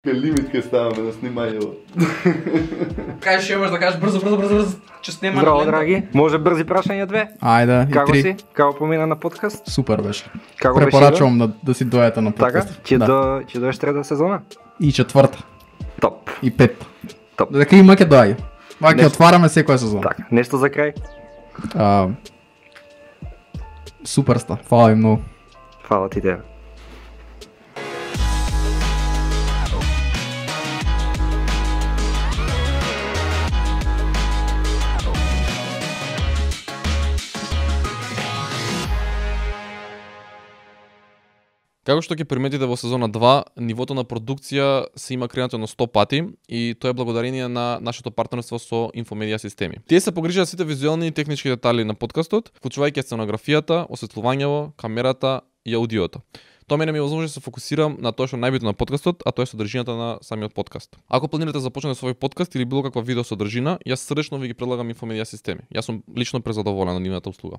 Лимит ке ставаме на снимањето. Кажеш, што имаш да кажеш брзо, че снема. Здраво, драги. Може брзи прашања 2? Ајде, и Како 3. си? Како помина на подкаст? Супер беше. Како беше? Препорачувам да си дојдете на Така? подкаст. Ќе доеш трета сезона? И четврта. Топ. И пет. Топ. Дека има ќе доаѓа. Ма ќе Нешто. отвараме секоја сезона. Така, нешто за крај? Супер ста. Фала ви многу. Фала ти тебе. Како што ќе приметите во сезона 2, нивото на продукција се има креирано на 100 пати и тоа е благодарение на нашето партнерство со Инфомедија системи. Тие се погрижаа сите визуелни и технички детали на подкастот, вклучувајќи сценографијата, осветлувањето, камерата и аудиото. Тоа мене ми возможност да се фокусирам на тоа што е најбитно на подкастот, а тоа е содржината на самиот подкаст. Ако планирате да започнете со овој подкаст или било каква видео содржина, јас срдечно ви ги предлагам Инфомедија системи. Јас сум лично презадоволен од нивната услуга.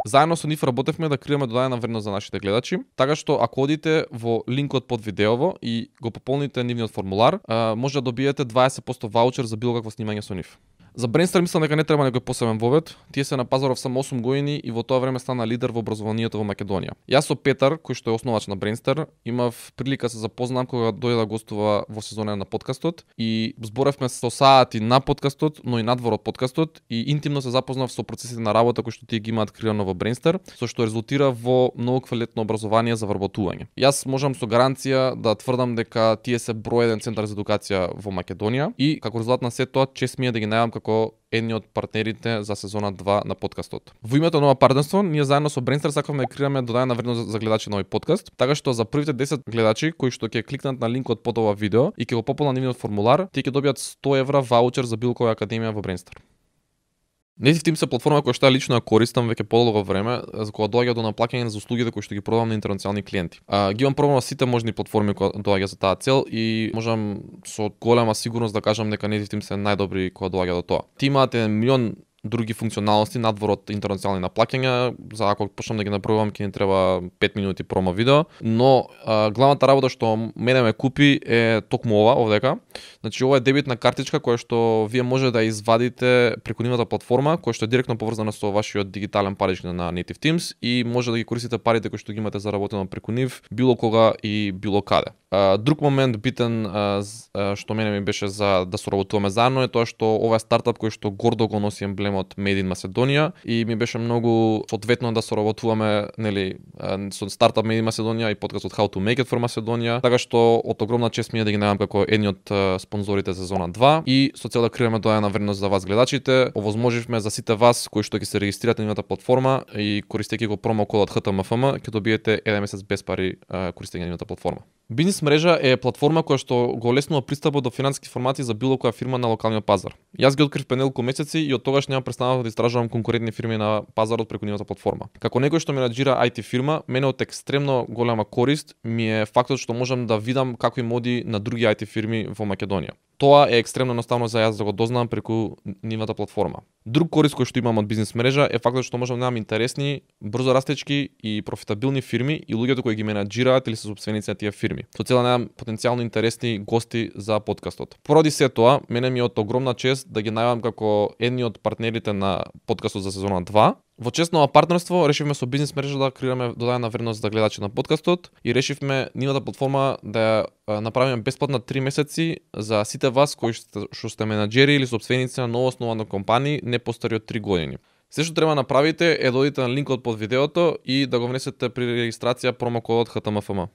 Заедно со нив работевме да креираме додадена вредност за нашите гледачи, така што ако одите во линкот под видеово и го пополните нивниот формулар, може да добиете 20% ваучер за било какво снимање со нив. За Brainstar мислам дека не треба некој посебен вовед. Тие се на пазаров само 8 години и во тоа време стана лидер во образованието во Македонија. Јас со Петар, кој што е основач на Brainstar, имав прилика да се запознам кога дојде да гостува во сезона на подкастот и зборевме со саати на подкастот, но и надвор од подкастот и интимно се запознав со процесите на работа кои што тие ги имаат креирано во Brainstar, со што резултира во многу квалитетно образование за вработување. Јас можам со гаранција да тврдам дека тие се број 1 центар за едукација во Македонија и како резултат на се тоа чест ми е да ги најавам како едни од партнерите за сезона 2 на подкастот. Во името на ова партнерство, ние заедно со Brainstar сакавме да креираме додадена вредност за гледачи на овој подкаст, така што за првите 10 гледачи кои што ќе кликнат на линкот под ова видео и ќе го пополнат нивниот формулар, тие ќе добијат 100 евра ваучер за било која академија во Brainstar. Native Teams е платформа која што ја лично ја користам веќе подолго време, за кога доаѓа до наплаќање за услугите кои што ги продавам на интернационални клиенти. Ги имам пробано сите можни платформи кои доаѓа за таа цел и можам со голема сигурност да кажам дека Native Teams е најдобри кога доаѓа до тоа. Ти имате милион други функционалности надвор од интернационални наплаќања, за ако почнам да ги набројувам ќе ни треба 5 минути промо видео, но главната работа што мене ме купи е токму ова овдека. Значи ова е дебитна картичка која што вие може да извадите преку нивната платформа, која што е директно поврзана со вашиот дигитален паричник на Native Teams и може да ги користите парите кои што ги имате заработено преку нив било кога и било каде. Друг момент битен што мене ми беше за да соработуваме заедно е тоа што ова е стартап кој што гордо го носи емблемот Made in Macedоnia и ми беше многу соодветно да соработуваме, нели, со стартап Made in Macedоnia и подкастот How to Make it for Macedonia, така што од огромна чест ми е да ги најавам како едни од спонзорите за сезона 2 и со цел да креираме додадена вредност за вас гледачите, овозможивме за сите вас кои што ќе се регистрирате на нивната платформа и користејќи го промо кодот HTMFM ќе добиете 1 месец без пари користејќи нивната платформа. Бизнес мрежа е платформа која што го олеснува пристапот до финансиски информации за било која фирма на локалниот пазар. Јас ги открив пред неколку месеци и од тогаш нема престанав да истражувам конкурентни фирми на пазарот преку нивната платформа. Како некој што менаџира IT фирма, мене од екстремно голема корист ми е фактот што можам да видам како им оди на други IT фирми во Македонија. Тоа е екстремно едноставно за јас да го дознам преку нивната платформа. Друг корист кој што имам од бизнес мрежа е фактот што можам да имам интересни, брзо растечки и профитабилни фирми и луѓето кои ги менаџираат или се сопственици на тие фирми. Со цел да најдам потенцијално интересни гости за подкастот. Поради се тоа, мене ми е од огромна чест да ги најавам како едни од партнерите на подкастот за сезона 2. Во чест на ова партнерство решивме со бизнес мрежа да креираме додадена вредност за гледачи на подкастот и решивме нивната платформа да ја направиме бесплатна 3 месеци за сите вас кои што сте менаџери или сопственици на новооснувана компанија не постари од 3 години. Се што треба да направите е да одите на линкот под видеото и да го внесете при регистрација промокодот HTMFM.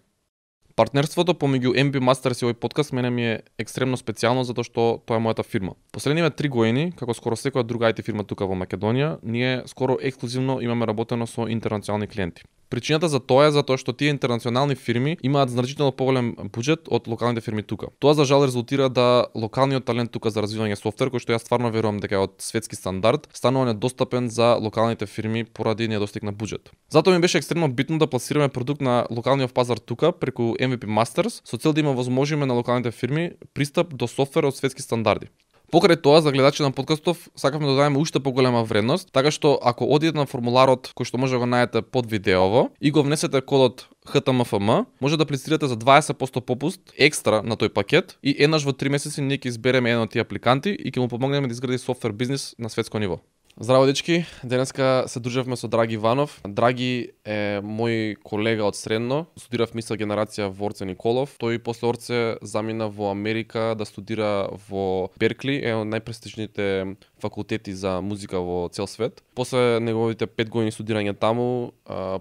Партнерството помеѓу MB Masters и овој подкаст мене ми е екстремно специјално затоа што тоа е мојата фирма. Последниве 3 години, како скоро секоја друга IT фирма тука во Македонија, ние скоро ексклузивно имаме работено со интернационални клиенти. Причината за тоа е затоа што тие интернационални фирми имаат значително поголем буџет од локалните фирми тука. Тоа за жал резултира да локалниот талент тука за развивање софтвер, кој што јас стварно верувам дека е од светски стандард, станува недостапен за локалните фирми поради недостиг на буџет. Затоа ми беше екстремно битно да пласираме продукт на локалниот пазар тука преку MVP Masters, со цел да има возможиме на локалните фирми пристап до софтвер од светски стандарди. Покрај тоа, за гледачи на подкастов, сакавме да дадеме уште поголема вредност, така што ако одите на формуларот кој што може да го најдете под видеово и го внесете кодот HTMFM, може да аплицирате за 20% попуст екстра на тој пакет и еднаш во 3 месеци ние ќе избереме еден од тие апликанти и ќе му помогнеме да изгради софтвер бизнис на светско ниво. Здраво дечки, денеска се дружевме со Драги Иванов. Драги е мој колега од средно, студирав мисла генерација во Орце Николов. Тој после Орце замина во Америка да студира во Беркли, еден од најпрестижните факултети за музика во цел свет. После неговите 5 години студирање таму,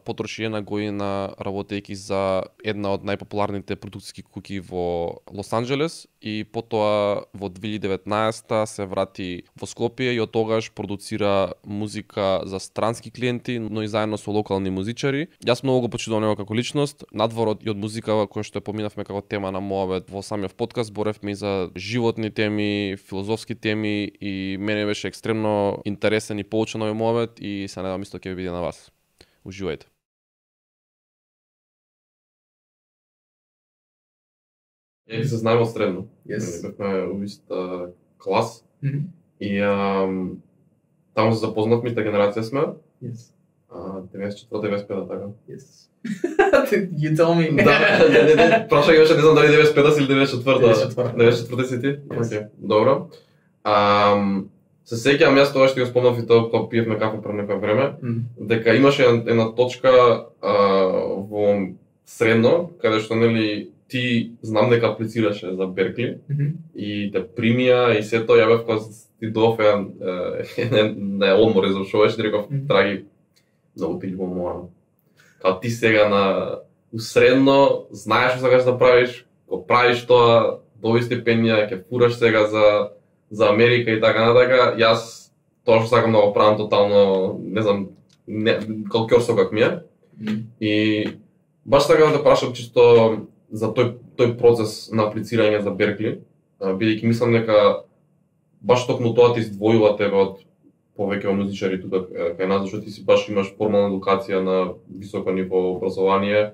потроши една година работејќи за една од најпопуларните продукциски куќи во Лос Анџелес и потоа во 2019 се врати во Скопје и од тогаш продуцира музика за странски клиенти, но и заедно со локални музичари. Јас многу го почитувам него како личност, надвор и од музика која што ја поминавме како тема на мојот во самиот подкаст, боревме и за животни теми, филозофски теми и мене беше екстремно интересен и поучен овој мојот и се надевам исто ќе ви биде на вас. Уживајте. Ја се знаеме од средно. Yes. Бевме у иста клас и таму се запознавме, иста генерација сме. Yes. 94-95 така. Yes. You tell me. Да, прашај беше, не знам дали 95 или 94-та. 94-та. 94-та си ти? Yes. Океј, добро. Се сеќавам јас тоа што ја спомнав и тоа кога пиевме кафе пред некој време, дека имаше една точка во средно, каде што нели ти знам дека аплицираше за Беркли и те примија и се тоа, ја бев кога ти доф не одмор завршуваш, реков, Драги, многу ти љубам морам. Као ти сега на усредно, знаеш што сакаш да правиш, го правиш тоа, доби стипендија, ќе фураш сега за Америка и така натака, јас тоа што сакам да го правам тотално, не знам, калкјорсо как ми е. И баш сакам да те прашам чисто за тој процес на аплицирање за Беркли, бидејќи мислам дека баш токму тоа ти издвојува тебе од повеќе музичари тука кај нас, зашто ти си баш имаш формална едукација на високо ниво образование.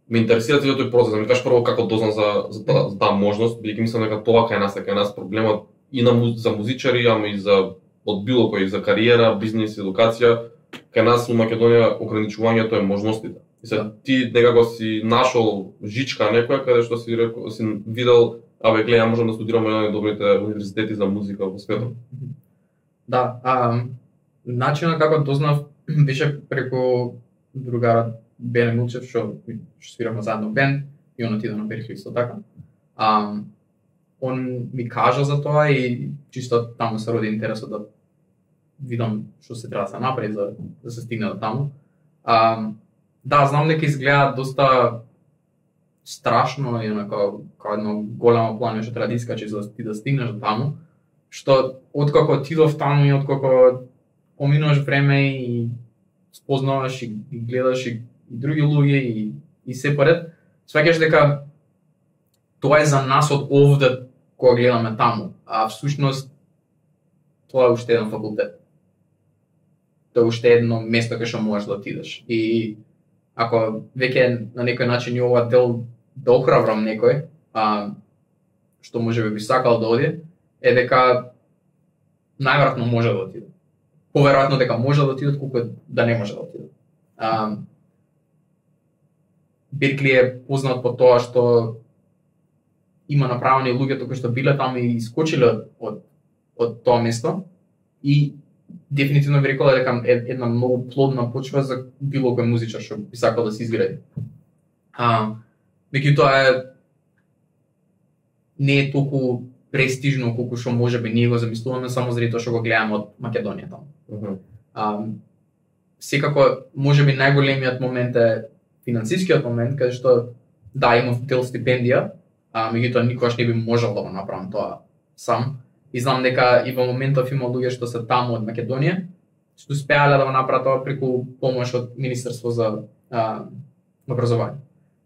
Ме интересира целиот тој процес, да ми кажеш прво како дознав за таа можност, бидејќи мислам дека тоа кај нас проблемот и за музичари, ама и за од било кој, за кариера, бизнис, едукација, кај нас во Македонија ограничувањето е можностите. И се ти некако си нашол жичка некоја каде што си видел, абе гледа, можам да студирам во еден од добрите универзитети за музика во светот. Да, начинот како дознав беше преку другарот Бене Милчев, што свираме заедно бенд и он отиде на Беркли исто така. Он ми кажа за тоа и чисто таму се роди интересот да видам што се треба да се направи за да се стигне до таму. Да, знам дека изгледа доста страшно и како едно големо плање што треба да искачиш за ти да стигнеш до таму, што откако отидов таму и откако поминуваш време и спознаваш и гледаш и други луѓе и се поред, сваќаш дека тоа е за нас од овде кога гледаме таму, а всушност тоа е уште еден факултет. Тоа е уште едно место кај што можеш да отидеш. И ако веќе на некој начин и ова дел да охрабрам некој, што може би сакал да оди, е дека најверојатно може да отиде. Поверојатно дека може да отиде, колку да не може да отиде. Беркли е познат по тоа што има направени луѓето кои што биле таму и искочиле од тоа место и дефинитивно би рекол дека е една многу плодна почва за било кој музичар што би сакал да се изгради. Меѓутоа не е толку престижно колку што можеби ние го замислуваме само заради тоа што го гледаме од Македонија таму. Секако можеби најголемиот момент е финансискиот момент, каде што да имав дел стипендија, меѓутоа никогаш не би можел да го направам тоа сам. И знам дека и во моментов има луѓе што се таму од Македонија, што успеале да го направат тоа преку помош од Министерство за образование.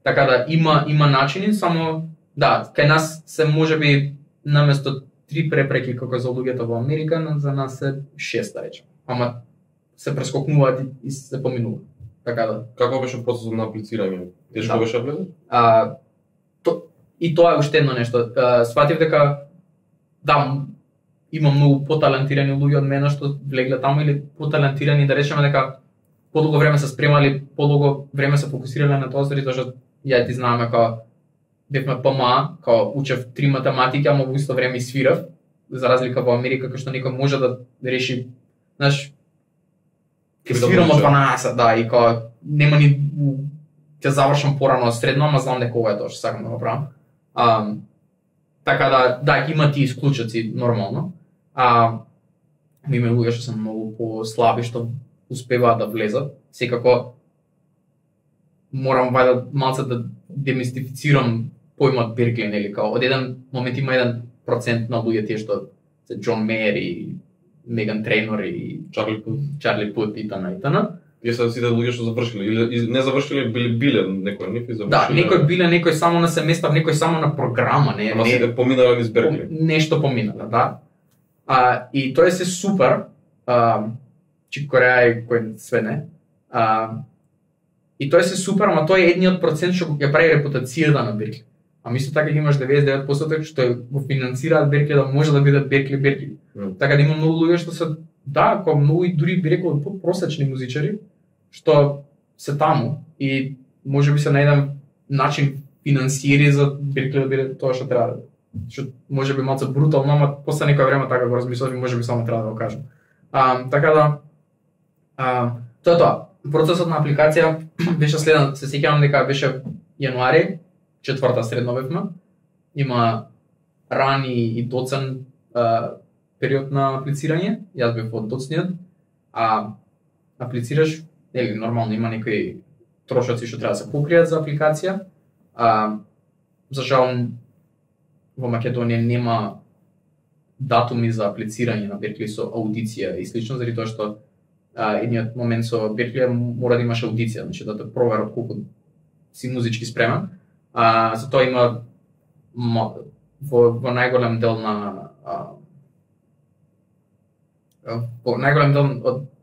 Така да има начини, само да, кај нас се можеби наместо 3 препреки како за луѓето во Америка, за нас се 6 да речем. Ама се прескокнуваат и се поминуваат. Така да. Како беше процесот на аплицирање? Тешко беше влезеш? И тоа е уште едно нешто. Сватив дека да, има многу поталентирани луѓе од мене што влегле таму или поталентирани, да речеме дека подолго време се спремали, подолго време се фокусирале на тоа, заради тоа што ја ти знаме као бевме ПМА, као учев 3 математики, ама во исто време и свирав, за разлика во Америка кај што некој може да реши, знаеш, ќе свирам од 12, да, и као нема ни ќе завршам порано средно, ама знам дека ова е тоа што сакам да го правам. Така да, има тие исклучоци нормално. Има луѓе што се многу послаби што успеваат да влезат. Секако морам вајда малце да демистифицирам поимот Беркли, нели, као од еден момент има 1% на луѓе тие што се Џон Мејер и Меган Трейнор и Чарли Пут и т.н. Тие се сите луѓе што завршиле или не завршиле, биле некој нив и завршиле. Да, некој биле, некој само на семестар, некој само на програма, не. Ама сите поминале низ Беркли. Нешто поминале, да. И тоа е се супер. Чик Кореја и кој све не. И тоа е се супер, ама тоа е едниот процент што ја прави репутацијата на Беркли. А мисло така има 99% што го финансираат Беркли да може да бидат Беркли. Така да има многу луѓе што се да, како многу и дури би рекол просечни музичари што се таму и можеби се на еден начин финансиери за Беркли да биде тоа што треба. Што можеби малку брутално, ама после некој време така го размислав и можеби само треба да го кажам. Така да тоа е тоа. Процесот на апликација беше следен, се сеќавам дека беше јануари, 4-та средно бевме. Има рани и доцен период на аплицирање. Јас бев од доцниот. Аплицираш, нели нормално има некои трошоци што треба да се покријат за апликација. За жал во Македонија нема датуми за аплицирање на Беркли со аудиција и слично, заради тоа што едниот момент со Беркли мора да имаш аудиција, значи да те проверат колку си музички спремен. За тоа има во најголем дел на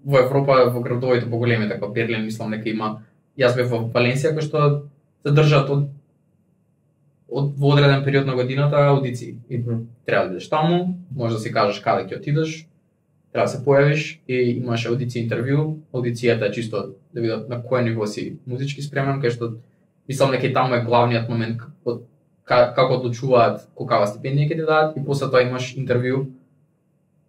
во Европа, во градовите поголемите, како Берлин, мислам дека има. Јас бев во Валенсија, кој што се држат од во одреден период на годината аудиции. И треба да идеш таму, може да си кажеш каде ќе отидеш, треба да се појавиш и имаш аудиција, интервју. Аудицијата е чисто да видат на кој ниво си музички спремен, кај што мислам дека и таму е главниот момент како одлучуваат колкава стипендија ќе ти дадат, и после тоа имаш интервју,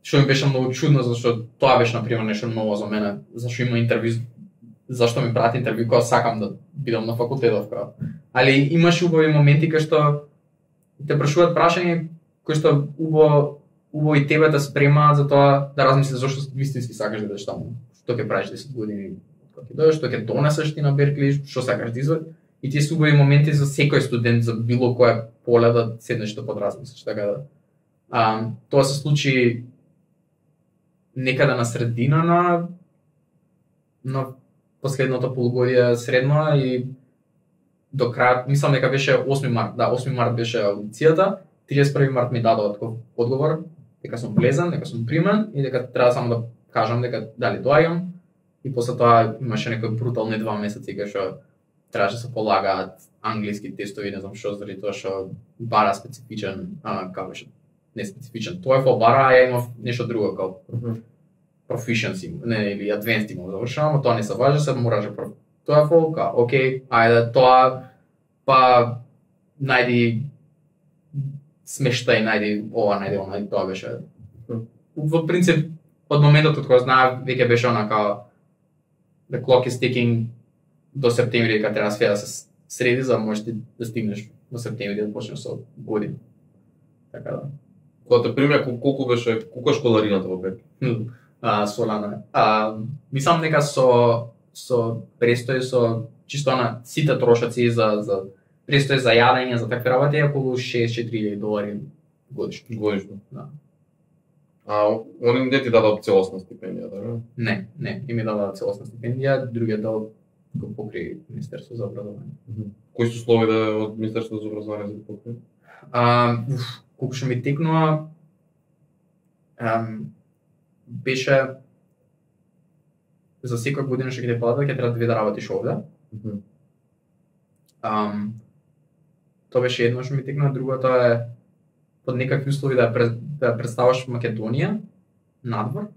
што ми беше многу чудно, зашто тоа беше например нешто ново за мене, зашто има интервју, зашто ми прати интервју кога сакам да бидам на факултетов кога. Али имаш убави моменти кај што те прашуваат прашања кои што убаво и тебе те спремаат за тоа да размислиш зашто вистински сакаш да идеш таму, што ќе правиш 10 години кога ќе дојдеш, што ќе донесеш ти на Беркли, што сакаш да извадиш. И тие се убави моменти за секој студент, за било која поле да седнеш да подразмислиш, така да. Тоа се случи некаде на средина на последното полугодие средно и до крај, мислам дека беше 8 март. Да, 8 март беше аудицијата, 31 март ми дадоа таков одговор дека сум влезен, дека сум примен и дека треба само да кажам дека дали доаѓам. И после тоа имаше некои брутални 2 месеци кај што требаше да се полагаат англиски тестови, не знам што, заради тоа што бара специфичен, како беше, не специфичен. TOEFL бара, ја имав нешто друго како proficiency, не, или advanced имам завршено, но тоа не се важи, се мораше TOEFL, као, окей, ајде тоа, па најди смештај, најди ова, најди она, тоа беше. Во принцип, од моментот од кога знаев, веќе беше она као the clock is ticking до септември, дека треба све да се среди, за можеш да стигнеш до септември да почнеш со година. Така да. Кога те примеа, колку беше, колку е школарината во Беркли? Солано е. Мислам дека со престој, со чисто на сите трошоци за престој за јадење, за такви работи, е околу $64,000 годишно. Годишно. Да. Они не ти дадат целосна стипендија, да? Не, ми дадат целосна стипендија, другиот дел го покри Министерство за образование. Кои се услови да од Министерството за образование за покри? Колку што ми текнува, беше за секоја година што ќе те платат, ќе треба да работиш овде. Тоа беше едно што ми текнува, другото е под некакви услови да представаш Македонија надвор.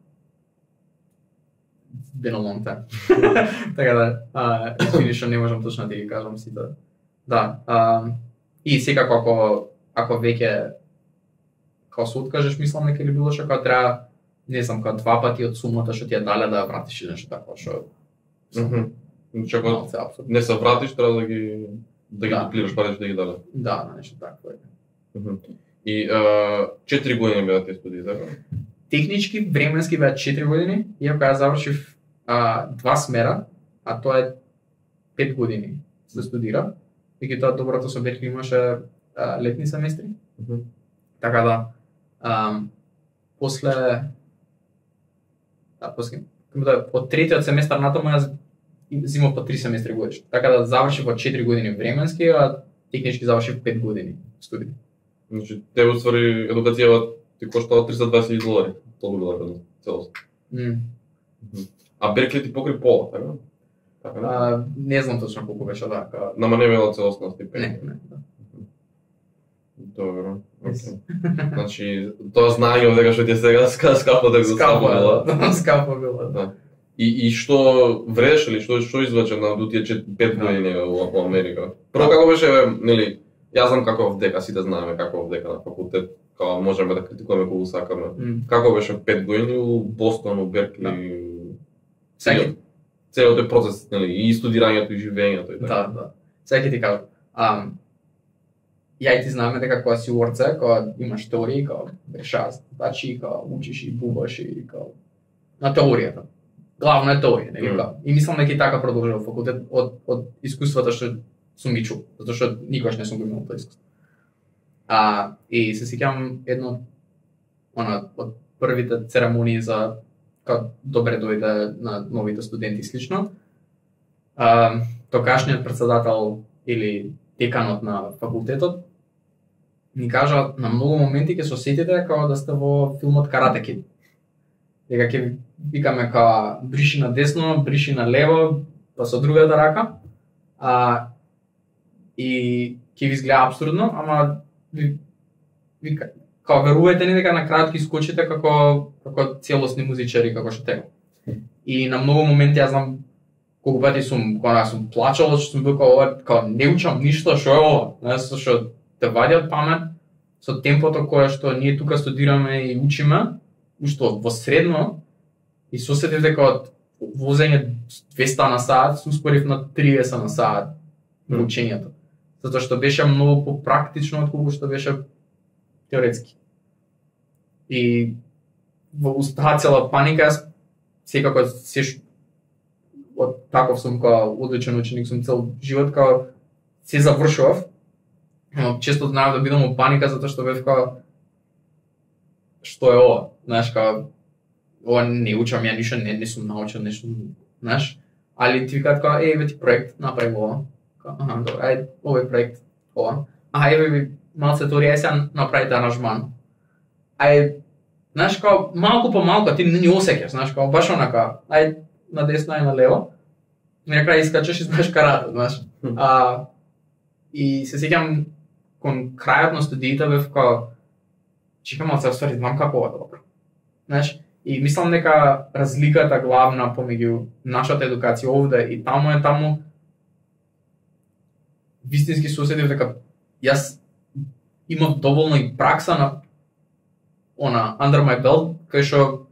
been a long time. Така да, извини што не можам точно да ги кажам сите. Да, и секако ако веќе као се откажеш, мислам дека или било што као треба, не знам, као 2 пати од сумата што ти ја дале да ја вратиш или нешто такво, што Значи ако малце апсурд. не се вратиш, треба да ги Да. дуплираш парите да ги дадеш. Да, нешто такво. И 4 години беа тие студии, така? Технички, временски беа 4 години, иако ја завршив 2 смера, а тоа е 5 години да студира. Меѓутоа доброто со Беркли имаше летни семестри. Така да, после од третиот семестар натаму јас зимав по 3 семестри годишно. Така да завршив во 4 години временски, а технички завршив 5 години студии. Значи, тебе уствари едукацијава ти коштава $320,000. Толку била вредно, целост. А Беркли ти покри пола, така? Така не? Не знам точно колку беше, да. Нама не била целосна стипендија. Не, да. Добро. Значи, тоа знаење дека што ти е сега скапо да го Скапо, да, скапо било. Да. И што вредеше ли, што извлече на тие 5 години во Америка? Прво како беше, нели, јас знам како в дека, сите знаеме како в дека на факултет, како можеме да критикуваме кога сакаме. Како беше 5 години у Бостон, у Беркли? Целиот тој процес, нели, и студирањето и живењето и така. Да. Сега ќе ти кажам. Ја и ти знаеме дека кога си урце, кога имаш теории, кога решаваш задачи, кога учиш и бубаш и кога на теоријата. Главно е теорија, нели? И мислам дека и така продолжува факултет од искуствата што сум ги чул, затоа што никогаш не сум го имал тоа искуство. И се сеќавам едно од првите церемонии за како добре дојде на новите студенти и слично. Тогашниот председател или деканот на факултетот ни кажа на многу моменти ќе се осетите како да сте во филмот Карате Кид. Дека ќе викаме како бриши на десно, бриши на лево, па со другата рака. И ќе ви изгледа абсурдно, ама ви како верувајте ни дека на крајот ќе скочите како целосни музичари како што тега. И на многу моменти јас знам колку пати сум плачал, што сум бил како не учам ништо, што е ова, знаеш, што те вадјат памет со темпото кое што ние тука студираме и учиме, ушто во средно и се осетив дека од возење 200 на сат се успорив на 30 на сат во учењето. Затоа што беше многу попрактично отколку што беше теоретски. И во устаа цела паника, јас секако од таков сум као одличен ученик, сум цел живот као се завршував. Но често знаев да бидам во паника затоа што бев као што е ова? Знаеш, као ова не учам ја ништо, не сум научил нешто, знаеш. Али ти викаат као еве ти проект, направи ова. Аха, добро, ајде, овој проект, ова. Еве ви малце теорија, сега направите аранжман. Знаеш, као малку по малку, ти не осеќаш, знаеш, као баш онака, на десно и на лево. И на крај искачаш и знаеш карате, знаеш. И се сеќам кон крајот на студиите бев као чекам малце, ствари, знам како ова добро. Знаеш, и мислам дека разликата главна помеѓу нашата едукација овде и таму вистински се осетив дека јас имав доволно и пракса на under my belt, кај што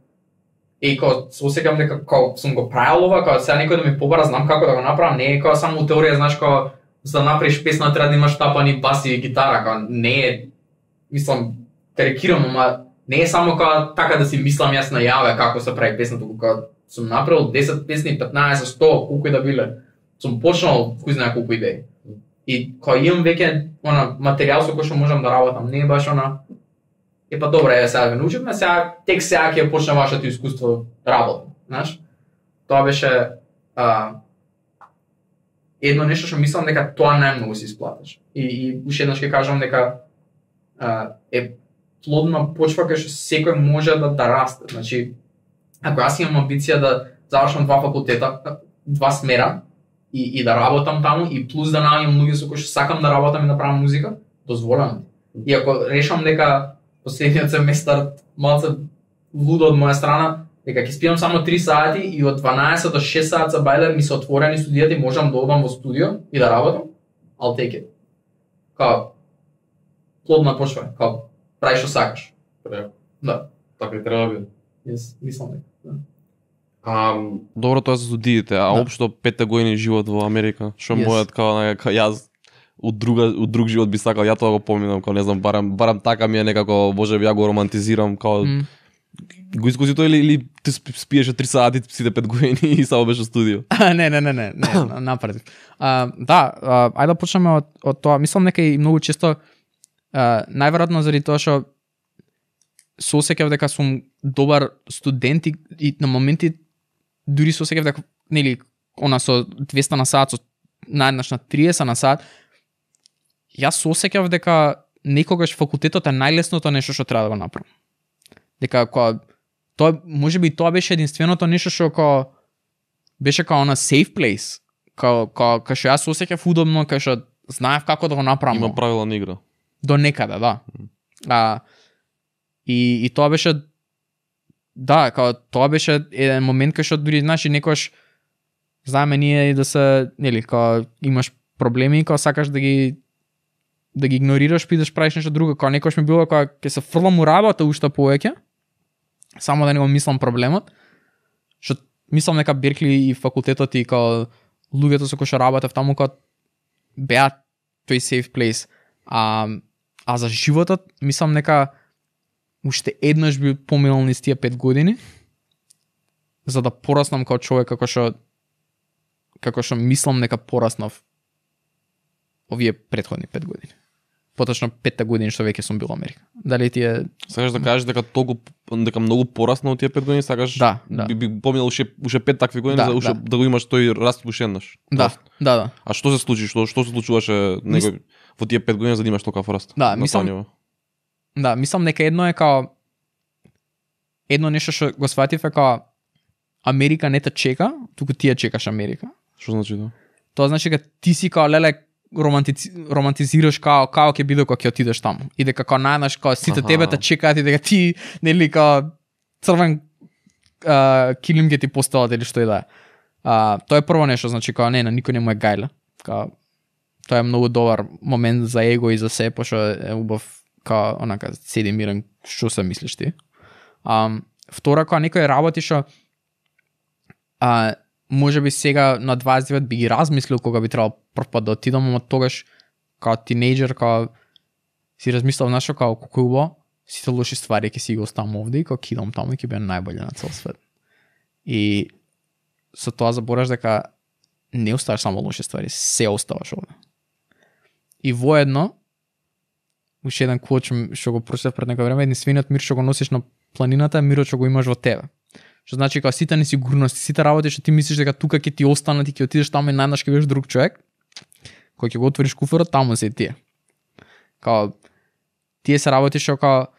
као се осеќам дека као сум го правил ова, као сега некој да ми побара, знам како да го направам, не е као само теорија, знаеш, као за да направиш песна треба да имаш тапани баси и гитара, као не е, мислам, карикирам, ама не е само као така да си мислам јас најаве како се прави песна, туку као сум направил 10 песни, 15, 100, колку и да биле. Сум почнал кој знае колку идеи. И кога имам веќе материјал со кој што можам да работам, не е баш па добре, сега ве научивме, сега ќе почне вашето искуство работа, знаеш? Тоа беше едно нешто што мислам дека тоа најмногу се исплатиш. И уште еднаш ќе кажам дека е плодна почва кај што секој може да расте. Значи, ако јас имам амбиција да завршам 2 факултета, 2 смера и да работам таму и плюс да наоѓам луѓе со кои што сакам да работам и да правам музика, дозволено. И ако решам дека последниот семестар малце лудо од моја страна, дека ќе спијам само 3 сати и од 12 до 6 сати за бајлер ми се отворени студијата и можам да одам во студио и да работам, I'll take it. Као плодна почва, као прави што сакаш. Преко. Да. Така и треба да биде. Yes, мислам дека. Да. Добро тоа за студиите, а Да. општо 5 години живот во Америка, што Yes. мојот као јас од друг живот би сакал, ја тоа го поминам, као не знам, барам така ми е некако, можеби ја го романтизирам, као го искуси тоа или ти спиеше 3 сати сите 5 години и само беше студио. Не, напротив. Ајде да почнеме од тоа. Мислам дека и многу често најверојатно заради тоа што се осеќав дека сум добар студент и на моменти дури се осеќав дека нели она со 200 на сат, со наеднаш на 30 на сат, јас се осеќав дека некогаш факултетот е најлесното нешто што треба да го направам. Дека тоа можеби тоа беше единственото нешто што беше као на safe place, кај што јас се осеќав удобно, кај што знаев како да го направам. Има правила на игра. До некаде, да. И тоа беше тоа беше еден момент кај што дури знаеш и некош знаеме ние и да се нели имаш проблеми и сакаш да ги игнорираш, идеш правиш нешто друго, некош ми било ќе се фрлам у работа уште повеќе, само да не го мислам проблемот. Што мислам дека Беркли и факултетот и луѓето со кои што работев таму беа тој safe place. А за животот мислам дека уште еднаш би поминал низ тие 5 години за да пораснам како човек како што мислам дека пораснав овие претходни 5 години. Поточно 5-та година што веќе сум бил во Америка. Дали ти е Сакаш да кажеш дека многу порасна од тие 5 години, сакаш Да. би поминал уште 5 такви години за уште да го имаш тој раст уште еднаш. Да. А што се случи? Што се случуваше во тие 5 години за да имаш толков раст? Мислам дека едно е едно нешто што го сватив е Америка не те чека, туку ти ја чекаш Америка. Што значи тоа? Тоа значи дека ти си леле романтизираш како ќе биде кога ќе отидеш таму. И дека најнаш сите тебе те чекаат и дека ти нели црвен килим ќе ти постават или што и да е. Тоа е прво нешто, значи не, на никој не му е гајле. Тоа е многу добар момент за его и за се, пошто е убав онака седи мирен, што се мислиш ти. Втора, некој работи што може би сега на 29 би ги размислил кога би требало прв пат да отидам, ама тогаш као тинејџер си размислав нашо колку убаво сите лоши ствари ќе си ги оставам овде и ќе идам таму и ќе биде најбоље на цел свет. И со тоа забораш дека не оставаш само лоши ствари, се оставаш овде. И воедно уште еден квот што го прочитав пред некој време, единствениот мир што го носиш на планината е мирот што го имаш во тебе. Што значи сите несигурности, сите работи што ти мислиш дека тука ќе ти останат и ќе отидеш таму и најнаш ќе бидеш друг човек, кој ќе го отвориш куферот, таму се тие. Тие се работи што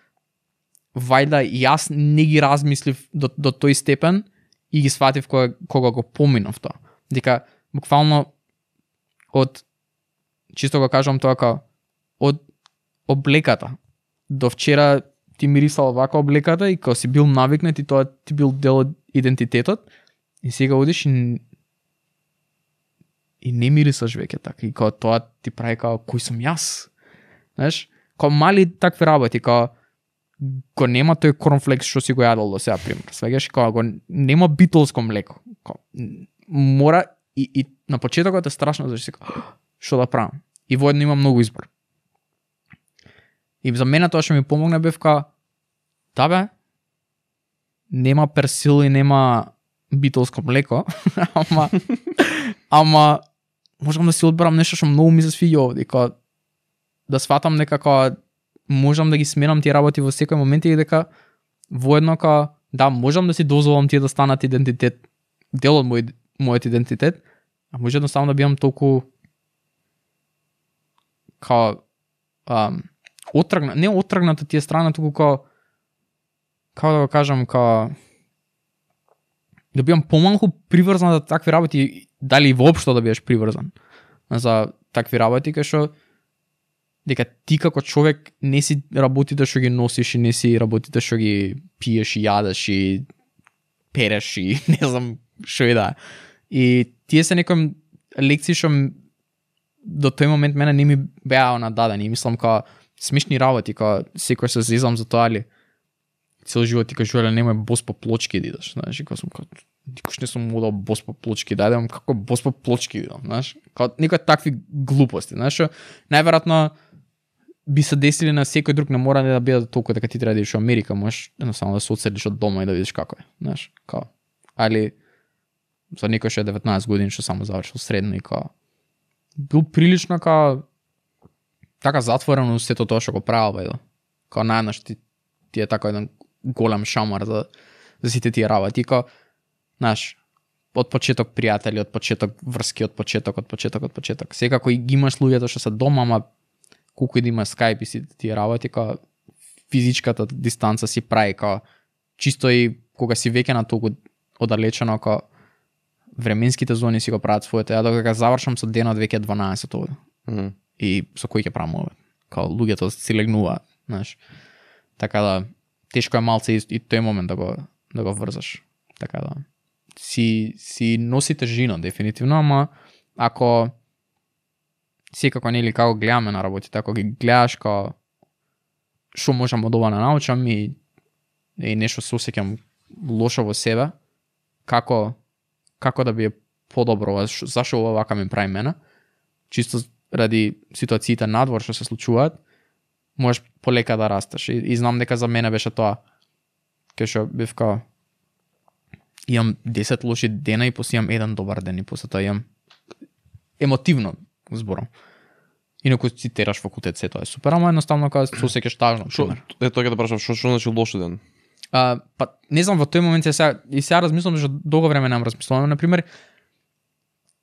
вајда јас не ги размислив до тој степен и ги сватив кога го поминав тоа. Дека буквално чисто го кажам тоа од облеката до вчера ти мирисал вака облеката и си бил навикнат и тоа ти бил дел од идентитетот и сега одиш и не мирисаш веќе така и тоа ти прави кој сум јас. Знаеш, мали такви работи, го нема тој корнфлекс што си го јадал до сега пример. Свегаш го нема битолско млеко. Мора и на почетокот е страшно зашто што да правам. И воедно има многу избор. И за мене тоа што ми помогна бев нема персил и нема битолско млеко, ама можам да си одберам нешто што многу ми се свиѓа овде, да сватам дека можам да ги сменам тие работи во секој момент и дека воедно можам да си дозволам тие да станат идентитет, дел од мојот идентитет, а може едноставно да бидам толку не отргната тие страна, туку како да го кажам, да бидам помалку приврзан за такви работи, дали воопшто да бидеш приврзан за такви работи, кај што дека ти како човек не си работите што ги носиш и не си работите што ги пиеш и јадеш и переш и не знам што и да. И тие се некои лекции што до тој момент мене не ми беа нададени. Мислам као смешни работи, као секој се зезам за тоа, али цел живот ти кажувале немој бос по плочки да идеш, знаеш, и као сум као никош не сум модал бос по плочки, да идам како бос по плочки идам, знаеш, као некои такви глупости, знаеш, што најверојатно би се десили на секој друг, не мора да бидат толку дека ти треба да идеш во Америка, можеш едноставно да се одселиш од дома и да видиш како е, знаеш, као, али за некој што е 19 години што само завршил средно и као бил прилично као така затворено сето тоа што го правил, бе, као најнаш ти е така еден голем шамар за сите тие работи, као, знаеш, од почеток пријатели, од почеток врски, од почеток. Секако и ги имаш луѓето што се дома, ама колку и да има Skype и сите тие работи, као физичката дистанца си прави, као чисто и кога си веќе на толку оддалечено, као временските зони си го прават своето. Ја докога завршам со денот веќе 12 овде. И со кој ќе правам овде? Као луѓето си легнуваат, знаеш. Така да тешко е малце и тој момент да го врзаш. Така да си носи тежина дефинитивно, ама ако секако нели како гледаме на работите, ако ги гледаш као што можам од ова да научам и нешто се осеќам лошо во себе, како да би подобро, зашо ова вака ми прави мене, чисто ради ситуациите надвор што се случуваат, можеш полека да растеш. И знам дека за мене беше тоа, кај што бев као имам 10 лоши дена и после имам еден добар ден и после тоа имам емотивно зборам. Инаку си тераш факултет, се тоа е супер, ама едноставно као се осеќаш тажно. Тоа ќе да прашам, што значи лош ден? Па не знам, во тој момент сега размислам, што долго време немам размислувам. Например,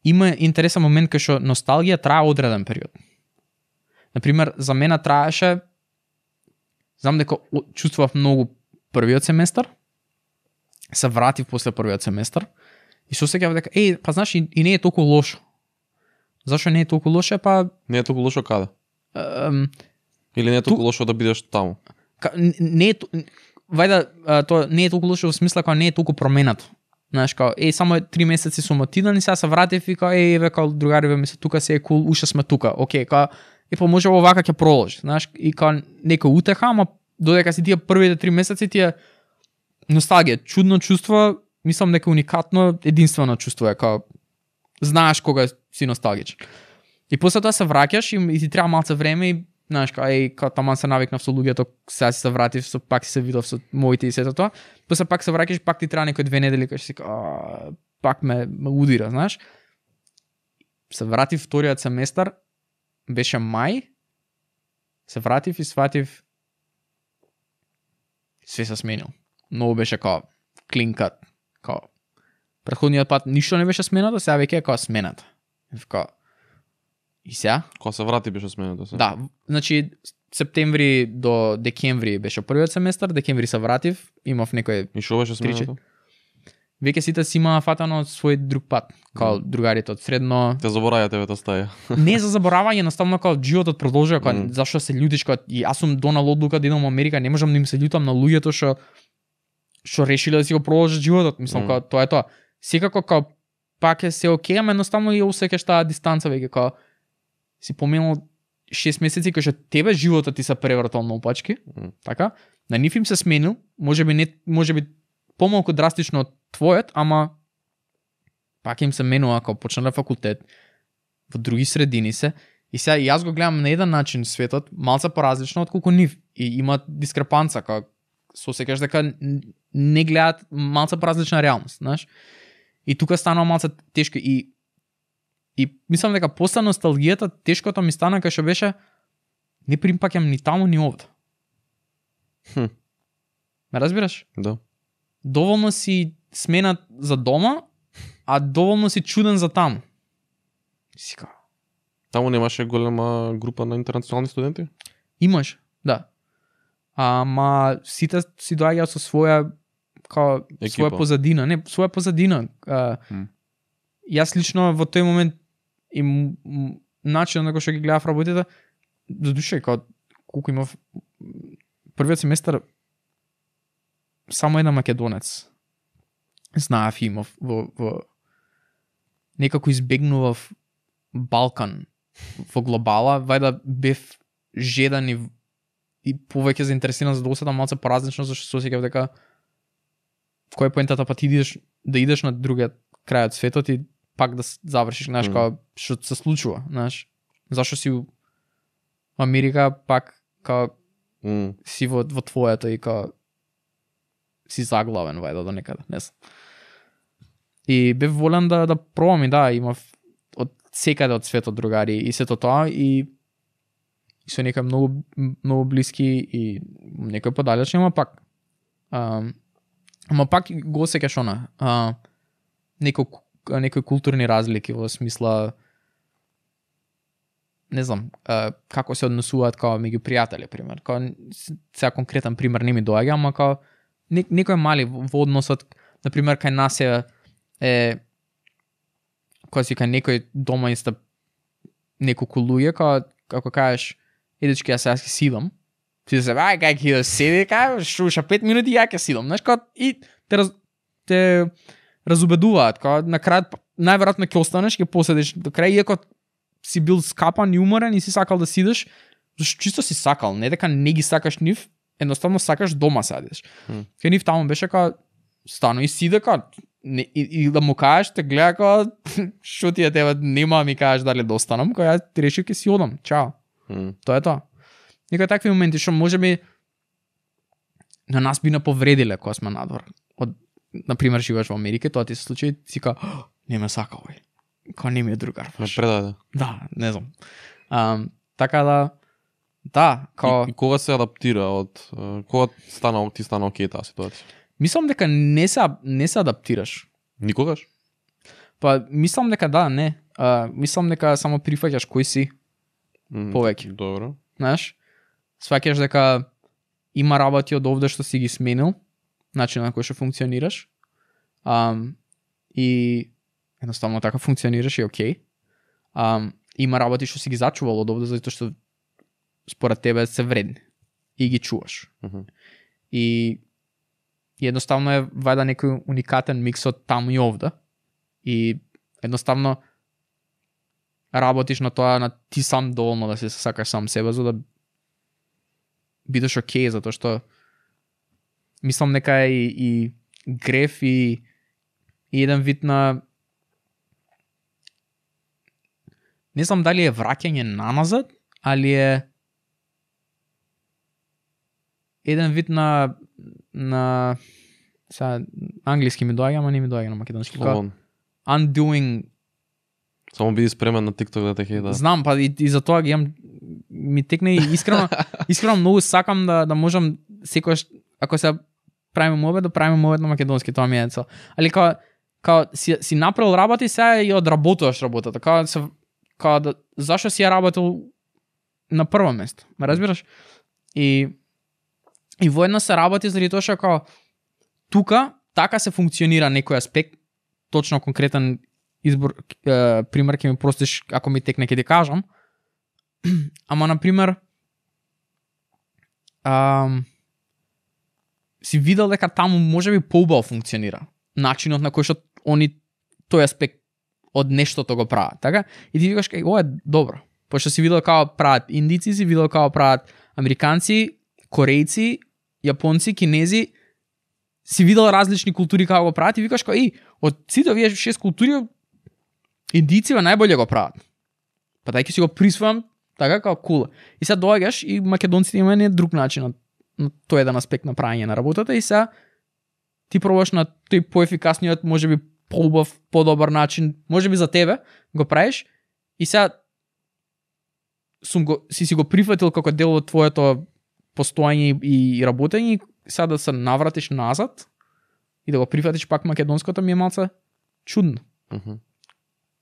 има интересен момент кај што носталгија трае одреден период. Например, за мене траеше, знам дека чувствував многу првиот семестар, се вратив после првиот семестар и се осеќав дека па знаеш и не е толку лошо. Зашо не е толку лошо? Па не е толку лошо каде? Или не е толку лошо да бидеш таму? Не е тоа не е толку лошо во смисла кога не е толку променато. Знаеш, као, само 3 месеци сум отидан и сега се вратив и као, као, другариве ми се тука, се е кул, уште сме тука, окей, као, па може овака ќе продолжи, знаеш, и као, некој утеха, ама додека си тие првите 3 месеци, тие носталгија, чудно чувство, мислам дека уникатно, единствено чувство е, као, знаеш кога си носталгичен. И после тоа се враќаш и ти треба малце време и знаеш, као таман се навикнав со луѓето, сега си се вратив, пак си се видов со моите и сето тоа, после пак се враќаш, пак ти треба некои 2 недели, кај си пак ме удира, знаеш. Се вратив вториот семестар, беше мај, се вратив и сватив све се сменил. Многу беше као клинкат, као претходниот пат ништо не беше сменато, сега веќе е као смената. Као и сега? Кога се врати беше сменето се. Да, значи септември до декември беше првиот семестар, декември се вратив, имав некој И што беше сменето? Веќе сите си имаа фатано свој друг пат, као другарите од средно. Те забораја тебе та стаја. Не за заборавање, едноставно као животот продолжува, као зашто се љутиш, као и јас сум донал одлука да идам во Америка, не можам да им се љутам на луѓето што решиле да си го продолжат животот, мислам као тоа е тоа. Секако као пак е се окей, ама едноставно ја осеќаш таа дистанца веќе као си поминал 6 месеци кај што тебе животот ти се превртал наопачки, така? На нив им се сменил, можеби помалку драстично од твојот, ама пак им се менува као почнале факултет, во други средини се, и сега јас го гледам на еден начин светот, малце поразлично отколку нив, и има дискрепанца, као се осеќаш дека не гледат малце поразлична реалност, знаеш? И тука станува малце тешко и мислам дека после носталгијата тешкото ми стана кај што беше не примпаќам ни таму ни овде. Ме разбираш? Да. Доволно си сменат за дома, а доволно си чуден за таму. Сика. Таму немаше голема група на интернационални студенти? Имаш, да. Ама сите си доаѓаат со своја своја позадина, не, своја позадина. Јас лично во тој момент и начинот на кој што ги гледав работите, за душа колку имав првиот семестар само еден македонец. знаев имав во некако избегнував Балкан во глобала, вајда бев жедан и повеќе заинтересиран за да осетам малце поразлично, зашто се осеќав дека кој е поентата, па ти да идеш на другиот крај од светот и пак да завршиш, знаеш, како што се случува, знаеш. Зашто си во Америка пак како си во твоето и како си заглавен вајда до некаде, не знам. И бев волен да пробам и да, имав од секаде од светот другари и сето тоа и со некои многу блиски и некои подалечни, ама пак го осеќаш она некои културни разлики во смисла не знам како се однесуваат како меѓу пријатели, пример. Како сега конкретен пример не ми доаѓа, ама како некои мали во односот, на пример кај нас е кога си кај некој дома иста неколку луѓе, како кажеш едечки ја сега ќе сидам, ти се ај кај ќе седи, кај шуша 5 минути ја ќе сидам, знаеш, како и те разубедуваат, како на крај најверојатно ќе останеш, ќе поседиш до крај, иако си бил скапан и уморен и си сакал да сидиш, зашто чисто си сакал, не дека не ги сакаш нив, едноставно сакаш дома седиш. Кај нив таму беше како стано и сиде како и да му кажеш, те гледа како шо ти е тебе, нема ми кажеш дали да останам, кога ја ти решив ќе си одам, чао. Тоа е тоа. Некои такви моменти што можеби на нас би наповредиле кога сме надвор. Например, живееш во Америка, тоа ти се случи, си ка, не ме сака овој. Као не ми е другар. Ме предаде. Да, не знам. Така да, као... И кога се адаптира од... Кога ти стана окей таа ситуација? Мислам дека не се адаптираш. Никогаш? Па, мислам дека да, не. Мислам дека само прифаќаш кој си повеќе. Добро. Знаеш, сваќаш дека има работи од овде што си ги сменил, начин на кој што функционираш. И едноставно така функционираш и окей. Има работи што си ги зачувал од овде затоа што според тебе се вредни и ги чуваш. И едноставно е вајда некој уникатен микс од таму и овде. И едноставно работиш на тоа, на ти сам доволно да се сакаш сам себе, за да бидеш окей, затоа што мислам дека е и греф и еден вид на не знам дали е враќање наназад, али е еден вид на сега англиски ми доаѓа, ама не ми доаѓа на македонски. Undoing. Само биди спремен на TikTok да те хејда. Знам, па и за тоа ги имам, ми текне и искрено многу сакам да можам секојаш, ако се правиме мовет, да правиме мовет на македонски, тоа ми е цел. Али као си направил работа и сега и одработуваш работата. Као да, зашо си ја работил на прво место, ме разбираш? И воедно се работи заради тоа што као тука така се функционира некој аспект, точно конкретен избор, пример ќе ми простиш ако ми текне ќе ти кажам. Ама на пример си видел дека таму можеби поубаво функционира начинот на кој што они тој аспект од нештото го прават, така? И ти викаш ова е добро. Пошто си видел како прават индици, си видел како прават американци, корејци, јапонци, кинези, си видел различни култури како го прават и викаш од сите овие 6 култури индиците најболje го прават. Па дај ќе си го присвојам така како кул. И сега доаѓаш и македонците имаат не друг начин на тој еден аспект на правење на работата и сега ти пробаш на тој поефикасниот, можеби поубав, подобар начин, можеби за тебе го правиш и сега си го прифатил како дел од твоето постоење и работење и сега да се навратиш назад и да го прифатиш пак македонското ми е малце чудно.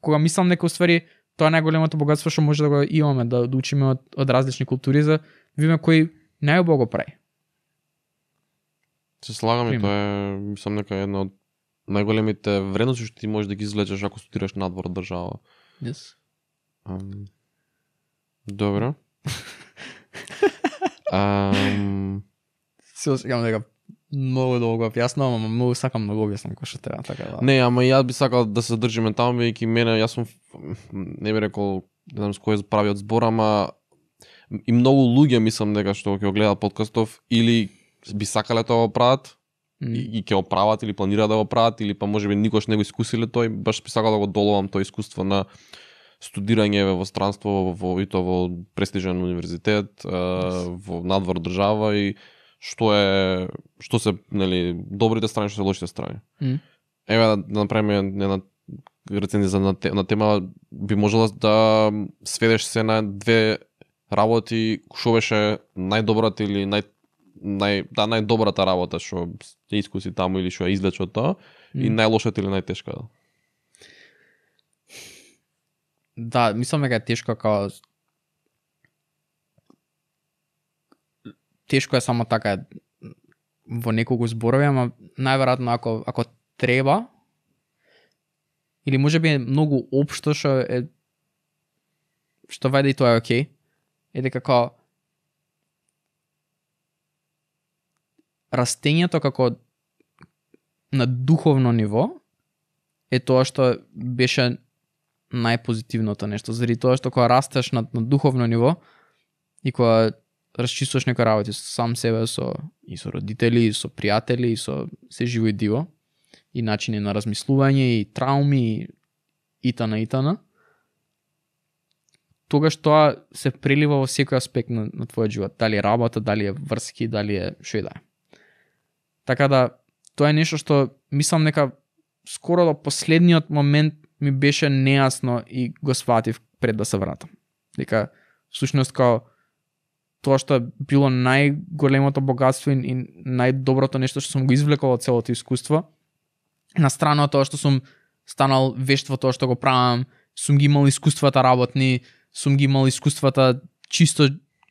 Кога мислам дека уствари тоа е најголемото богатство што може да го имаме, да учиме од различни култури за видиме кој најубаво го прави. Се слагам и тоа е, мислам дека една од најголемите вредности што ти можеш да ги извлечеш ако студираш надвор од држава. Yes. Добро. Се осеќам дека Многу долго објаснувам, ама многу сакам да го објаснам кој што треба, така да. Не, ама јас би сакал да се држиме таму, бидејќи мене, јас сум, не би рекол, не знам с кој правиот збор, ама и многу луѓе мислам дека што ќе го гледаат подкастов или би сакале тоа го прават и ќе го прават или планираат да го прават или па можеби никош не го искусиле тој, баш би сакал да го доловам тоа искуство на студирање во странство, и то во престижен универзитет, во надвор држава и што се, нели, добрите страни, што се лошите страни. Еве да направиме една рецензија на тема, би можела да сведеш се на две работи, што беше најдобрата или најдобрата работа што ќе искуси таму или што ја извлече од тоа и најлошата или најтешка. Да, мислам дека е тешко као тешко е само така во неколку зборови, ама најверојатно ако треба или можеби е многу општо што вајде и тоа е окей, е дека како растењето како на духовно ниво е тоа што беше најпозитивното нешто, заради тоа што кога растеш на духовно ниво и кога расчистуваш некои работи со сам себе, со родители, и со пријатели, и со се живо и диво, и начини на размислување, и трауми, и итана, тогаш тоа се прелива во секој аспект на твојот живот. Дали е работа, дали е врски, дали е шо и да е. Така да, тоа е нешто што мислам дека скоро до последниот момент ми беше нејасно и го сватив пред да се вратам. Дека, всушност, као тоа што било најголемото богатство и најдоброто нешто што сум го извлекол од целото искуство, на страна од тоа што сум станал вешт во тоа што го правам, сум ги имал искуствата работни, сум ги имал искуствата чисто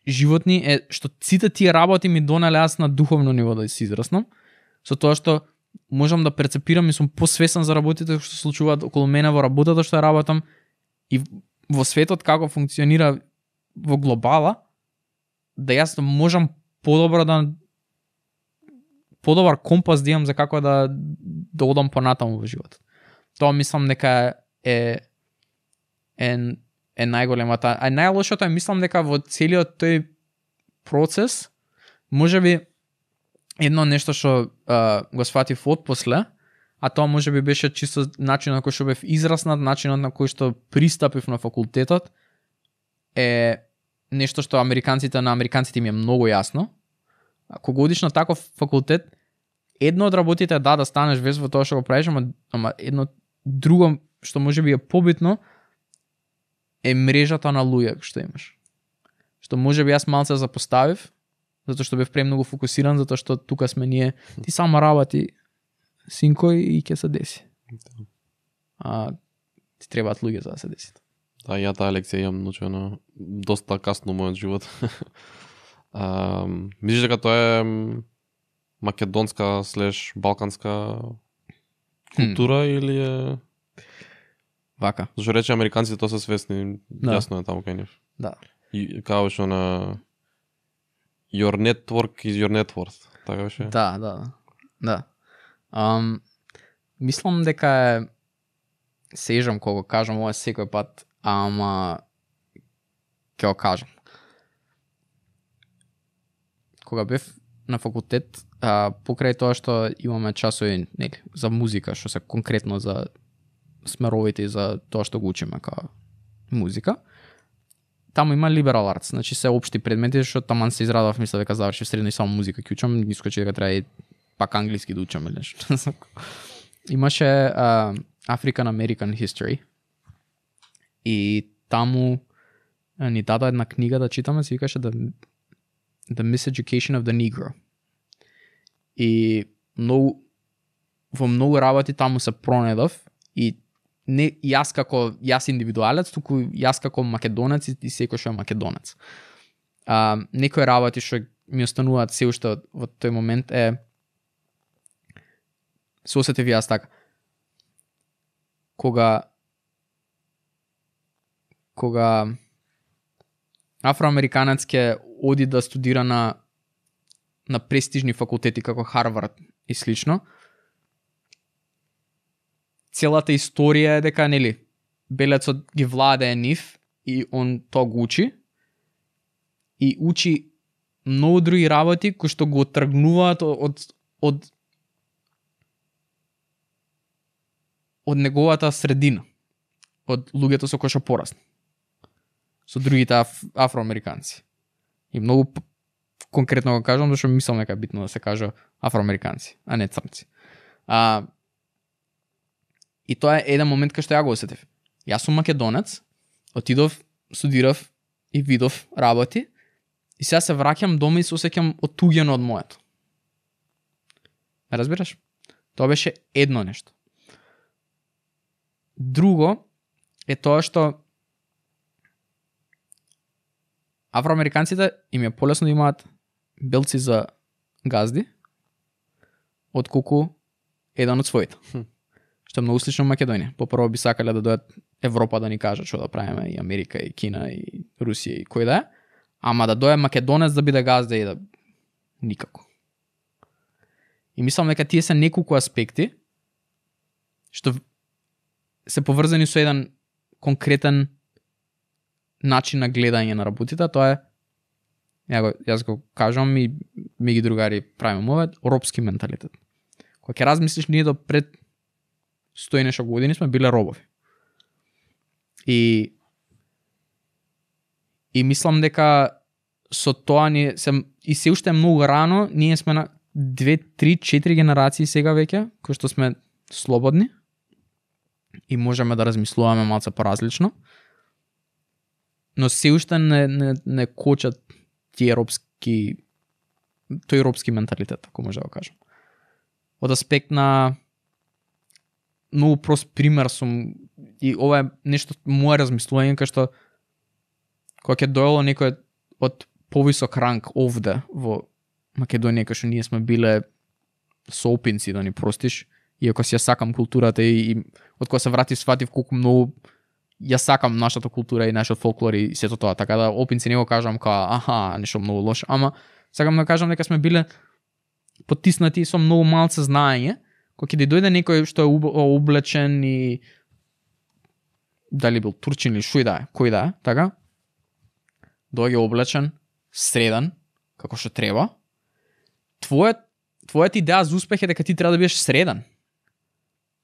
животни, е што сите тие работи ми донале аз на духовно ниво да се израснам, со тоа што можам да перцепирам и сум посвесен за работите што се случуваат околу мене во работата што ја работам и во светот како функционира во глобала, да јас можам подобар компас да имам за како да одам понатаму во животот. Тоа мислам дека е најголемата. А најлошото е мислам дека во целиот тој процес можеби едно нешто што го сватив отпосле, а тоа можеби беше чисто начинот на кој што бев израснат, начинот на кој што пристапив на факултетот е нешто што на американците ми е многу јасно. Кога одиш на таков факултет, едно од работите е да станеш вез во тоа што го правиш, ама едно друго што можеби е побитно е мрежата на луѓе што имаш. Што можеби јас малце запоставив, затоа што бев премногу фокусиран, затоа што тука сме ние, ти само работи синко и ќе се деси. Ти требаат луѓе за да се деси. Да, ја таа лекција имам научено доста касно во мојот живот. Мислиш дека тоа е македонска / балканска култура или е вака? Зашто рече американците тоа се свесни, јасно е таму кај нив. Да. И као што на your network is your net worth, така беше? Да. Мислам дека е сежам кога кажам ова секој пат, ама ќе го кажам. Кога бев на факултет, покрај тоа што имаме часови за музика, што се конкретно за смеровите и за тоа што го учиме као музика, таму има liberal arts, значи се општи предмети, што таман се израдав, мисля дека завршив средно и само музика ќе учам, искочи дека треба и пак англиски да учам или нешто. Имаше African American History и таму ни даде една книга да читаме, се викаше The Miseducation of the Negro. И во многу работи таму се пронедов и не јас индивидуалец, туку јас како македонец и секој што е македонец. Некои работи што ми остануваат се уште во тој момент е се осетив јас така. Кога афроамериканец ќе оди да студира на на престижни факултети како Харвард и слично, целата историја е дека, нели, белецот ги владее нив и он тоа го учи и учи многу други работи кои што го тргнуваат од неговата средина, од луѓето со кои што порасна, со другите афроамериканци. И многу конкретно го кажам, зашто мислам дека е битно да се кажа афроамериканци, а не црнци. И тоа е еден момент кај што ја го осетив. Јас сум македонец, отидов, студирав и видов работи и сега се враќам дома и се осеќам отуѓено од моето. Ме разбираш? Тоа беше едно нешто. Друго е тоа што афроамериканците им е полесно да имаат белци за газди отколку еден од своите. Што е многу слично Македонија. Попрво би сакале да дојат Европа да ни кажат што да правиме, и Америка, и Кина, и Русија, и кој да е. Ама да дојде македонец да биде газда и да... Никако. И мислам дека тие се неколку аспекти што се поврзани со еден конкретен начин на гледање на работите, тоа е, јас го кажам и ми ги другари правиме ова, робски менталитет. Кога ќе размислиш, ние до пред 100 и нешто години сме биле робови. И мислам дека со тоа ние и се уште е многу рано, ние сме на 2, 3, 4 генерации сега веќе, кои што сме слободни и можеме да размислуваме малце поразлично. Но се уште не кочат тој робски менталитет, ако може да го кажам. Од аспект на многу прост пример сум, и ова е нешто мое размислување, кај што кога ќе дојело некој од повисок ранг овде во Македонија, кај што ние сме биле соопинци, да ни простиш, иако си ја сакам културата и од кога се вратив сватив колку многу ја сакам нашата култура и нашиот фолклор и сето тоа, така да опинци не го кажам као нешто многу лошо, ама сакам да кажам дека сме биле потиснати со многу малце знаење, кога ќе дојде некој што е облечен и дали бил турчин или шој да е, кој да е, така? Доаѓа облечен, среден, како што треба. Твојата идеја за успех е дека ти треба да бидеш среден.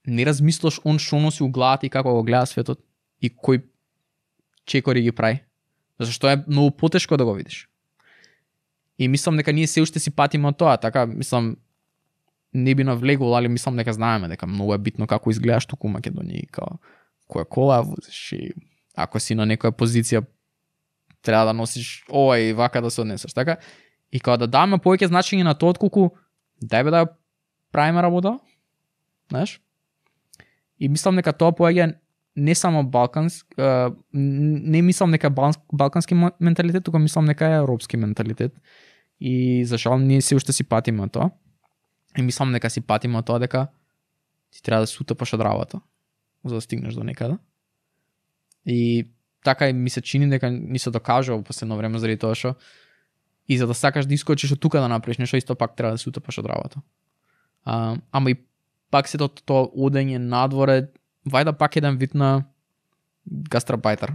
Не размислаш он што носи у главата и како го гледа светот и кој чекори ги прави. Зашто е многу потешко да го видиш. И мислам дека ние се уште си патиме од тоа, така, мислам, не би навлегол, али мислам дека знаеме дека многу е битно како изгледаш туку у Македонија и као која кола возиш и ако си на некоја позиција треба да носиш ова и вака да се однесеш, така? И кога да даваме повеќе значење на тоа отколку дај бе да правиме работа, знаеш? И мислам дека тоа поаѓа не само не мислам дека балкански менталитет, туку мислам дека е европски менталитет. И за жал ние се уште си патиме тоа. И мислам дека си патиме тоа дека ти треба да се утапаш од работа за да стигнеш до некаде. И така ми се чини дека ни се докажува во последно време заради тоа што и за да сакаш да искочиш од тука да направиш нешто, исто пак треба да се утапаш од работа. Ама и пак се тоа одење надворе, вајда пак еден вид на гастарбајтер.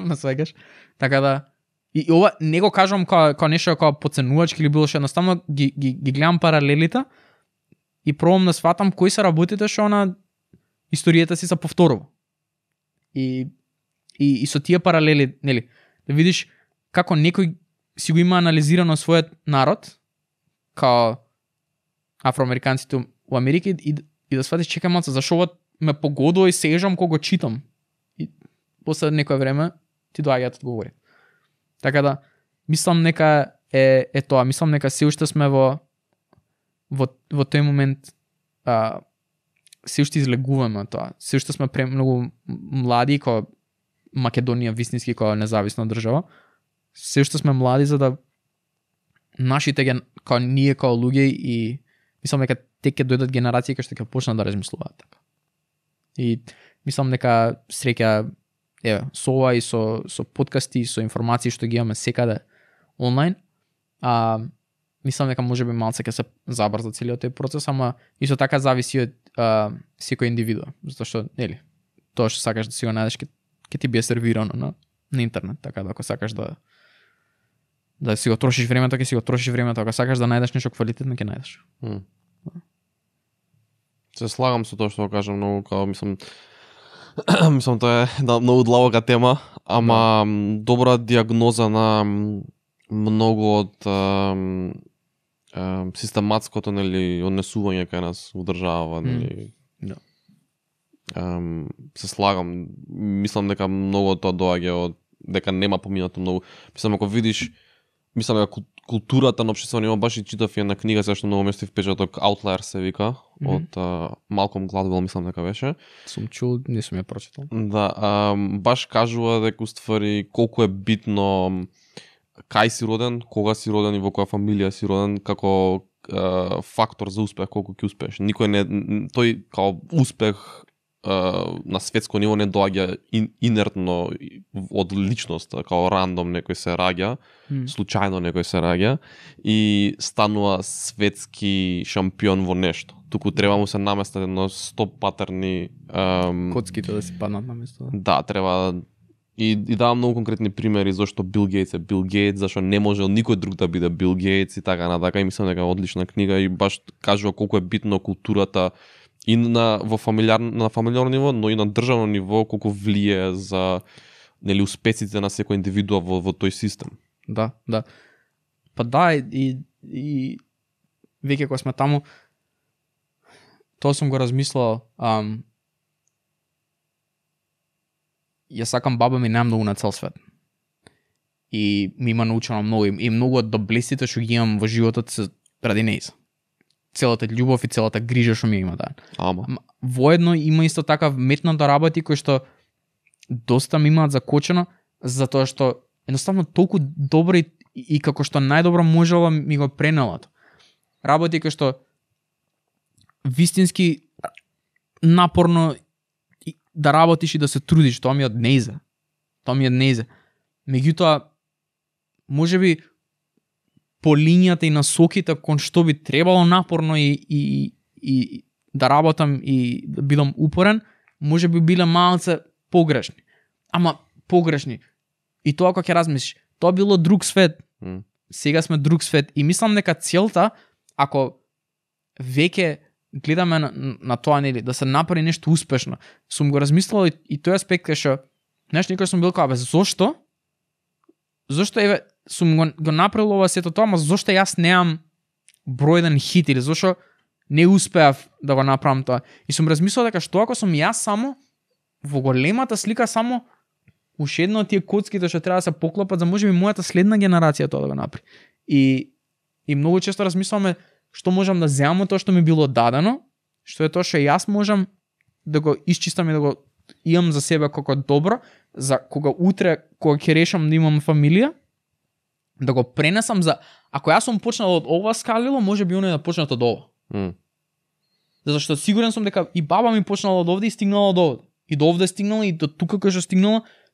Ме свегаш. Така да и ова не го кажам како нешто како подценувачки или било што, едноставно ги гледам паралелите и пробам да сватам кои се работите што на историјата си се повторува. И со тие паралели, нели, да видиш како некој си го има анализирано својот народ, као афроамериканците у Америка и да сватиш чекај малце, зашо ова ме погодува и сежам кога го читам. И после некој време ти доаѓаат одговори. Така да, мислам нека е тоа, мислам нека се уште сме во тој момент се уште излегуваме тоа. Се уште сме премногу млади како Македонија вистински како независна држава. Се уште сме млади за да нашите како ние како луѓе и мислам дека те ќе дојдат генерации кои што ќе почнат да размислуваат така. И мислам дека среќа со ова и со подкасти и со информации што ги имаме секаде онлайн, мислам дека можеби малце ќе се забрза целиот тој процес, ама исто така зависи од секој индивидуа, затоа што нели тоа што сакаш да си го најдеш ќе ти биде сервирано на интернет, така да ако сакаш да си го трошиш времето, ќе си го трошиш времето, ако сакаш да најдеш нешто квалитетно, ќе најдеш. Се слагам со тоа што го кажам, многу као мислам тоа е многу длабока тема, ама добра диагноза на многу од систематското нели однесување кај нас во држава, нели. Се слагам, мислам дека многу од тоа доаѓа од дека нема поминато многу. Мислам ако видиш, мислам дека културата на општествено ниво, баш и читав една книга зашто многу место впечаток Outlier се вика од Малком Гладвел, мислам дека беше. Сум чул, не сум ја прочитал. Да, баш кажува дека уствари колку е битно кај си роден, кога си роден и во која фамилија си роден како фактор за успех, колку ќе успееш. Никој не тој као успех на светско ниво не доаѓа инертно од личноста, као рандом некој се раѓа, случајно некој се раѓа и станува светски шампион во нешто. Туку треба му се наместат едно 100 патерни коцките да си паднат на место. Да, треба и давам многу конкретни примери зашто Бил Гейтс е Бил Гейтс, зашто не можел никој друг да биде Бил Гейтс и така натака. И мислам дека е одлична книга и баш кажува колку е битно културата и на фамилиарно ниво, но и на државно ниво, колку влие за нели успесите на секој индивидуа во тој систем. Да. Па да, и веќе кога сме таму, тоа сум го размислал, ја сакам баба ми немногу на цел свет. И ми има научено многу и многу од доблестите што ги имам во животот се ради нејза. Целата љубов и целата грижа што ми има да. Воедно има исто така метната работи кои што доста ми имаат закочено, затоа што едноставно толку добро и како што најдобро можела ми го пренелат. Работи кои што вистински напорно да работиш и да се трудиш, тоа ми од нејза. Меѓутоа, можеби по линијата и насоките кон што би требало напорно и да работам и да бидам упорен, можеби биле малце погрешни. Ама погрешни. И тоа кога ќе размислиш, тоа било друг свет. Сега сме друг свет и мислам дека целта, ако веќе гледаме на тоа нели да се направи нешто успешно, сум го размислувал и тој аспект кај што некој сум бил као зошто? Зошто еве сум го направил ова сето тоа, ама зошто јас неам број еден хит или зошто не успеав да го направам тоа? И сум размислил дека што ако сум јас само во големата слика само уште едно од тие коцките што треба да се поклопат за можеби мојата следна генерација тоа да го направи. И многу често размислуваме што можам да земам од тоа што ми било дадено, што е тоа што јас можам да го исчистам и да го имам за себе како добро, за кога утре, кога ќе решам да имам фамилија, да го пренесам за... Ако јас сум почнал од ова скалило, може би оној да почнат од ова. Затоа што сигурен сум дека и баба ми почнала од овде и стигнала од овде. И до овде стигнала и до тука кај што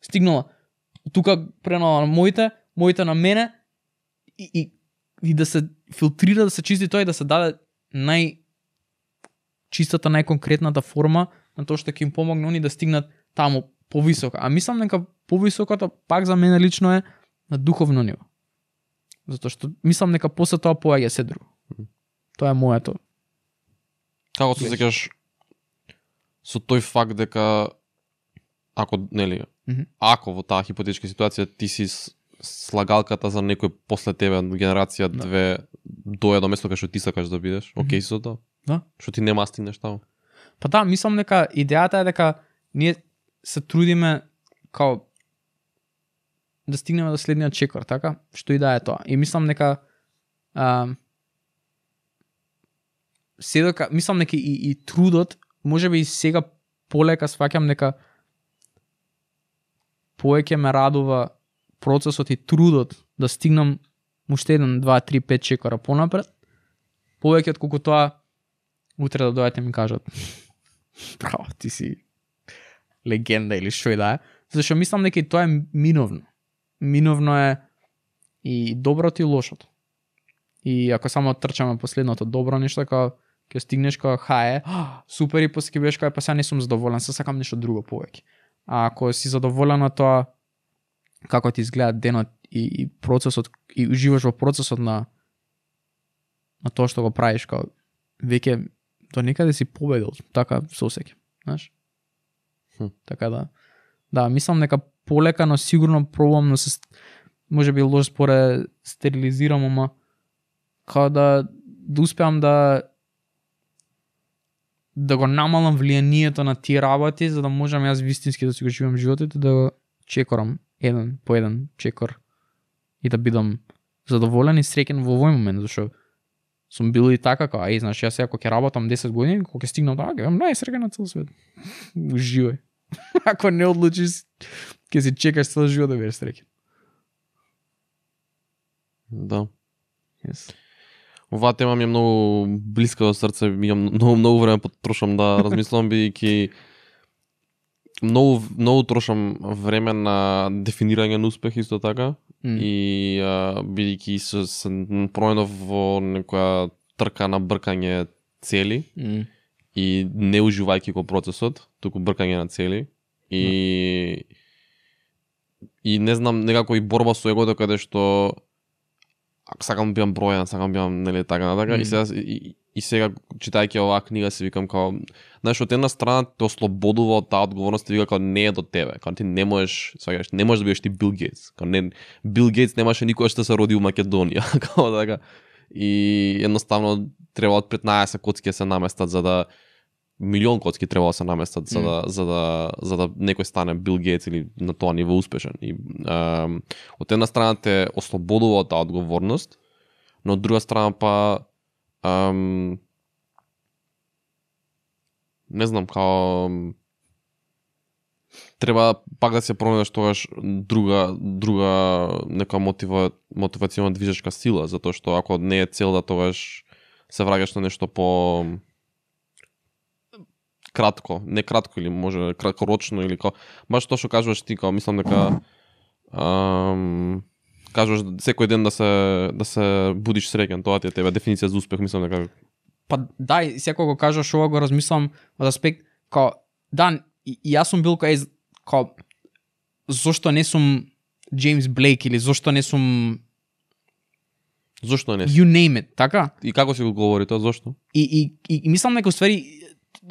стигнала. Тука пренала на моите на мене и да се филтрира, да се чисти тоа и да се даде најчистата, најконкретната форма на тоа што ќе им помогне они да стигнат таму повисоко. А мислам дека повисокото пак за мене лично е на духовно ниво. Затоа што мислам дека после тоа поаѓа се друго. Тоа е моето. Како се сеќаш со тој факт дека ако нели ако во таа хипотетичка ситуација ти си слагалката за некој после тебе генерација две доја до место кај што ти сакаш да бидеш, окей со тоа? Да. Што ти нема стигнеш таму? Па да, мислам дека идејата е дека ние се трудиме као да стигнеме до следниот чекор, така? Што и да е тоа. И мислам дека мислам дека и трудот, можеби и сега полека сваќам дека повеќе ме радува процесот и трудот да стигнам уште 1, 2, 3, 5 чекора понапред, повеќе од колку тоа утре да дојдете ми кажат браво, ти си легенда или што и да е. Зашто мислам дека и тоа е миновно. Миновно е и доброто и лошото. И ако само трчаме последното добро нешто, као ќе стигнеш као супер и после ќе бидеш као па сега не сум задоволен, се сакам нешто друго повеќе. А ако си задоволен на тоа како ти изгледа денот и процесот и уживаш во процесот на тоа што го правиш, као веќе до некаде си победил, така со сеќа, знаеш? Така да, мислам дека полека, но сигурно пробам, но се можеби лош споре стерилизирам, ама као да успеам да го намалам влијанието на тие работи, за да можам јас вистински да си го живеам животот и да го чекорам еден по еден чекор и да бидам задоволен и среќен во овој момент, зашто сум бил и така, као, знаеш, јас ако ќе работам 10 години, кога ќе стигнам така, ќе бидам најсреќен на цел свет. Уживај. Ако не одлучиш, ќе си чекаш цел живот да бидеш среќен. Да. Yes. Оваа тема ми е многу блиска до срце, имам многу време потрошам да размислам, бидејќи многу трошам време на дефинирање на успех исто така и бидејќи се променов во некоја трка на бркање цели и не уживајќи го процесот, туку бркање на цели и не знам, некако и борба со егото каде што сакам да бидам бројан, сакам да бидам нели така натака и сега читајќи оваа книга си викам као, знаеш, од една страна те ослободува од таа одговорност и вика као не е до тебе, као ти не можеш, сваќаш, не можеш да бидеш ти Бил Гейтс, као не Бил Гейтс немаше никогаш да се роди у Македонија, као така. И едноставно треба од 15 коцки се наместат за да милион коцки треба да се наместат за да некој стане Бил Гейтс или на тоа ниво успешен. И од една страна те ослободува од таа одговорност, но од друга страна па не знам, као треба пак да се пронајдеш тогаш друга нека мотивационна движечка сила, затоа што ако не е цел да тогаш се враќаш на нешто по кратко, не кратко или може краткорочно или као баш тоа што кажуваш ти, као мислам дека кажуваш секој ден да се будиш среќен, тоа ти е тебе дефиниција за успех, мислам дека па да, и секој го кажаш ова го размислам од аспект као да, и јас сум бил као зошто не сум Джеймс Блейк или зошто не сум зошто не? You name it, така? И како си го говори тоа, зошто? И мислам дека уствари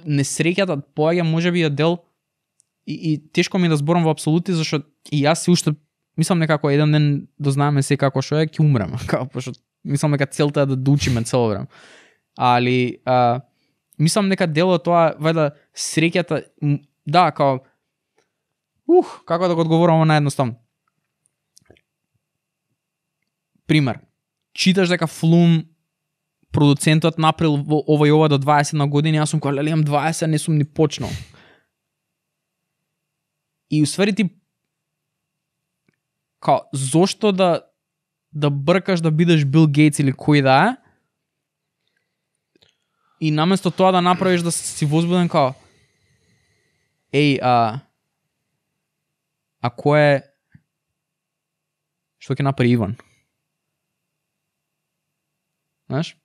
несреќата поаѓа можеби ја дел и тешко ми да зборам во апсолути, зашто и јас си уште мислам некако еден ден дознаеме се како што е, ќе умрем, како пошто мислам дека целта е да учиме цело време. Али мислам дека дел од тоа вајда среќата да, како како да го одговорам на едноставно. Пример. Читаш дека Флум продуцентот направил ова и ова до 20 на години, јас сум кога имам 20, не сум ни почнал. И усвари ти као зошто да бркаш да бидеш Бил Гейтс или кој да е, и наместо тоа да направиш да си возбуден као а кој е што ќе направи Иван? Знаеш?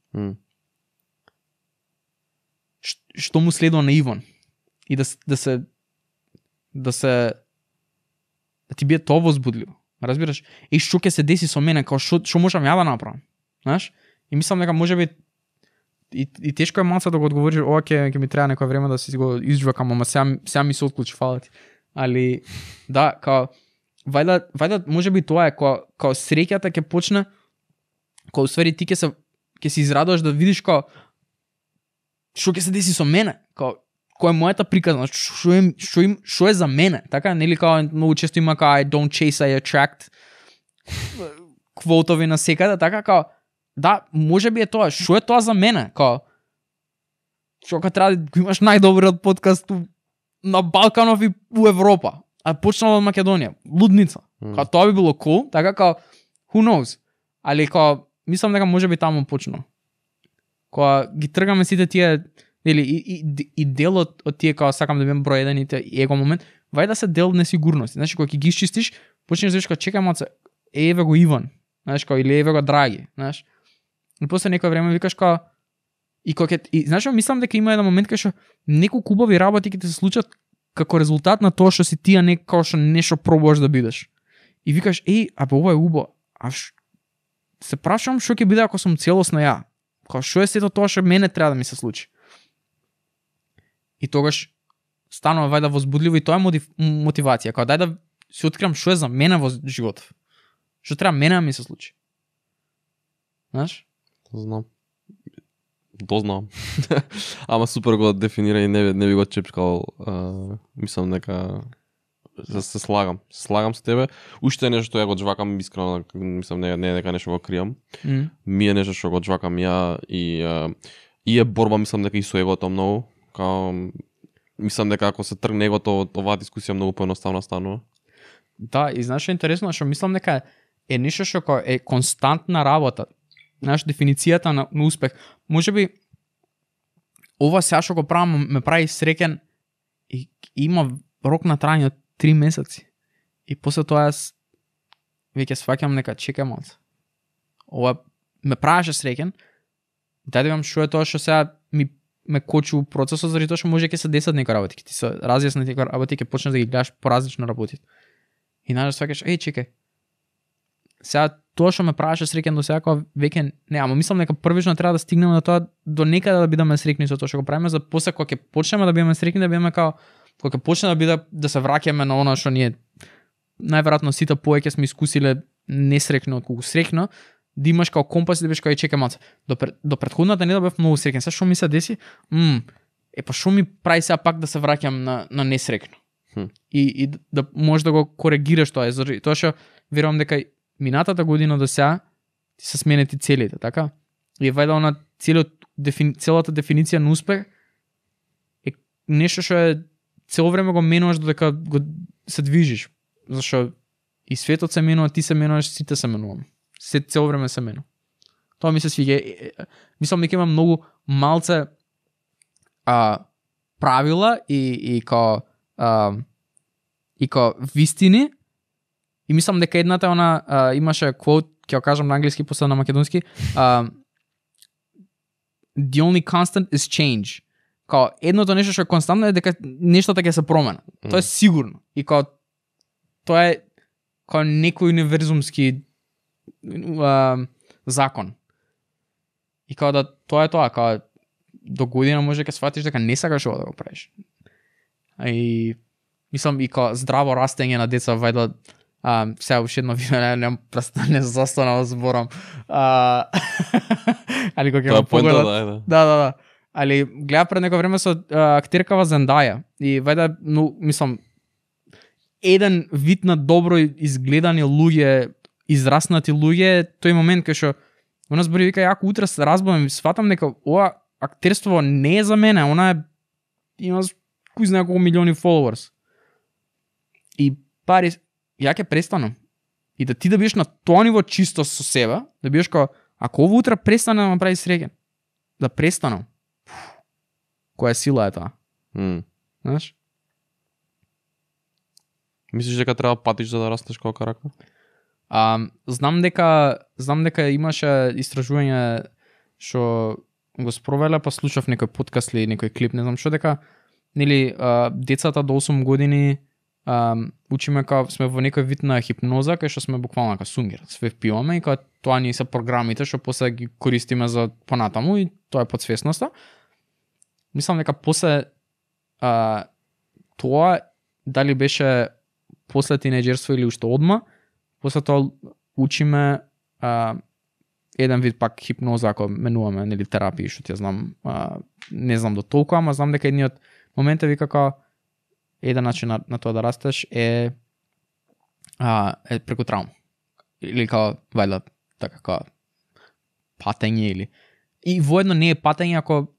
Што му следува на Иван? И да ти биде тоа возбудливо. Разбираш? И што ќе се деси со мене, као што можам ја да направам? Знаеш? И мислам дека можеби и тешко е малце да го одговориш, ова ќе ми треба некој време да си го изжвакам, ама сега ми се отклучи, фала ти. Али да, као вајда можеби тоа е као среќата ќе почне, као усвари ти ќе се израдуваш да видиш као што ќе се деси со мене, као која е мојата приказна, што е за мене, така, нели као многу често има као I don't chase, I attract квотови на секаде, така, као да, можеби е тоа, што е тоа за мене, као што треба да имаш најдобриот подкаст на Балканов и у Европа, а почнал од Македонија, лудница, као тоа би било cool, така, као who knows, али као мислам дека можеби таму почнал, кога ги тргаме сите тие или и дел од тие као сакам да бидам број еден и его момент, вај да се дел несигурност. Значи кога ќе ги исчистиш, почнеш да видиш као чекај малце, еве го Иван, знаеш, као или еве го Драги, знаеш. И после некој време викаш као и знаеш што мислам дека има еден момент кај што неколку убави работи ќе ти се случат како резултат на тоа што си тие како што нешто пробуваш да бидеш. И викаш ова е убаво. Се прашувам што ќе биде ако сум целосно ја. Као што е сето тоа што мене треба да ми се случи. И тогаш станува вајда возбудливо и тоа е мотивација. Као дај да си откривам што е за мене во животот. Што треба мене да ми се случи. Знаеш? Знам. Дознавам. Ама супер го дефинира и не би го чепкал. Мислам дека се слагам. Слагам со тебе. Уште е нешто што ја го џвакам искрено, мислам не е дека нешто го кријам. Ми е нешто што го џвакам ја и е борба, мислам дека и со егото многу. Као мислам дека ако се тргне егото, оваа дискусија многу поедноставна станува. Да, и знаеш што е интересно, што мислам дека е нешто што е константна работа. Знаеш, дефиницијата на успех. Можеби ова сега што го правам ме прави среќен и има рок на трајање од 3 месеци. И после тоа јас веќе сваќам нека чекај малце. Ова ме правеше среќен. Дај да имам што е тоа што сега ме кочи у процесот, заради тоа што може ќе се десат некои работи, ќе ти се разјаснат некои работи, ќе почнеш да ги гледаш поразлично работите. И најдеш сваќаш, чекај. Сега тоа што ме правеше среќен до сега, веќе не, ама мислам дека првично треба да стигнеме до тоа до некаде да бидеме среќни со тоа што го правиме, за после кога ќе почнеме да бидеме среќни, да бидеме кога ќе почне да се враќаме на она што ние најверојатно сите повеќе сме искусиле несреќно отколку среќно, да имаш како компас и да бидеш кај чекај малце. До претходната недела бев многу среќен. Сега што ми се деси? Па што ми прави сега пак да се враќам на несреќно? И да можеш да го коригираш тоа, тоа што верувам дека минатата година до сега ти се сменети целите, така? И вајда она целата дефиниција на успех е нешто што е цело време го менуваш додека го се движиш. Зашто и светот се менува, ти се менуваш, сите се менуваме. Се цело време се менува. Тоа ми се свиѓа. Мислам дека има многу малце правила и као вистини. И мислам дека едната она имаше quote, ќе го кажам на англиски, после на македонски. The only constant is change. Као едното нешто што е константно е дека нештата ќе се променат. Тоа е сигурно. И као тоа е као некој универзумски закон. И као да тоа е тоа, као до година може ќе сватиш дека не сакаш ова да го правиш. И мислам и као здраво растење на деца вајда сега уште едно видео, не застанав зборам. Али кога ќе го погледат. Да. Али гледа пред некој време со актеркава Зендаја и вајда, мислам, еден вид на добро изгледани луѓе, израснати луѓе, тој момент кај што она збори вика, ако утре се разбудам и сватам дека ова актерство не е за мене, она има кој знае колку милиони followers. И пари, ја ќе престанам. И да ти да бидеш на тоа ниво чисто со себе, да бидеш како, ако ово утре престане да ме прави среќен, да престанам. Која сила е тоа? Знаеш? Мислиш дека треба патиш за да растеш како карактер? Знам дека имаше истражување што го спровеле, па слушав некој подкаст или некој клип, не знам што, дека нели децата до 8 години учиме као сме во некој вид на хипноза, кај што сме буквално како сунгер, све впиваме и као тоа ни се програмите што после ги користиме за понатаму и тоа е подсвесноста. Мислам дека после тоа дали беше после тинеџерство или уште одма, после тоа учиме еден вид пак хипноза, ако менуваме нели терапија, што ти ја знам, не знам до толку, ама знам дека едниот моментови како еден начин на тоа да растеш е преку травма. Или како вајда така како патење или и воедно не е патење ако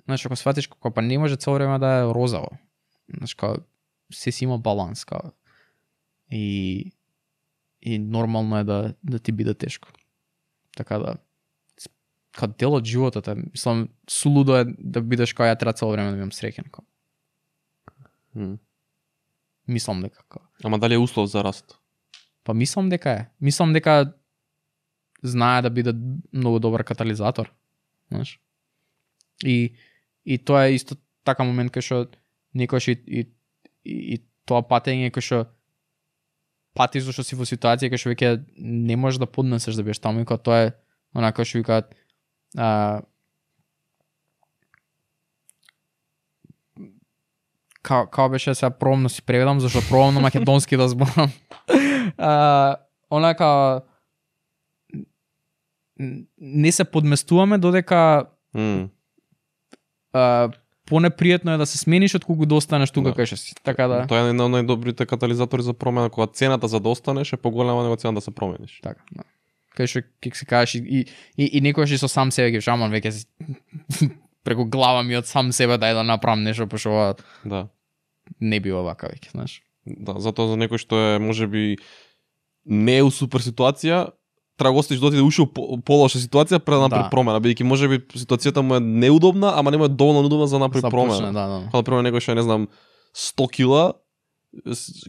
знаеш, ако сватиш како па не може цело време да е розово. Знаеш, како се си има баланс, како и нормално е да ти биде тешко. Така да како дел од животот е, мислам, сулудо е да бидеш како ја треба цело време да бидам среќен. Мислам дека како. Ама дали е услов за раст? Па мислам дека е. Мислам дека знае да биде многу добар катализатор, знаеш. И тоа е исто така момент кај што некојаш и тоа патење кај што пати зашто си во ситуација кај што веќе не можеш да поднесеш да бидеш таму и кога тоа е онака што викаат као беше сега пробам да си преведам зашто пробам на македонски да зборам. Онака не се подместуваме додека понепријатно е да се смениш отколку да останеш тука кај што си. Така да. Тоа е еден од најдобрите катализатори за промена, кога цената за да останеш е поголема него цена да се промениш. Така, да. Кај што ќе се кажеш и некојаш и со сам себе ги шаман веќе преку глава ми од сам себе дај да направам нешто пошто ова Да. не би овака веќе, знаеш. Да, затоа за некој што е можеби не е у супер ситуација, треба го остиш доти да уши полоша ситуација пред да направи промена, бидејќи можеби ситуацијата му е неудобна, ама нема доволно удобна за да направи промена. Да. Кога например некој што е, не знам, 100 кила,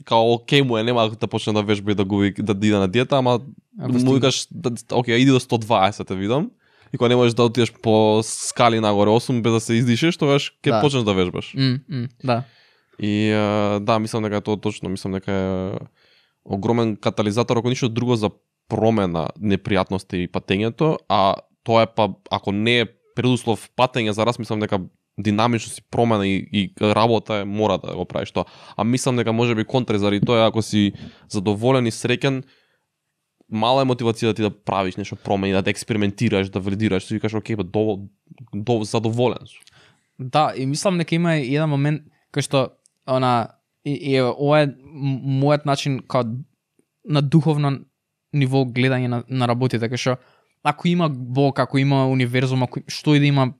као окей му е, нема да почне да вежба и да губи да иде на диета, ама му викаш окей, иди до 120 те видам. И кога не можеш да отидеш по скали нагоре 8 без да се издишеш, тогаш ќе почнеш да вежбаш. Да. И да, мислам дека тоа точно, мислам дека е огромен катализатор, ако ништо друго за промена непријатности и патењето, а тоа е па ако не е предуслов патење за раз, мислам дека динамично си промена и работа е мора да го правиш тоа. А мислам дека можеби контри заради тоа ако си задоволен и среќен, мала е мотивација да ти да правиш нешто промени, да експериментираш, да вредираш, си викаш окей, задоволен сум. Да, и мислам дека има еден момент кај што ова е мојот начин као на духовно ниво гледање на работите, кај што ако има Бог, ако има универзум, ако што и да има,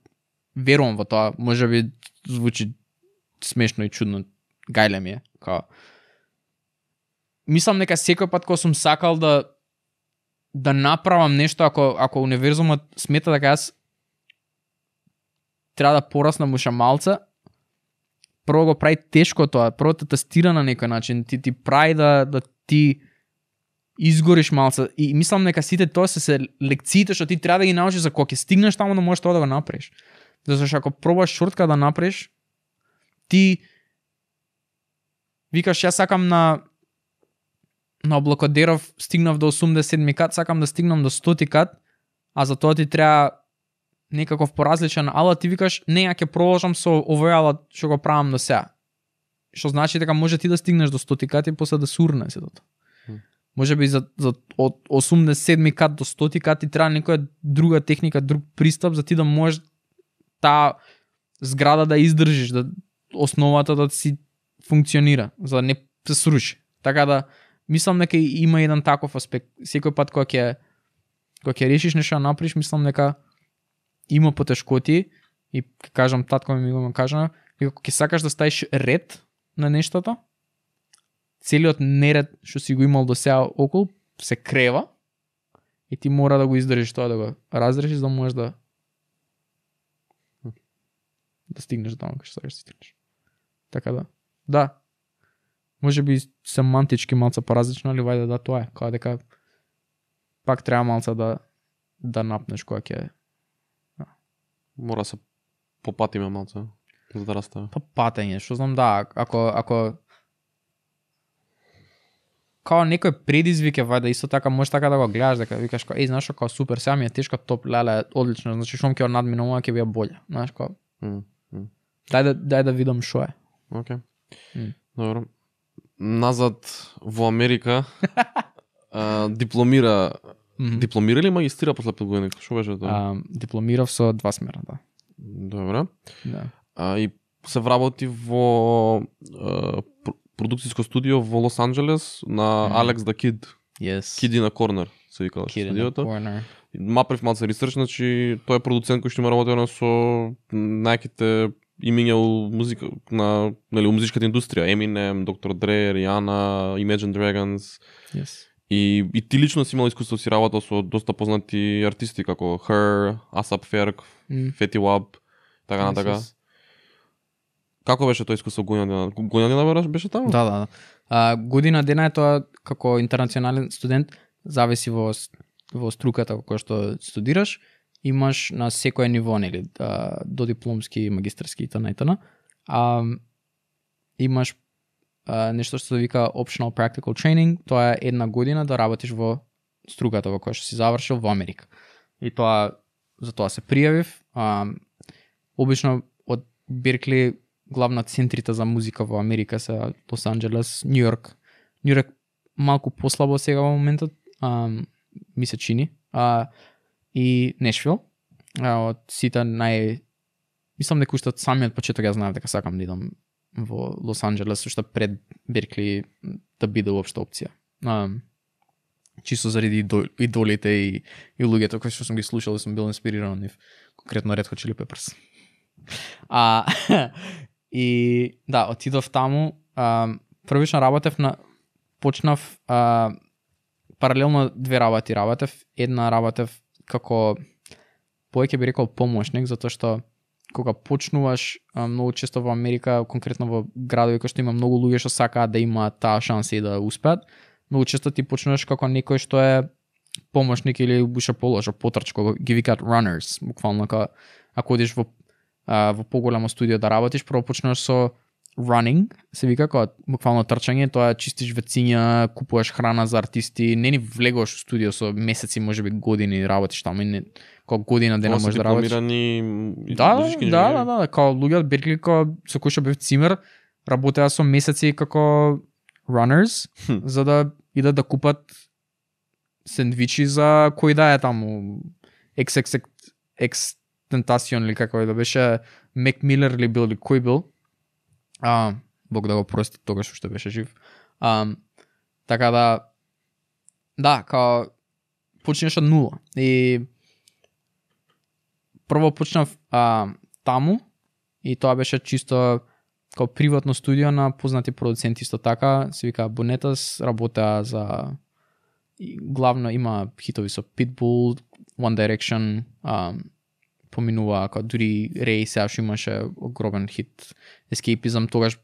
верувам во тоа, можеби звучи смешно и чудно, гајле ми е, као мислам дека секој пат кога сум сакал да направам нешто, ако универзумот смета дека јас треба да пораснам уште малце, прво го прави тешко тоа, прво те тестира на некој начин, ти прави да ти изгориш малце и мислам дека сите тоа се лекциите што ти треба да ги научиш за кога ќе стигнеш таму да можеш тоа да го направиш. Зашто ако пробаш шортка да направиш, ти викаш јас сакам на Облакодеров стигнав до 87 кат, сакам да стигнам до 100 кат, а за тоа ти треба некаков поразличен алат, ти викаш не, ја ќе продолжам со овој алат што го правам до сега. Што значи дека може ти да стигнеш до 100 кат и после да сурне се тоа. Може би за од 87 кат до 100 кат ти треба некоја друга техника, друг пристап за ти да можеш таа зграда да издржиш, да основата да си функционира, за да не се сруши. Така да мислам дека има еден таков аспект. Секој пат кога ќе решиш нешто да направиш, мислам дека има потешкоти и ќе кажам татко ми го кажа, ако ќе сакаш да ставиш ред на нештото, целиот неред што си го имал до сега околу се крева и ти мора да го издржиш тоа, да го разрешиш, да можеш да стигнеш до таму кај што сакаш да стигнеш. Така да. Да. Може би семантички малце поразлично, али вајде да тоа е. Као дека пак треба малце да напнеш кога ќе мора се попатиме малце за да растеме. Па патење, што знам, да, ако као некој предизвик е вајде исто така можеш така да го гледаш, дека викаш као знаеш што, као супер, сега ми е тешко, топ, леле, одлично, значи што ќе надминувам, ќе биде боле, знаеш као. Дај да видам што е. Океј. Добро. Назад во Америка дипломира или магистрира после 5 години? Што беше тоа? Дипломирав со 2 смера, да. Добро. Да. И се вработи во продукцијско студио во Лос Анџелес на Алекс да Кид. Yes. Kid in a Corner се викала студиото. Мапрев малце ресерч, значи тој е продуцент кој што има работено со најаките имиња у музика на у музичката индустрија, Eminem, Dr. Dre, Rihanna, Imagine Dragons. Yes. И ти лично си имал искуство си работел со доста познати артисти како Her, ASAP Ferg, Fetty Wap, така на така. Како беше тоа искуство година беше таму? Да. Година дена е тоа како интернационален студент, зависи во во струката која што студираш, имаш на секое ниво, нели, до дипломски, магистарски и т.н. Имаш нешто што се вика Optional Practical Training, тоа е 1 година да работиш во струката во која што си завршил во Америка. И тоа, за тоа се пријавив. Обично од Беркли главна центрите за музика во Америка се Лос Анџелес, Нью Йорк. Нью Йорк малку послабо сега во моментот, ми се чини. И Нешвил. Од сите мислам дека уште од самиот почеток ја знаев дека сакам да идам во Лос Анџелес, уште пред Беркли да биде уопште опција. Чисто заради идолите и луѓето кои што сум ги слушал и сум бил инспириран од нив. Конкретно Red Hot Chili Peppers. И да, отидов таму, првично работев почнав паралелно 2 работи работев. Една работев како повеќе би рекол помошник, затоа што кога почнуваш многу често во Америка, конкретно во градови кои што има многу луѓе што сакаат да имаат таа шанса и да успеат, многу често ти почнуваш како некој што е помошник или уште полошо потрч, кога ги викаат runners, буквално ако одиш во поголемо студио да работиш, прво почнуваш со running, се вика, кога буквално трчање, тоа чистиш вециња, купуваш храна за артисти, не ни влегуваш во студио со месеци, можеби години работиш таму, и кога година дена можеш да работиш. Да, као луѓе од Беркли со кои што бев цимер, работеа со месеци како runners, за да идат да купат сендвичи за кој да е таму XXXTentacion или како да беше Мек Милер или бил или кој бил. Бог да го прости, тогаш што беше жив. Така да, као почнеш од нула. И прво почнав таму и тоа беше чисто као приватно студио на познати продуценти исто така, се вика Бонетас, работеа за главно има хитови со Pitbull, One Direction, поминува како дури Рей сега што имаше огромен хит Escapism, тогаш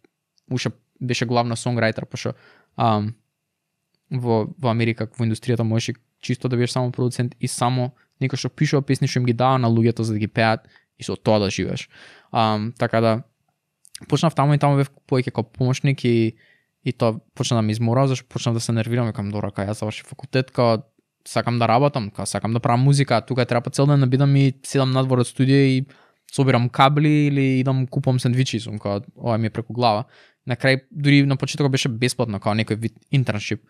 уште беше главна сонграйтер, пошто во Америка во индустријата можеш чисто да бидеш само продуцент и само некој што пишува песни што им ги дава на луѓето за да ги пеат и со тоа да живееш. Така да почнав таму и таму бев повеќе како помошник и тоа почна да ме измора, зашто почнав да се нервирам, викам добро, кога јас завршив факултет, кога сакам да работам, кога сакам да правам музика, тука треба цел ден да бидам и седам надвор од студио и собирам кабли или идам купувам сендвичи, сум кога ова ми е преку глава. На крај дури на почетокот беше бесплатно, како некој вид интерншип.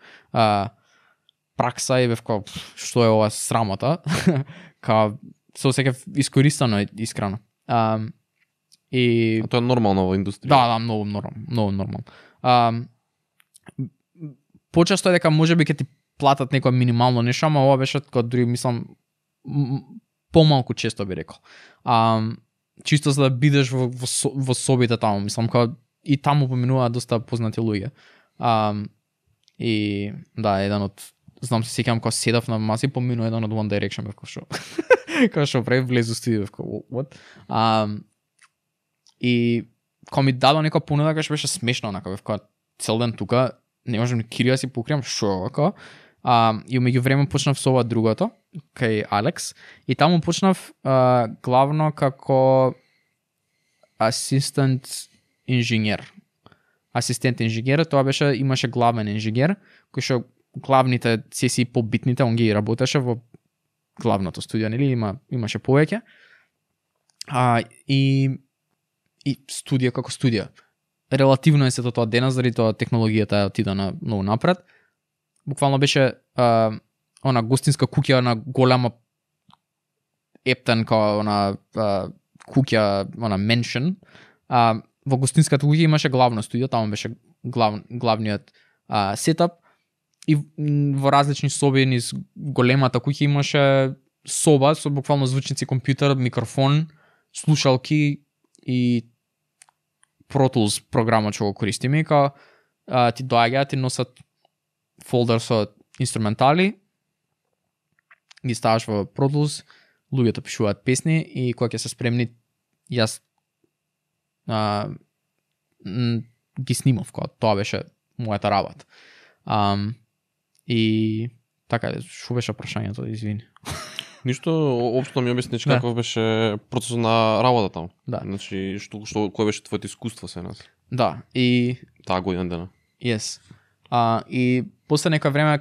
Пракса и бев како што е ова срамота, кога се осеќав искористено искрено. И тоа е нормално во индустрија. Да, многу нормално. Почесто е дека можеби ќе ти платат некој минимално нешто, ама ова беше како дури мислам помалку често би рекол. Чисто за да бидеш во собите таму, мислам како и таму поминуваат доста познати луѓе. И да, еден од знам се сеќавам кога седав на маси, поминува еден од One Direction, бев како што прави влезу студио, бев како what? И кога ми дадо некоја понуда, кога беше смешно, онака бев како цел ден тука, не можам ни кирија си покријам, шо како. И меѓу време почнав со ова другото, кај Алекс, и таму почнав главно како асистент инженер, тоа беше, имаше главен инженер, кој што главните сесии побитните, он ги работеше во главното студио, нели, имаше повеќе. И студија како студија. Релативно е сето тоа денес, заради тоа технологијата отида на многу напред. Буквално беше она гостинска куќа на голема ептен као на куќа, она меншен. Во гостинската куќа имаше главно студио, таму беше главниот сетап и во различни соби низ големата куќа имаше соба со буквално звучници, компјутер, микрофон, слушалки и Pro Tools програма што го користиме, као ти доаѓаат и носат фолдер со инструментали, ги ставаш во Pro Tools, луѓето пишуваат песни и кога ќе се спремни, јас ги снимав, кога тоа беше мојата работа. И Така, шо беше прашањето, извини. Ништо, општо ми објасниш Да. каков беше процесот на работа таму. Да. Значи, кој беше твоето искуство се нас? Да, и Таа година дена. yes. И после нека време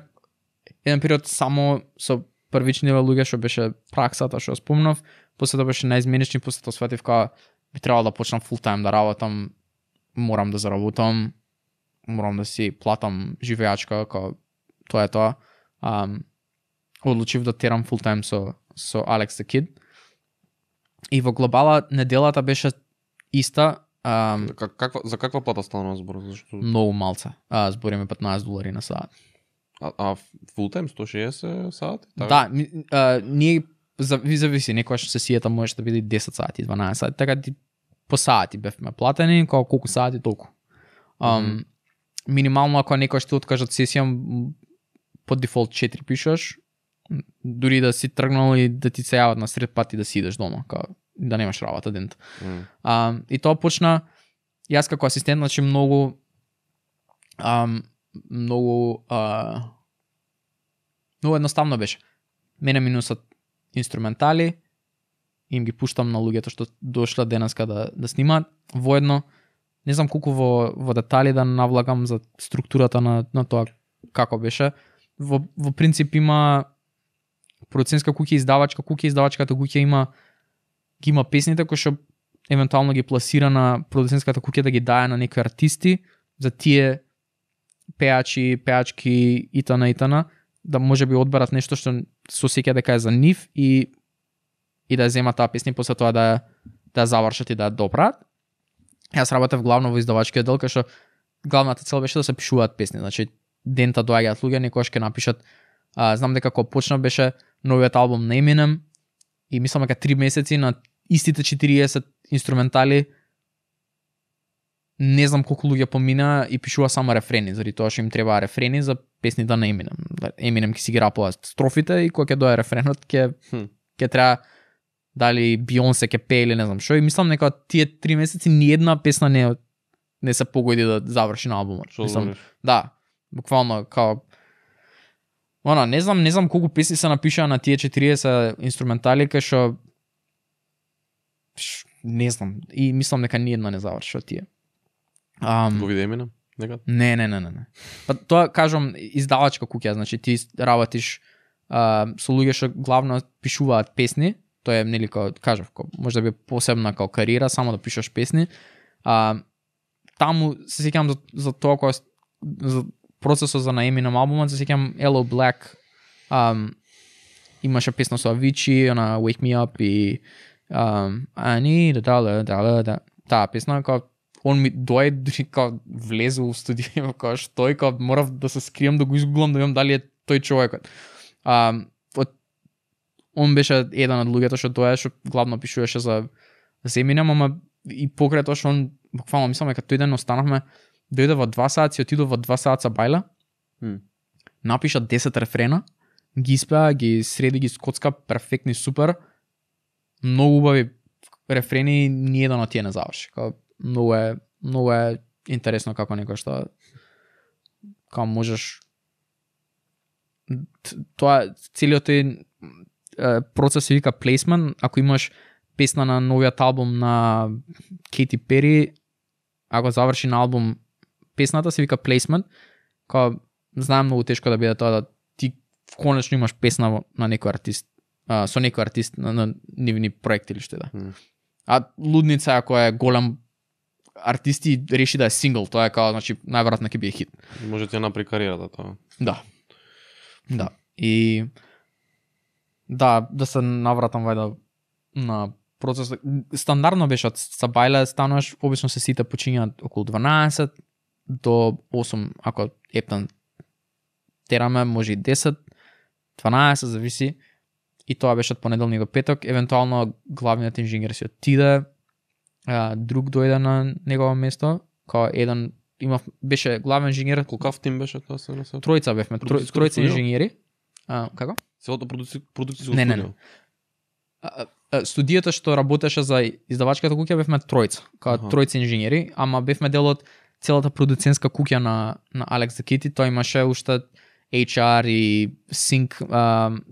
еден период само со првични луѓе што беше праксата што спомнав, после тоа беше наизменични, после тоа сватив кога би требало да почнам full time да работам, морам да заработам, морам да си платам живеачка, кога тоа е тоа. Одлучив да терам full time со Alex the Kid. И во глобала неделата беше иста, За каква плата станува збор? Зашто? многу малце. Збориме $15 на саат. А full time 160 сати? Да, ние зависи, некојаш сесијата може да биде 10 сати, 12 сати, така ти по сати бевме платени, колку сати толку. Минимално ако некој ќе откажат сесија, по дефолт 4 пишеш, дури да си тргнал и да ти се јават на сред пат и да си идеш дома, да немаш работа дент. И тоа почна, јас како асистент, значи многу едноставно беше. Мене минусат инструментали, им ги пуштам на луѓето што дошла денеска да снимаат. Воедно, не знам колку во детали да навлагам за структурата на тоа како беше. Во принцип има продуцентска куќа, издавачката куќа ги има песните кои што евентуално ги пласира на продуцентската куќа да ги дае на некои артисти, за тие пеачки итана, да може би одберат нешто што се осеќа дека е за нив и да ја земат таа песна и после тоа да ја завршат и да ја доправат. Јас работев главно во издавачкиот дел, кај што главната цел беше да се пишуваат песни. Значи дента доаѓаат луѓе, некојаш ќе напишат. Знам дека кога почна беше новиот албум на Eminem и мислам дека 3 месеци на истите 40 инструментали, не знам колку луѓе помина и пишува само рефрени, заради тоа што им требаа рефрени за песните на Eminem. Eminem ќе си ги рапува строфите и кога ќе дое рефренот ќе треба дали Beyoncé ќе пее или не знам што, и мислам дека тие 3 месеци ни една песна не се погоди да заврши на албумот. Мислам, да, буквално као не знам колку песни се напишаа на тие 40 инструментали, кај што не знам, и мислам дека ни една не заврши од тие. Го виде Eminem? Некад? Не. Па тоа кажам издавачка куќа, значи ти работиш со луѓе што главно пишуваат песни, тоа е нели кажав, може да би посебна као кариера, само да пишеш песни. Таму се сеќавам за тоа кога за процесот за на Eminem албумот, се сеќавам Hello Black, имаше песна со Avicii, на Wake Me Up и I need a dollar, таа песна као он ми дојде као влезе у студио, као што и као морав да се скрием, да го изгуглам, да видам дали е тој човекот. Он беше еден од луѓето што тоа што главно пишуваше за Eminem, ама и покрај тоа што он буквално мислам дека тој ден останавме, дојде во 2 сати, отиду во 2 сата бајла, напиша 10 рефрена, ги испеа, ги среди, ги скоцка, перфектни, супер, многу убави рефрени, ни еден од тие не заврши. Многу е интересно како некој што како можеш тоа целиот процес се вика placement. Ако имаш песна на новиот албум на Кейти Пери, ако заврши на албум песната, се вика placement. Као знаем многу тешко да биде тоа да ти конечно имаш песна на некој артист, со некој артист на нивни проекти или што да. А Лудница ако е голем артист и реши да е сингл, тоа е као значи најверојатно ќе биде хит. Може ти ја направи кариерата тоа. Да. И да се навратам вајда на процес. Стандардно беше од Сабајле стануваш, обично се сите почињаат околу 12 до 8, ако ептан тераме, може и 10, 12, зависи. И тоа беше од понеделник до петок. Евентуално главниот инженер си отиде, друг дојде на негово место, као еден беше главен инженер. Колкав тим беше тоа се насето? Тројца бевме, тројца инженери. Како? Целото продукцијско Не. студио. Студијата што работеше за издавачката куќа бевме тројца, као тројца инженери, ама бевме дел од целата продуцентска куќа на Alex the Kid. Тој имаше уште HR и sync,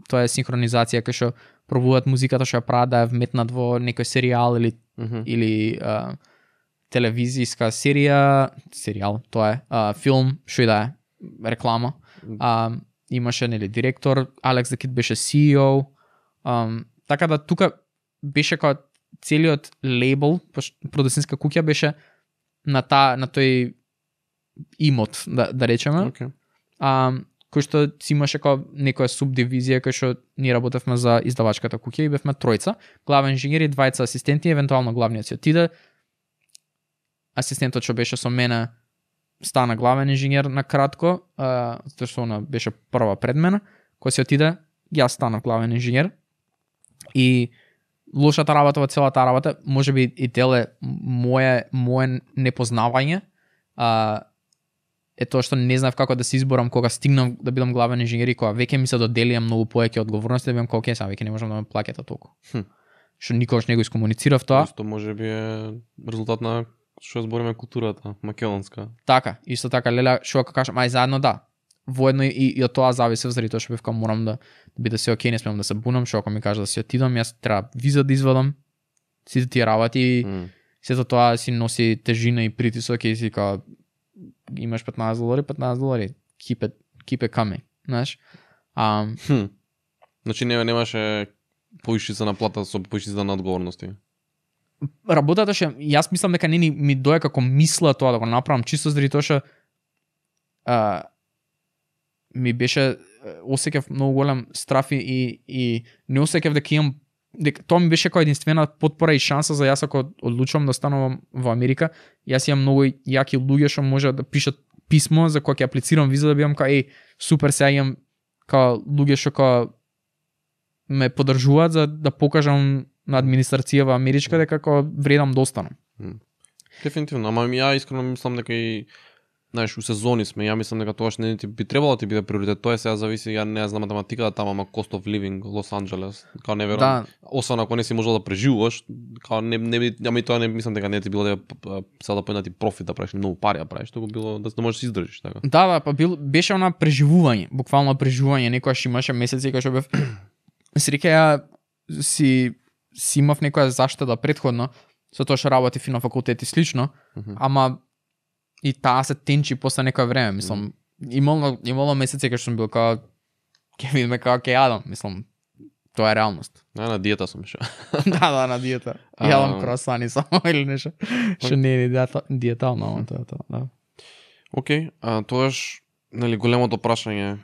тоа е синхронизација кај што пробуваат музиката што ја прават да ја вметнат во некој серијал или телевизиска серијал, тоа е, филм, што и да е, реклама. Имаше нели директор, Алекс the Kid беше CEO. Така да тука беше као целиот лейбл, продуцентска куќа беше на тој имот, да речеме. Okay. Кој што си имаше као некоја субдивизија кај што ние работевме за издавачката куќа и бевме тројца, главен инженер и двајца асистенти, евентуално главниот си отиде. Асистентот што беше со мене стана главен инженер на кратко, затоа што она беше прва пред мене. Кој се отиде, јас станав главен инженер. И лошата работа во целата работа, можеби и теле моje непознавање, е тоа што не знаев како да се изборам кога стигнам да бидам главен инженер и кога веќе ми се доделија многу повеќе одговорности, да бидам како ќе сега веќе не можам да ме плаќате толку. Што никогаш не го искомуницирав тоа. Исто можеби е резултат на што збориме културата македонска. Така, исто така леле, што ако кажам, ај заедно да. Воедно и од тоа зависи заради тоа што бев морам да биде се окей, не смеам да се бунам, што ако ми кажа да си отидам, јас треба виза да извадам. Сите тие работи, сето тоа си носи тежина и притисок и си као имаш $15, keep it coming, знаеш. Значи немаше повишица на плата со повишица на одговорности. Работата што јас мислам дека не ми дое како мисла тоа да го направам чисто заради тоа што ми беше осеќав многу голем страф и не осеќав дека имам тоа ми беше како единствена потпора и шанса за јас ако одлучувам да останувам во Америка. Јас имам многу јаки луѓе што може да пишат писмо за кога ќе аплицирам виза да бидам кај супер сега имам као луѓе што као ме поддржуваат за да покажам на администрацијава америчка дека како вредам да останам. Дефинитивно, ама ја искрено мислам дека и знаеш, у сезони сме, ја мислам дека тоа што не ти би требало да ти биде приоритет. Тоа сега зависи, ја не знам математиката тама, ама cost of living Лос Анџелес, као не верувам. Освен ако не си можел да преживуваш, као не ами тоа не мислам дека не ти било сега да појнати профит да правиш, многу пари да правиш, тоа било да можеш да се издржиш така. Да, па беше она преживување, буквално преживување, некојаш имаше месеци кога што бев среќа ја си имав некоја заштеда претходно, со тоа што работев и на факултет и слично, ама и таа се тенчи после некој време, мислам, имало месеци кога што сум бил као ќе видиме како ќе јадам, мислам, тоа е реалност. На диета сум ше. Да, на диета. Јадам круасани само или нешто. Што не е диетално, ама тоа, да. Океј, тоаш нели големото прашање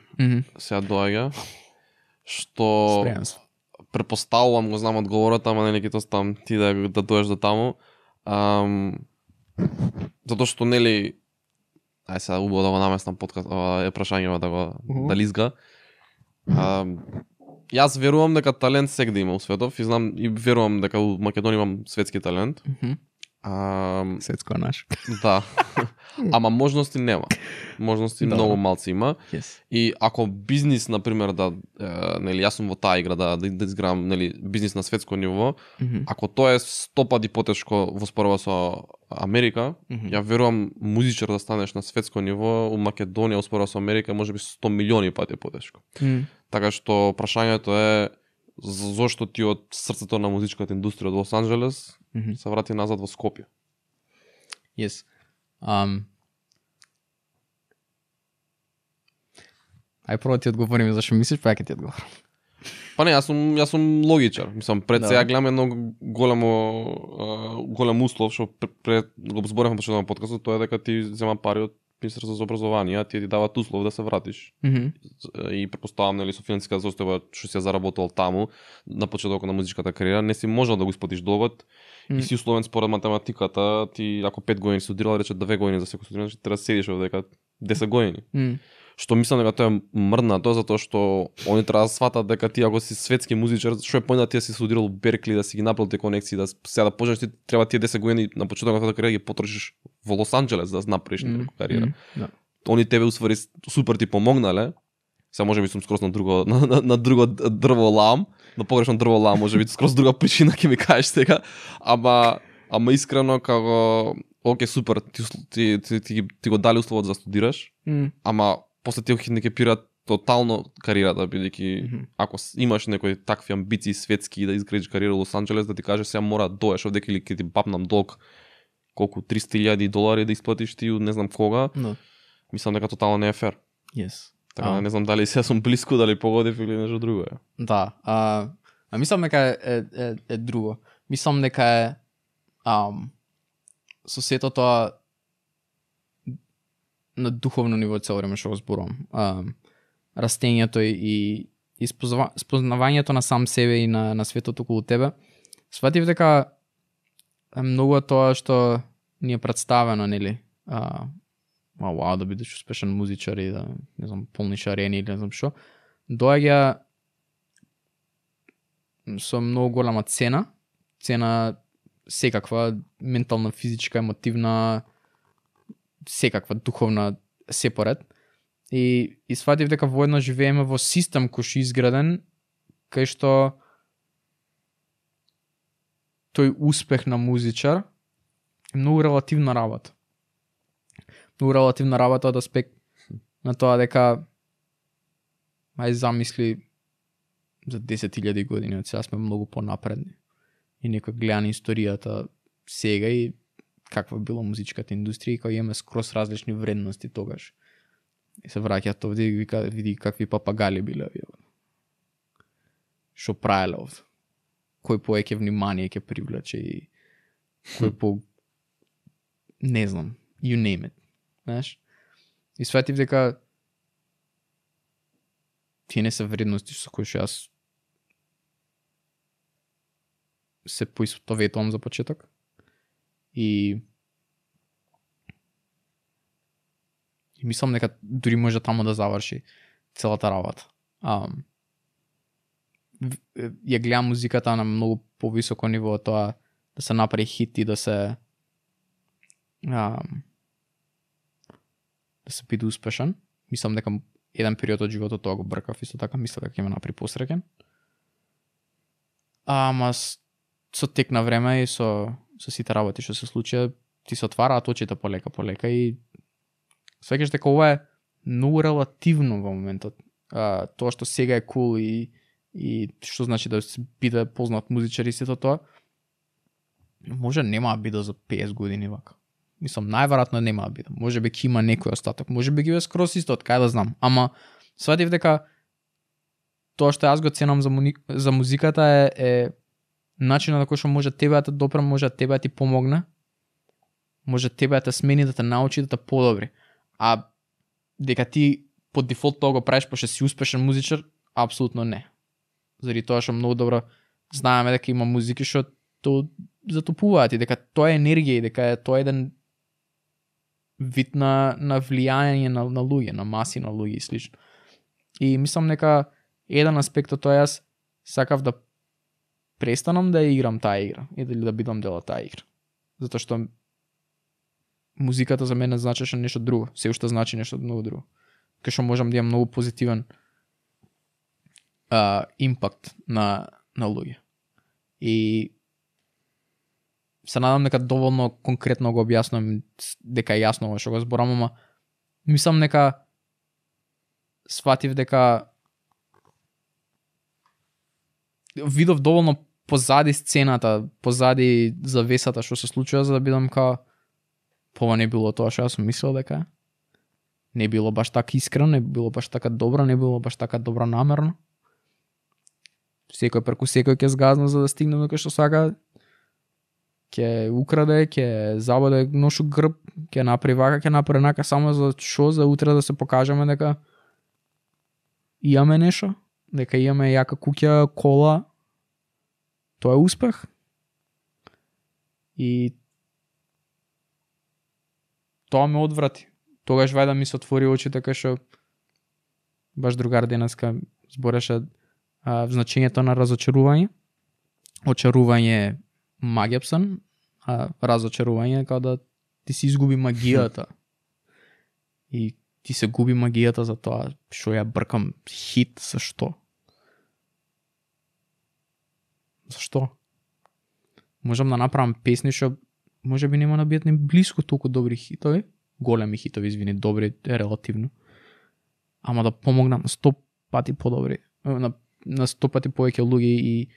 сега доаѓа, што препоставувам го знам одговорот, ама нели ќе оставам ти да доеш до таму. Затоа што нели ај сега убаво да го наместам подкаст, е прашањево да го да лизга. Јас верувам дека талент сегде има у светов и знам и верувам дека у Македонија имам светски талент. Светско наш. Да. Ама можности нема. Можности многу малци има. И ако бизнис на пример да нели јас сум во таа игра да изградам нели бизнис на светско ниво, ако тоа е 100 пати потешко во споредба со Америка, ја верувам музичар да станеш на светско ниво у Македонија во споредба со Америка можеби 100 милиони пати потешко. Така што прашањето е зошто ти од срцето на музичката индустрија од Лос Анџелес се врати назад во Скопје? Yes. Ај прво ти одговорим зашто мислиш, па ќе ти одговорам. Па не, јас сум логичар. Мислам, пред сега гледам едно голем услов што пред го зборевме почетокот на подкастот, тоа е дека ти зема пари од Министерството за образование, а тие ти даваат услов да се вратиш. И претпоставам нели со финансиска состојба што си ја заработил таму на почетокот на музичката кариера, не си можел да го исплатиш долгот. И си условен според математиката, ти ако 5 години студирал, рече 2 години за секој студент, треба да седиш овде 10 години. Што мислам дека тоа е мрднато, затоа што они треба да сватат дека ти ако си светски музичар, што е појнат ти да си студирал у Беркли, да си ги направил тие конекции, да сега да почнеш, ти треба тие 10 години на почетокот на кариера ги потрошиш во Лос Анџелес да направиш кариера. Они тебе усвари супер ти помогнале. Сега можеби сум скроз на друго дрво лам, на погрешно дрво лам, можеби скроз друга причина ќе ми кажеш сега, ама искрено како окей супер, ти го дали условот за студираш, ама после ти хендикепираат тотално кариерата, бидејќи ако имаш некои такви амбиции светски да изградиш кариера во Лос Анџелес, да ти каже сега мора да доеш овдека или ќе ти бапнам долг колку $300,000 да исплатиш ти не знам кога. No. Мислам дека тотално не е фер. Yes. Така не знам дали сега сум блиску, дали погодив или нешто друго е. Да, мислам дека е друго. Мислам дека е со сето тоа на духовно ниво цело време што го зборувам. Растењето и спознавањето на сам себе и на светот околу тебе. Сватив дека е многу тоа што ни е представено, нели? Вау, да бидеш успешен музичар и да, не знам, полниш арени или не знам што. Доаѓа со многу голема цена секаква, ментална, физичка, емотивна, секаква, духовна, се поред. И сватив дека воедно живееме во систем кој што изграден, кај што тој успех на музичар е многу релативна работа. Многу релативна работа од аспект на тоа дека ај замисли за 10,000 години од сега сме многу понапредни. И некој гледа на историјата сега и каква била музичката индустрија и кога имаме скрос различни вредности тогаш. И се враќаат овде и види какви папагали биле. Шо правеле овде. Кој повеќе внимание ќе привлече и кој по не знам, you name it. Знаеш? И сватив дека тие не се вредности со кои што јас се поистоветувам за почеток. И мислам дека дури може тамо да заврши целата работа. Ја гледам музиката на многу повисоко ниво, тоа да се направи хит и да се биде успешен. Мислам дека еден период од животот тоа го бркав, исто така мислам дека ќе ме направи посреќен. Ама со тек на време и со сите работи што се случија, ти се отвараат очите полека и свеќаш дека ова е многу релативно во моментот. Тоа што сега е кул и што значи да биде познат музичар и сето тоа, може нема да биде за 50 години вака. Мислам, најверојатно нема да биде. Може би ќе има некој остаток, може би ги бе скрос исто, од кај да знам. Ама сватив дека тоа што јас го ценам за музиката е начинот на кој што може тебе да те допре, може тебе да ти помогне, може тебе да те смени, да те научи, да те подобри. А дека ти по дефолт тоа го правиш пошто си успешен музичар, апсолутно не. Заради тоа што многу добро знаеме дека има музики што то затопуваат и дека тоа е енергија и дека тоа е еден вид на влијање на луѓе, на маси на луѓе и слично. И мислам дека еден аспект од тоа јас сакав да престанам да играм таа игра и да бидам дел од таа игра. Затоа што музиката за мене значеше нешто друго, се уште значи нешто многу друго. Кај што можам да имам многу позитивен импакт на луѓе. И се надам дека доволно конкретно го објаснувам, дека е јасно ова што го зборам, ама мислам дека сватив дека видов доволно позади сцената, позади завесата што се случува, за да бидам као ова не било тоа што јас сум мислел дека не било баш така искрено, не било баш така добро, не било баш така добро намерно. Секој преку секој ќе згазна за да стигне до кај што сака, ќе украде, ќе забоде ношу грб, ќе направи вака, ќе направи нака, само за шо, за утре да се покажеме дека имаме нешто, дека имаме јака куќа, кола. Тоа е успех. И тоа ме одврати. Тогаш вајда ми се отвори очите кај што баш другар денеска збореше значењето на разочарување. Очарување е магијапсан, а разочарување е као да ти се изгуби магијата. И ти се губи магијата за тоа што ја бркам хит, зашто? Зашто? Можам да направам песни што може би нема да бидат ни блиску толку добри хитови, големи хитови, извини, добри е релативно. ама да помогнат на 100 пати подобри, на 100 пати повеќе луѓе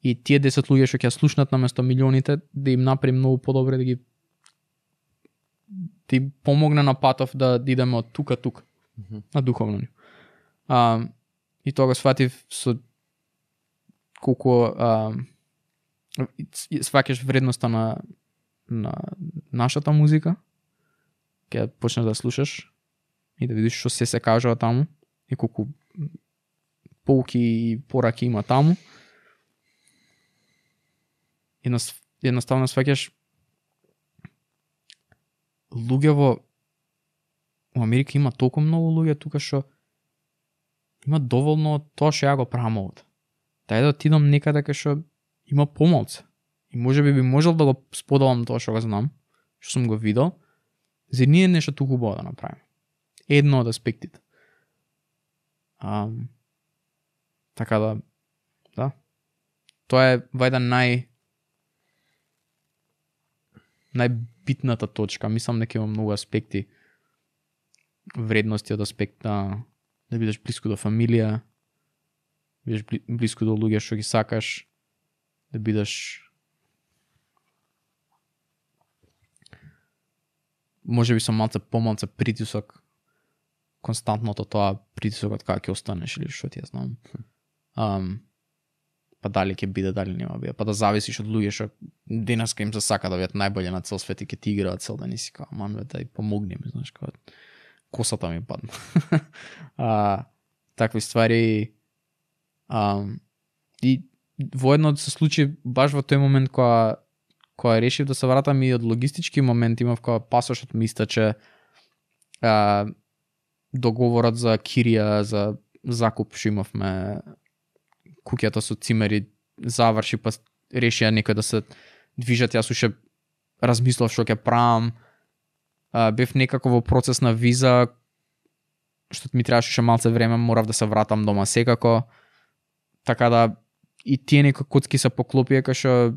и тие 10 луѓе што ќе слушнат наместо милионите, да им направи многу подобре, да им помогне на патов да идеме од тука на духовно ниво. И тоа го сватив со колку сваќаш вредноста на нашата музика, ќе почнеш да слушаш и да видиш што се кажува таму и колку поуки и пораки има таму. Едноставно сваќаш луѓе во Америка има толку многу луѓе тука што има доволно од тоа што ја го правам овде. Дај да отидам некаде кај што има помалце. И можеби би можел да го споделам тоа што го знам, што сум го видел, за ние нешто туку убаво да направиме. Едно од аспектите. Така да. Тоа е вајда најбитната точка. Мислам дека има многу аспекти, вредности од аспект да бидеш блиску до фамилија, бидеш блиску до луѓе што ги сакаш, да бидеш можеби со помалце притисок, константното тоа притисокот кога ќе останеш или што ти ја знам. Па дали ќе биде, дали нема биде, па да зависиш од луѓе што денеска им се сака да бидат најбољи на цел свет и ќе ти играат цел ден и си као, ман бе, дај помогни ми, знаеш, као косата ми падна. Такви ствари и воедно се случи баш во тој момент кога решив да се вратам и од логистички момент, имав кога пасошот ми истаче, договорот за кирија, за закуп што имавме, куќата со цимери заврши, па решија некој да се движат, јас уште размислав што ќе правам, бев некако во процес на виза, што ми требаше уште малце време, морав да се вратам дома секако, така да и тие некои коцки се поклопија кај што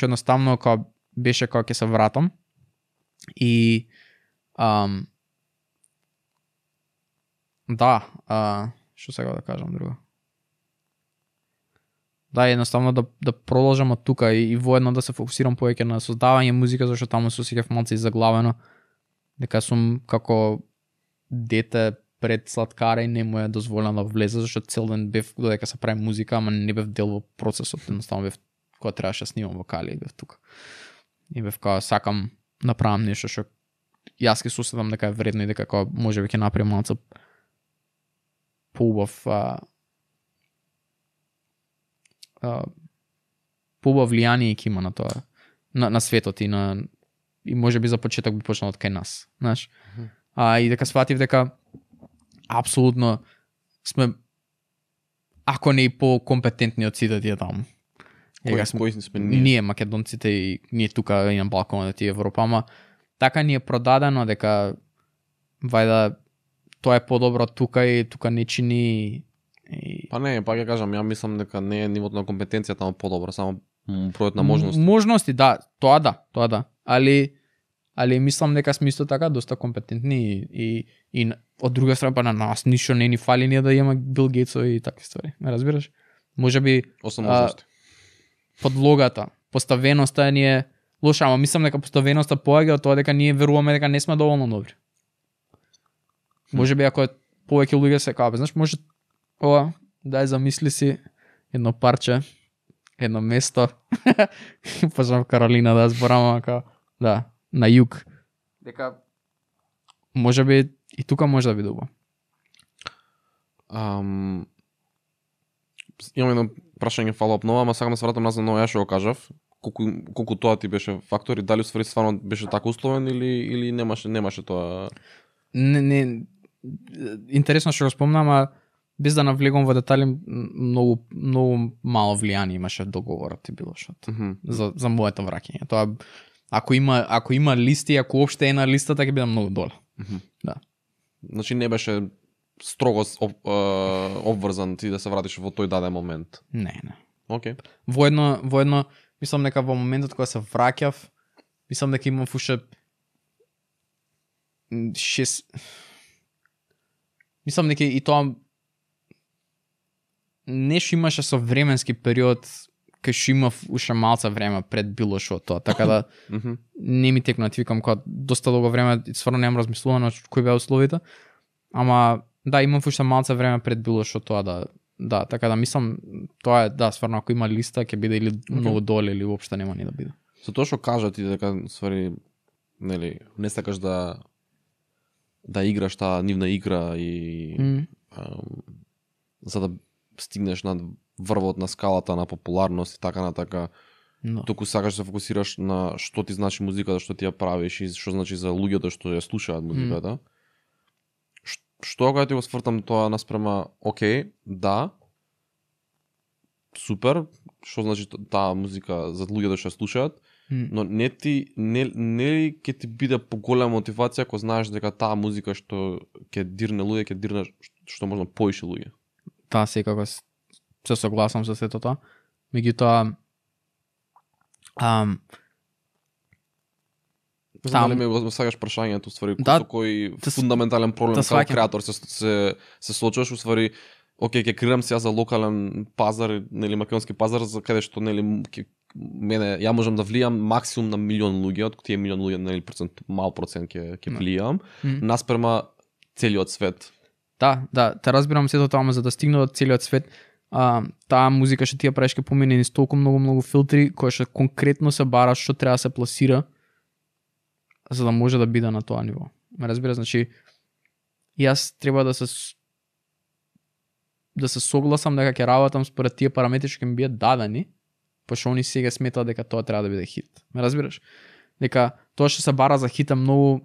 едноставно беше кога ќе се вратам и што сега да кажам друго. Да, едноставно да продолжам од тука и воедно да се фокусирам повеќе на создавање музика, зашто таму се осеќав малце заглавено, дека сум како дете пред сладкара и не му е дозволено да влезе, зашто цел ден бев додека се прави музика, ама не бев дел во процесот, едноставно бев кога требаше да снимам вокали, бев тука. И бев кога сакам направам нешто што јас ќе соседам дека е вредно и дека кога можеби ќе направам малце поубав влијание ќе има на тоа, на светот и можеби за почеток би почнал од кај нас, знаеш. И дека сватив дека апсолутно сме, ако не и по-компетентни од сите тие таму. Кои сме ние? Ние македонците и ние тука и на Балканот и Европа, ама така ни е продадено дека вајда тоа е подобро тука и тука не чини. Па не, па ќе кажам, ја мислам дека не е нивото на компетенција таму подобро, само бројот на можности. Можности, да, тоа да. Али мислам дека сме исто така доста компетентни и од друга страна па на нас ништо не ни фали ние да имаме Бил Гейтсови и такви ствари. Ме разбираш? Можеби подлогата, поставеноста ни е лоша, ама мислам дека поставеноста поаѓа од тоа дека ние веруваме дека не сме доволно добри. Можеби ако повеќе луѓе се као, знаеш, може ова, дај замисли си едно парче, едно место. Почнав Каролина да зборам, да, на југ. Дека можеби и тука може да биде убаво. Имам едно прашање фоллоуп нова, ама сакам да се вратам назад на ова што го кажав. Колку тоа ти беше фактор и дали усвари стварно беше така условен или немаше тоа? Не, интересно што го спомнам, а без да навлегувам во детали, многу мало влијание имаше договорот и било што за моето враќање. Тоа ако има листи, ако уопште е на листата ќе биде многу доле. Да. Значи не беше строго обврзан ти да се вратиш во тој даден момент. Не. Океј. Воедно мислам дека во моментот кога се враќав, мислам дека имав уште мислам дека и тоа нешто имаше со временски период кај што имав уште малце време пред било што тоа, така да не ми текна, викам кога доста долго време стварно немам размислувано кои беа условите, ама да, имам уште малце време пред било што тоа да, така да мислам тоа е да, стварно ако има листа ќе биде или многу доле или уопште нема ни да биде. За тоа што кажа ти дека ствари нели не сакаш да играш таа нивна игра и за да стигнеш над врвот на скалата на популарност и така на така. No. Току сакаш да се фокусираш на што ти значи музиката, што ти ја правиш и што значи за луѓето што ја слушаат музиката. Што кога ти го свртам тоа наспрема, окей, да, супер, што значи таа музика за луѓето што ја слушаат, но не ќе ти биде поголема мотивација ако знаеш дека таа музика што ќе дирне луѓе, ќе дирне што можно поише луѓе. Таа секако се согласам со сето тоа. Меѓутоа Дали ме сакаш прашањето, ствари, да, со кој фундаментален проблем како креатор се соочуваш, уствари, окей, ќе креирам се за локален пазар, нели македонски пазар, за каде што нели ја можам да влијам максимум на милион луѓе, од тие милион луѓе, нели мал процент ќе влијам, наспрема целиот свет. Да, те разбирам сето тоа, ама за да стигне до целиот свет, таа музика што ти ја правиш ке помине низ толку многу филтри кои што конкретно се бара што треба да се пласира за да може да биде на тоа ниво. Ме разбира, значи јас треба да се согласам дека ќе работам според тие параметри што ќе ми бидат дадени, пошто они сега сметаат дека тоа треба да биде хит. Ме разбираш? Дека тоа што се бара за хит е многу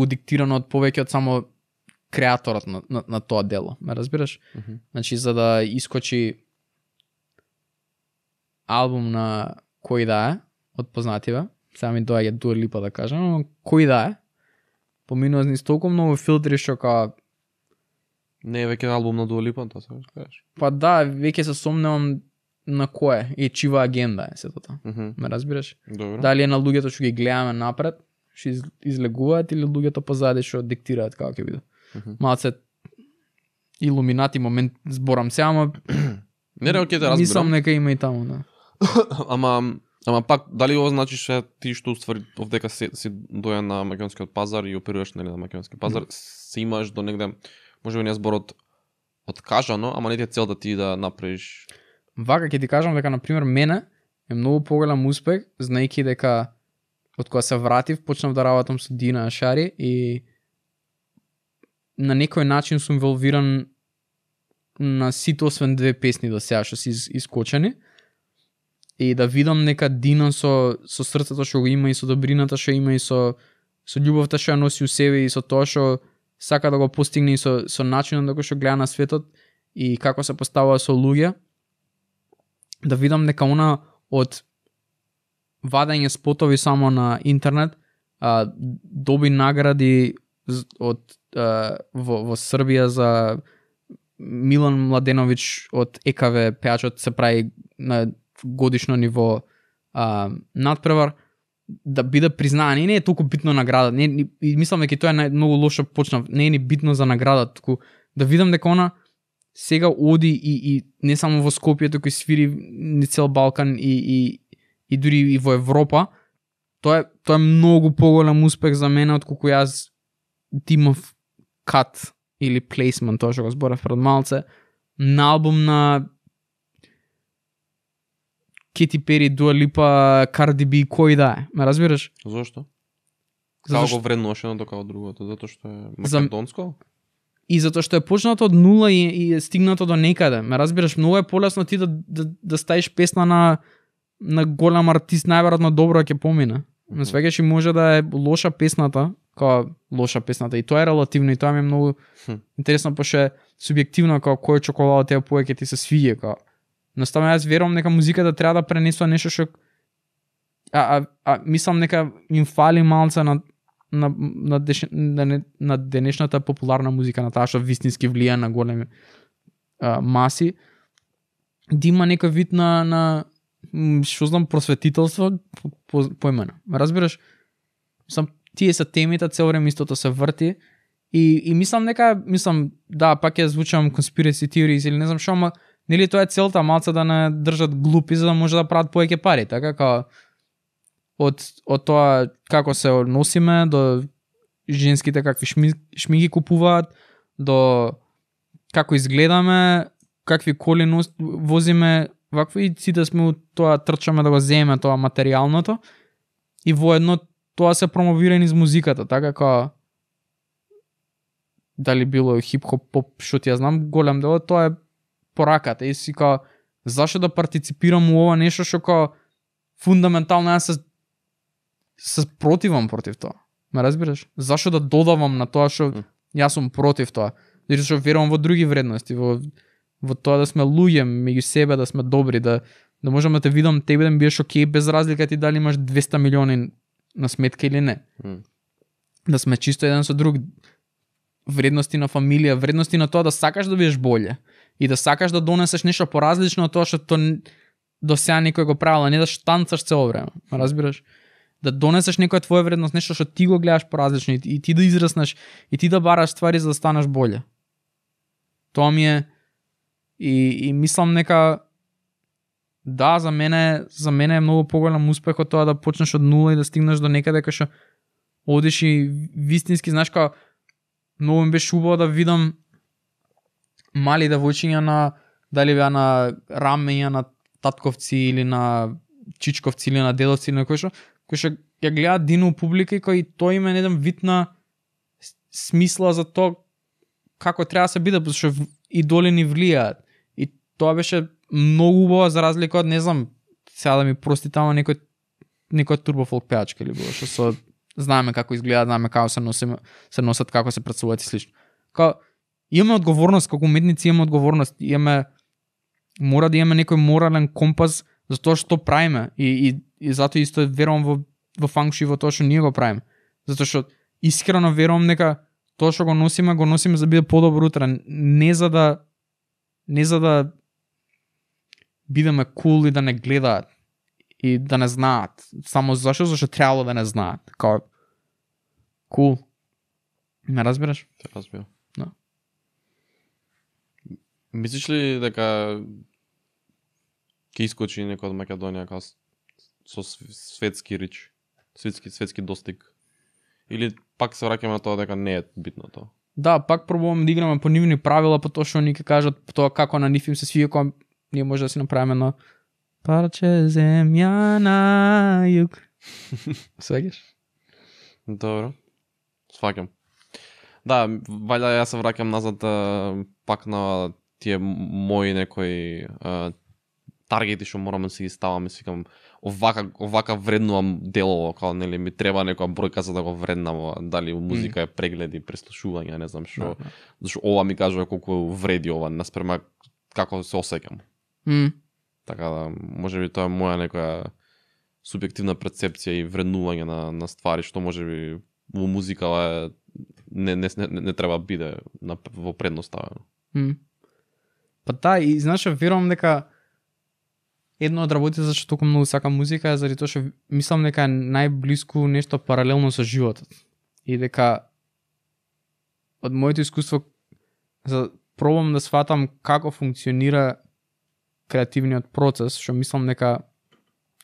диктирано од повеќе од само креаторот на тоа дело. Ме разбираш? Значи, за да искочи албум на кој да е, од познативе, сега ми доаѓа Дуа Липа да кажам, но кој да е, поминува низ толку многу филтри што као... Не е веќе албум на Дуа Липа, тоа се кажеш? Па да, веќе се сомневам на кој е, и чива агенда е сето тоа. Ме разбираш? Добро. Дали е на луѓето што ги гледаме напред, што излегуваат, или луѓето позади што диктираат како ќе биде. Малце илуминати момент зборам се, ама не, окей, да разбирам. Мислам нека има и таму, да. Ама пак, дали ова значи што ти што уствари овдека си доја на македонскиот пазар и оперираш нели на македонски пазар, се имаш до негде, можеби не зборот откажано, ама не ти е цел да ти да направиш. Вака ќе ти кажам дека на пример мене е многу поголем успех, знаејќи дека од кога се вратив, почнав да работам со Дина Ашари и на некој начин сум инволвиран на сите освен 2 песни до сега што се искочени. И да видам нека Дина со срцето што го има и со добрината што има и со љубовта што ја носи у себе и со тоа што сака да го постигне и со начинот на кој што гледа на светот и како се поставува со луѓе, да видам нека она од вадење спотови само на интернет доби награди во Србија за Милан Младеновиќ од ЕКВ пејачот се прави на годишно ниво надпревар, да биде признан. И не е толку битно награда. И мислам дека тоа е многу лошо почнав. Не е ни битно за награда, туку да видам дека она сега оди и не само во Скопје, туку и свири ни цел Балкан и дури и во Европа. Тоа е многу поголем успех за мене отколку јас имав кат или плейсмент, тоа што го зборав пред малце, на албум на Кети Пери, Дуа Липа, Карди Би, кој да е, ме разбираш? Зошто? Како го вреднуваш едното како другото? Затоа што е македонско? И затоа што е почнато од нула и е стигнато до некаде. Ме разбираш, многу е полесно ти да ставиш песна на голем артист, најверојатно добро ќе помине. Но свеќаш и може да е лоша песната, и тоа е релативно и тоа ми е многу интересно, пошто е субјективно како кој чоколада тебе повеќе ти се свиѓа, како. Наставно јас верувам дека музиката треба да пренесува нешто што мислам дека им фали малце на денешната популарна музика, на таа што вистински влија на големи маси, да има некој вид на што знам просветителство поимено. Разбираш? Тие се темите, цел време истото се врти И мислам да, пак ја звучам conspiracy theories или не знам што, ама нели тоа е целта, малце да не држат глупи за да може да прават повеќе пари, така како од тоа како се односиме до женските какви шминки купуваат, до како изгледаме, какви коли возиме, вакво и сите сме у тоа трчаме да го земеме тоа материјалното и воедно тоа се промовира низ музиката, така како дали било хип-хоп, поп, што ти ја знам, голем дел тоа е пораката и си као зашо да партиципирам у ова нешто што као фундаментално јас се противам против тоа. Ме разбираш? Зашо да додавам на тоа што јас сум против тоа? Зашто што верувам во други вредности, во тоа да сме луѓе меѓу себе, да сме добри, да можам да те видам тебе да ми биеш окей без разлика ти дали имаш 200 милиони на сметка или не. Да сме чисто еден со друг, вредности на фамилија, вредности на тоа да сакаш да бидеш боле и да сакаш да донесеш нешто поразлично од тоа што до сега некој го правил, а не да штанцаш цело време. Разбираш? Да донесеш некоја твоја вредност, нешто што ти го гледаш поразлично и ти да израснеш и ти да бараш ствари за да станеш боле. Тоа ми е и мислам нека да, за мене е многу поголем успех од тоа да почнеш од нула и да стигнеш до некаде кај што одиш и вистински, знаеш како многу ми беше убаво да видам мали девојчиња на дали беа на рамења на татковци или на чичковци или на дедовци или на кој што ја гледаат Дину публика и кој тој има еден вид на смисла за тоа како треба да се биде, зашто идоли ни влијаат. И тоа беше многу убаво за разлика од, не знам, сега да ми простите, ама некој турбофолк пеачка или било што со знаеме како изгледаат, знаеме како се носат, како се претсуват и слично. Као имаме одговорност како уметници, имаме одговорност, мора да имаме некој морален компас за тоа што правиме и затоа исто верувам во фанкши во тоа што ние го правиме. Затоа што искрено верувам дека тоа што го носиме за да биде подобро утре, не за да бидеме кул и да не гледаат и да не знаат. Само зашто требало да не знаат. Као кул. Ме разбираш? Те разбирам. Да. Мислиш ли дека ќе искочи некој од Македонија као со светски рич, светски достиг? Или пак се враќаме на тоа дека не е битно тоа? Да, пак пробуваме да играме по нивни правила, по тоа што ни ќе кажат тоа како на нив им се свија, кога ние може да си направиме на парче земја на југ. Свегаш? Добро. Сваќам. Да, вајда јас се враќам назад пак на тие мои некои таргети што морам да си ги ставам и си викам овака вреднувам делово, као нели ми треба некоја бројка за да го вреднам, дали музика е прегледи, преслушување, не знам што. Зашто ова ми кажува колку вреди ова наспрема како се осеќам. Така да, можеби тоа е моја некоја субјективна перцепција и вреднување на ствари што можеби во музика не треба биде во предност ставено. Па да, и знаеш, верувам дека едно од работите зашто толку многу сакам музика е заради тоа што мислам дека е најблиску нешто паралелно со животот. И дека од моето искуство пробам да сватам како функционира креативниот процес, што мислам дека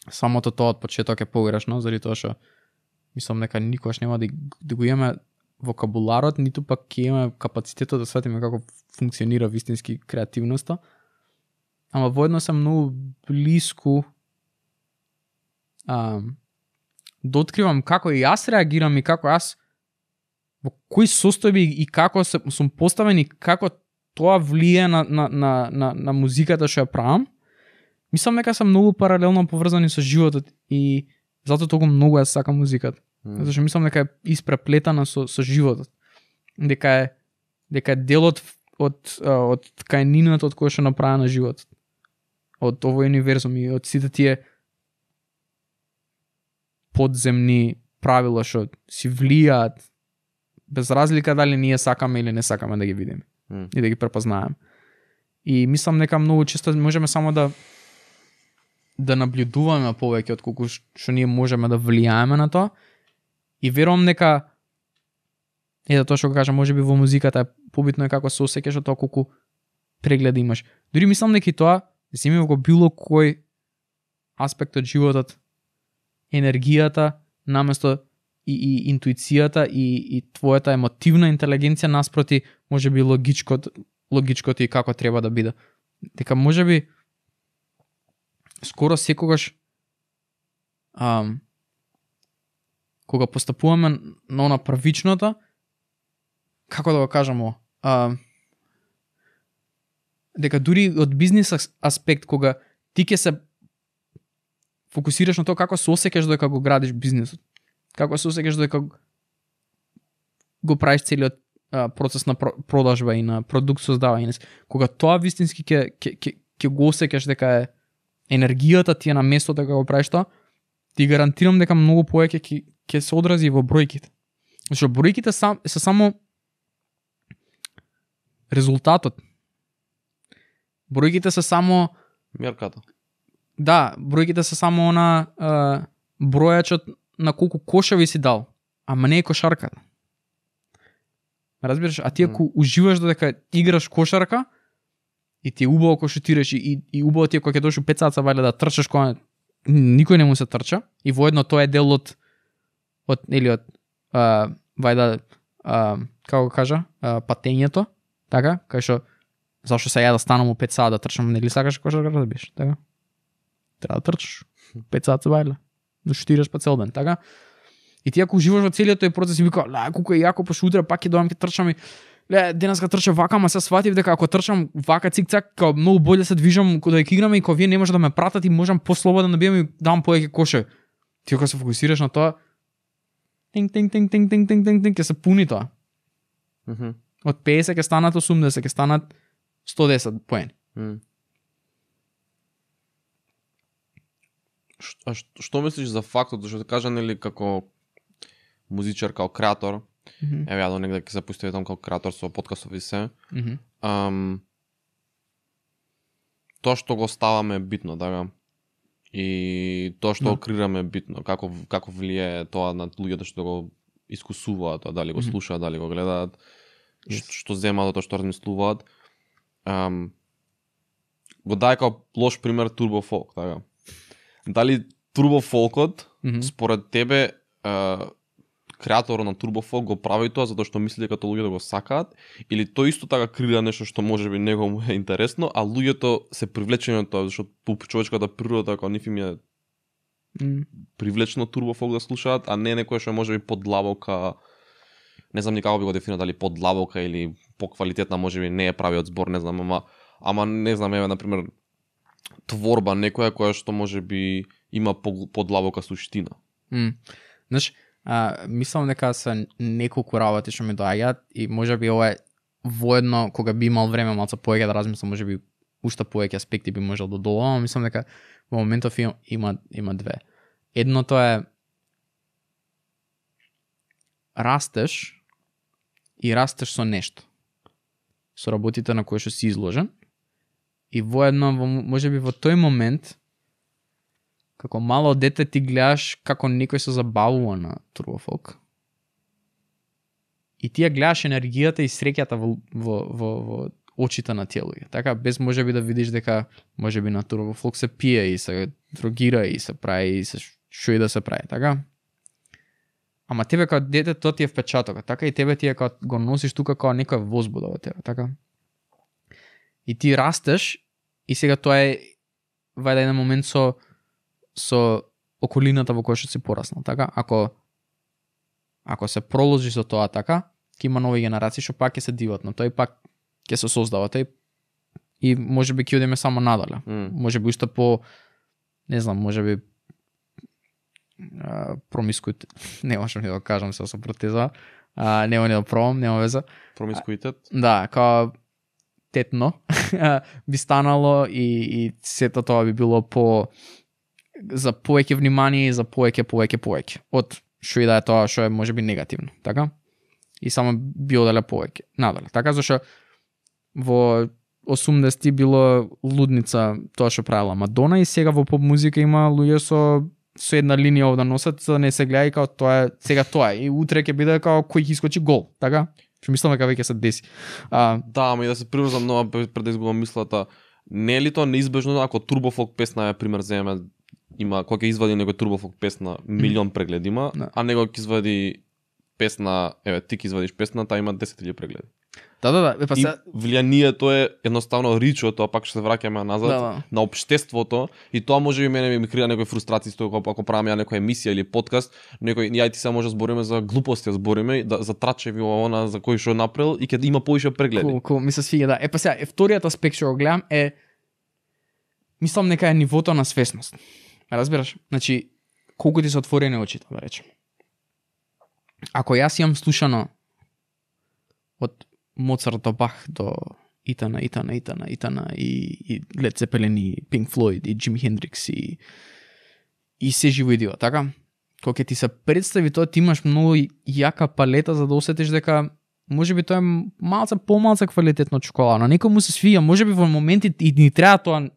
самото тоа од почеток е погрешно, заради тоа што мислам дека никогаш нема да го имаме вокабуларот, ниту пак ќе имаме капацитетот да сватиме како функционира вистински креативноста. Ама воедно сам многу блиску да откривам како и јас реагирам и како јас во кои состојби и како сум поставен и како тоа влие на музиката што ја правам. Мислам дека сам многу паралелно поврзани со животот и затоа толку многу јас сакам музиката. Зашто мислам дека е испреплетана со животот. Дека е делот од ткаенината од која што направена животот. Од овој универзум и од сите тие подземни правила што си влијаат без разлика дали ние сакаме или не сакаме да ги видиме и да ги препознаеме. И мислам дека многу често можеме само да наблюдуваме повеќе од колку што ние можеме да влијаеме на тоа. И верувам дека Ето тоа што го кажам, можеби во музиката побитно е како се осеќаш, тоа колку прегледи имаш. Дури мислам дека и тоа земи го било кој аспект од животот, енергијата наместо и интуицијата и твојата емотивна интелигенција наспроти можеби логичкото и како треба да биде. Дека можеби скоро секогаш кога постапуваме на она првичното, како да го кажам дека дури од бизнес аспект, кога ти ќе се фокусираш на тоа како се осеќаш додека го градиш бизнисот, како се осеќаш додека го правиш целиот процес на продажба и на продукт создавање, кога тоа вистински ќе го осеќаш дека е енергијата ти е на место дека го правиш тоа, ти гарантирам дека многу повеќе ќе се одрази во бројките. Зашто бројките се само резултатот. Бројките се само мерката. Да, бројките се само бројачот на колку кошеви си дал, ама не е кошарката. Разбираш, а ти ако уживаш додека играш кошарка и ти е убаво кога шутираш и убаво ти е кога ќе дојдеш 5 саца вале да трчаш кога никој не му се трча и воедно тоа е дел од како го кажа, патењето, така, кај што зашто се ја да станам у 5 саат да трчам, нели сакаш кошарка да биеш, така? Треба да трчаш 5 саца вале, да шутираш па цел ден, така? И ти ако уживаш во целиот тој процес и вика, колку е јако, пошто утре пак ќе дојдам ќе трчам и денеска трчам вака, ама се сватив дека ако трчам вака цик-цак, као многу боле се движам кога ќе играме и кога вие не може да ме пратат и можам послободно да бидам и дам повеќе коше. Ти кога се фокусираш на тоа, тинг ќе се пуни тоа. Од 50 ќе станат 80, ќе станат 110 поени. Што мислиш за фактот, зашто те кажа, нели, како музичар, како креатор, еве ја до негде ќе се поистоветам како креатор со подкастови се, тоа што го ставаме е битно, така? И тоа што го креираме е битно, како влијае тоа на луѓето што го искусуваат, дали го слушаат, дали го гледаат, што земаат, тоа што размислуваат. Го дај како лош пример Turbo Folk, така? Дали Turbo Folkот, според тебе, креаторот на Turbo Folk го прави тоа затоа што мисли дека луѓето го сакаат, или тој исто така креира нешто што можеби него му е интересно, а луѓето се привлечени од тоа, зашто по човечката природа како нив им е привлечено Turbo Folk да слушаат, а не некој што можеби подлабока, не знам ни како би го дефинирал, дали подлабока или поквалитетна, можеби не е правиот збор, не знам, ама не знам, еве на пример творба некоја која што можеби има подлабока суштина. Знаеш, мислам дека се неколку работи што ми доаѓаат и можеби ова е воедно кога би имал време малку повеќе да размислам, можеби уште повеќе аспекти би можел да додавам, мислам дека во моментов има две. Едното е растеш и растеш со нешто. Со работите на кои што си изложен и воедно можеби во тој момент како мало дете ти гледаш како некој се забавува на Turbo Folk. И ти ја гледаш енергијата и среќата во очите на тие луѓе. Така, без можеби да видиш дека можеби на Turbo Folk се пие и се дрогира и се прави и се што и да се прави, така? Ама тебе како дете тоа ти е впечаток, така и тебе ти е како го носиш тука како некоја возбуда во тебе, така? И ти растеш и сега тоа е вајде еден момент со околината во која што си пораснал, така? Ако се проложи со тоа, така, ќе има нови генерации што пак ќе се диват на тој, пак ќе се создава тој и можеби ќе одиме само надале. Можеби уште по, не знам, можеби промискуитет, не можам ни да кажам се со протеза, нема ни да пробам, нема веза. Промискуитет? Да, као тетно би станало и сето тоа би било за повеќе внимание и за повеќе од што и да е тоа што е можеби негативно, така? И само би оделе повеќе надале, така? Зашто во 80-ти било лудница тоа што правила Мадона и сега во поп музика има луѓе со со една линија овде носат, за да не се гледа и као тоа е сега тоа е. И утре ќе биде као кој ќе искочи гол, така? Што мислам дека веќе се деси. Да, ама и да се приврзам нова пред да изгубам мислата. Не е ли тоа неизбежно ако турбофолк песна е пример земеме има кога ќе извади некој турбофолк песна милион прегледи има, а него ќе извади песна, еве ти ќе извадиш песна, таа има 10.000 прегледи. Да. Па и влијанието е едноставно ричо, тоа пак ќе се враќаме назад на општеството и тоа може би мене ми криа некои фрустрации со тоа ако правиме некоја емисија или подкаст, некој ја и ти се може збориме за глупости, збориме за трачеви она за кој што направил и ќе има повеќе прегледи. Cool, ми се свиѓа, да. Па сега, вториот аспект што го гледам е мислам нека е нивото на свесност. Разбираш? Значи, колку ти се отворени очите, да речем. Ако јас имам слушано од Моцарт до Бах до Итана и Led Zeppelin и Pink Floyd и Jimi Hendrix и се живо и диво, така? Кога ти се представи тоа, ти имаш многу јака палета за да осетиш дека можеби тоа е помалку квалитетно чоколада. На некој му се свија, можеби во моменти и ни треба тоа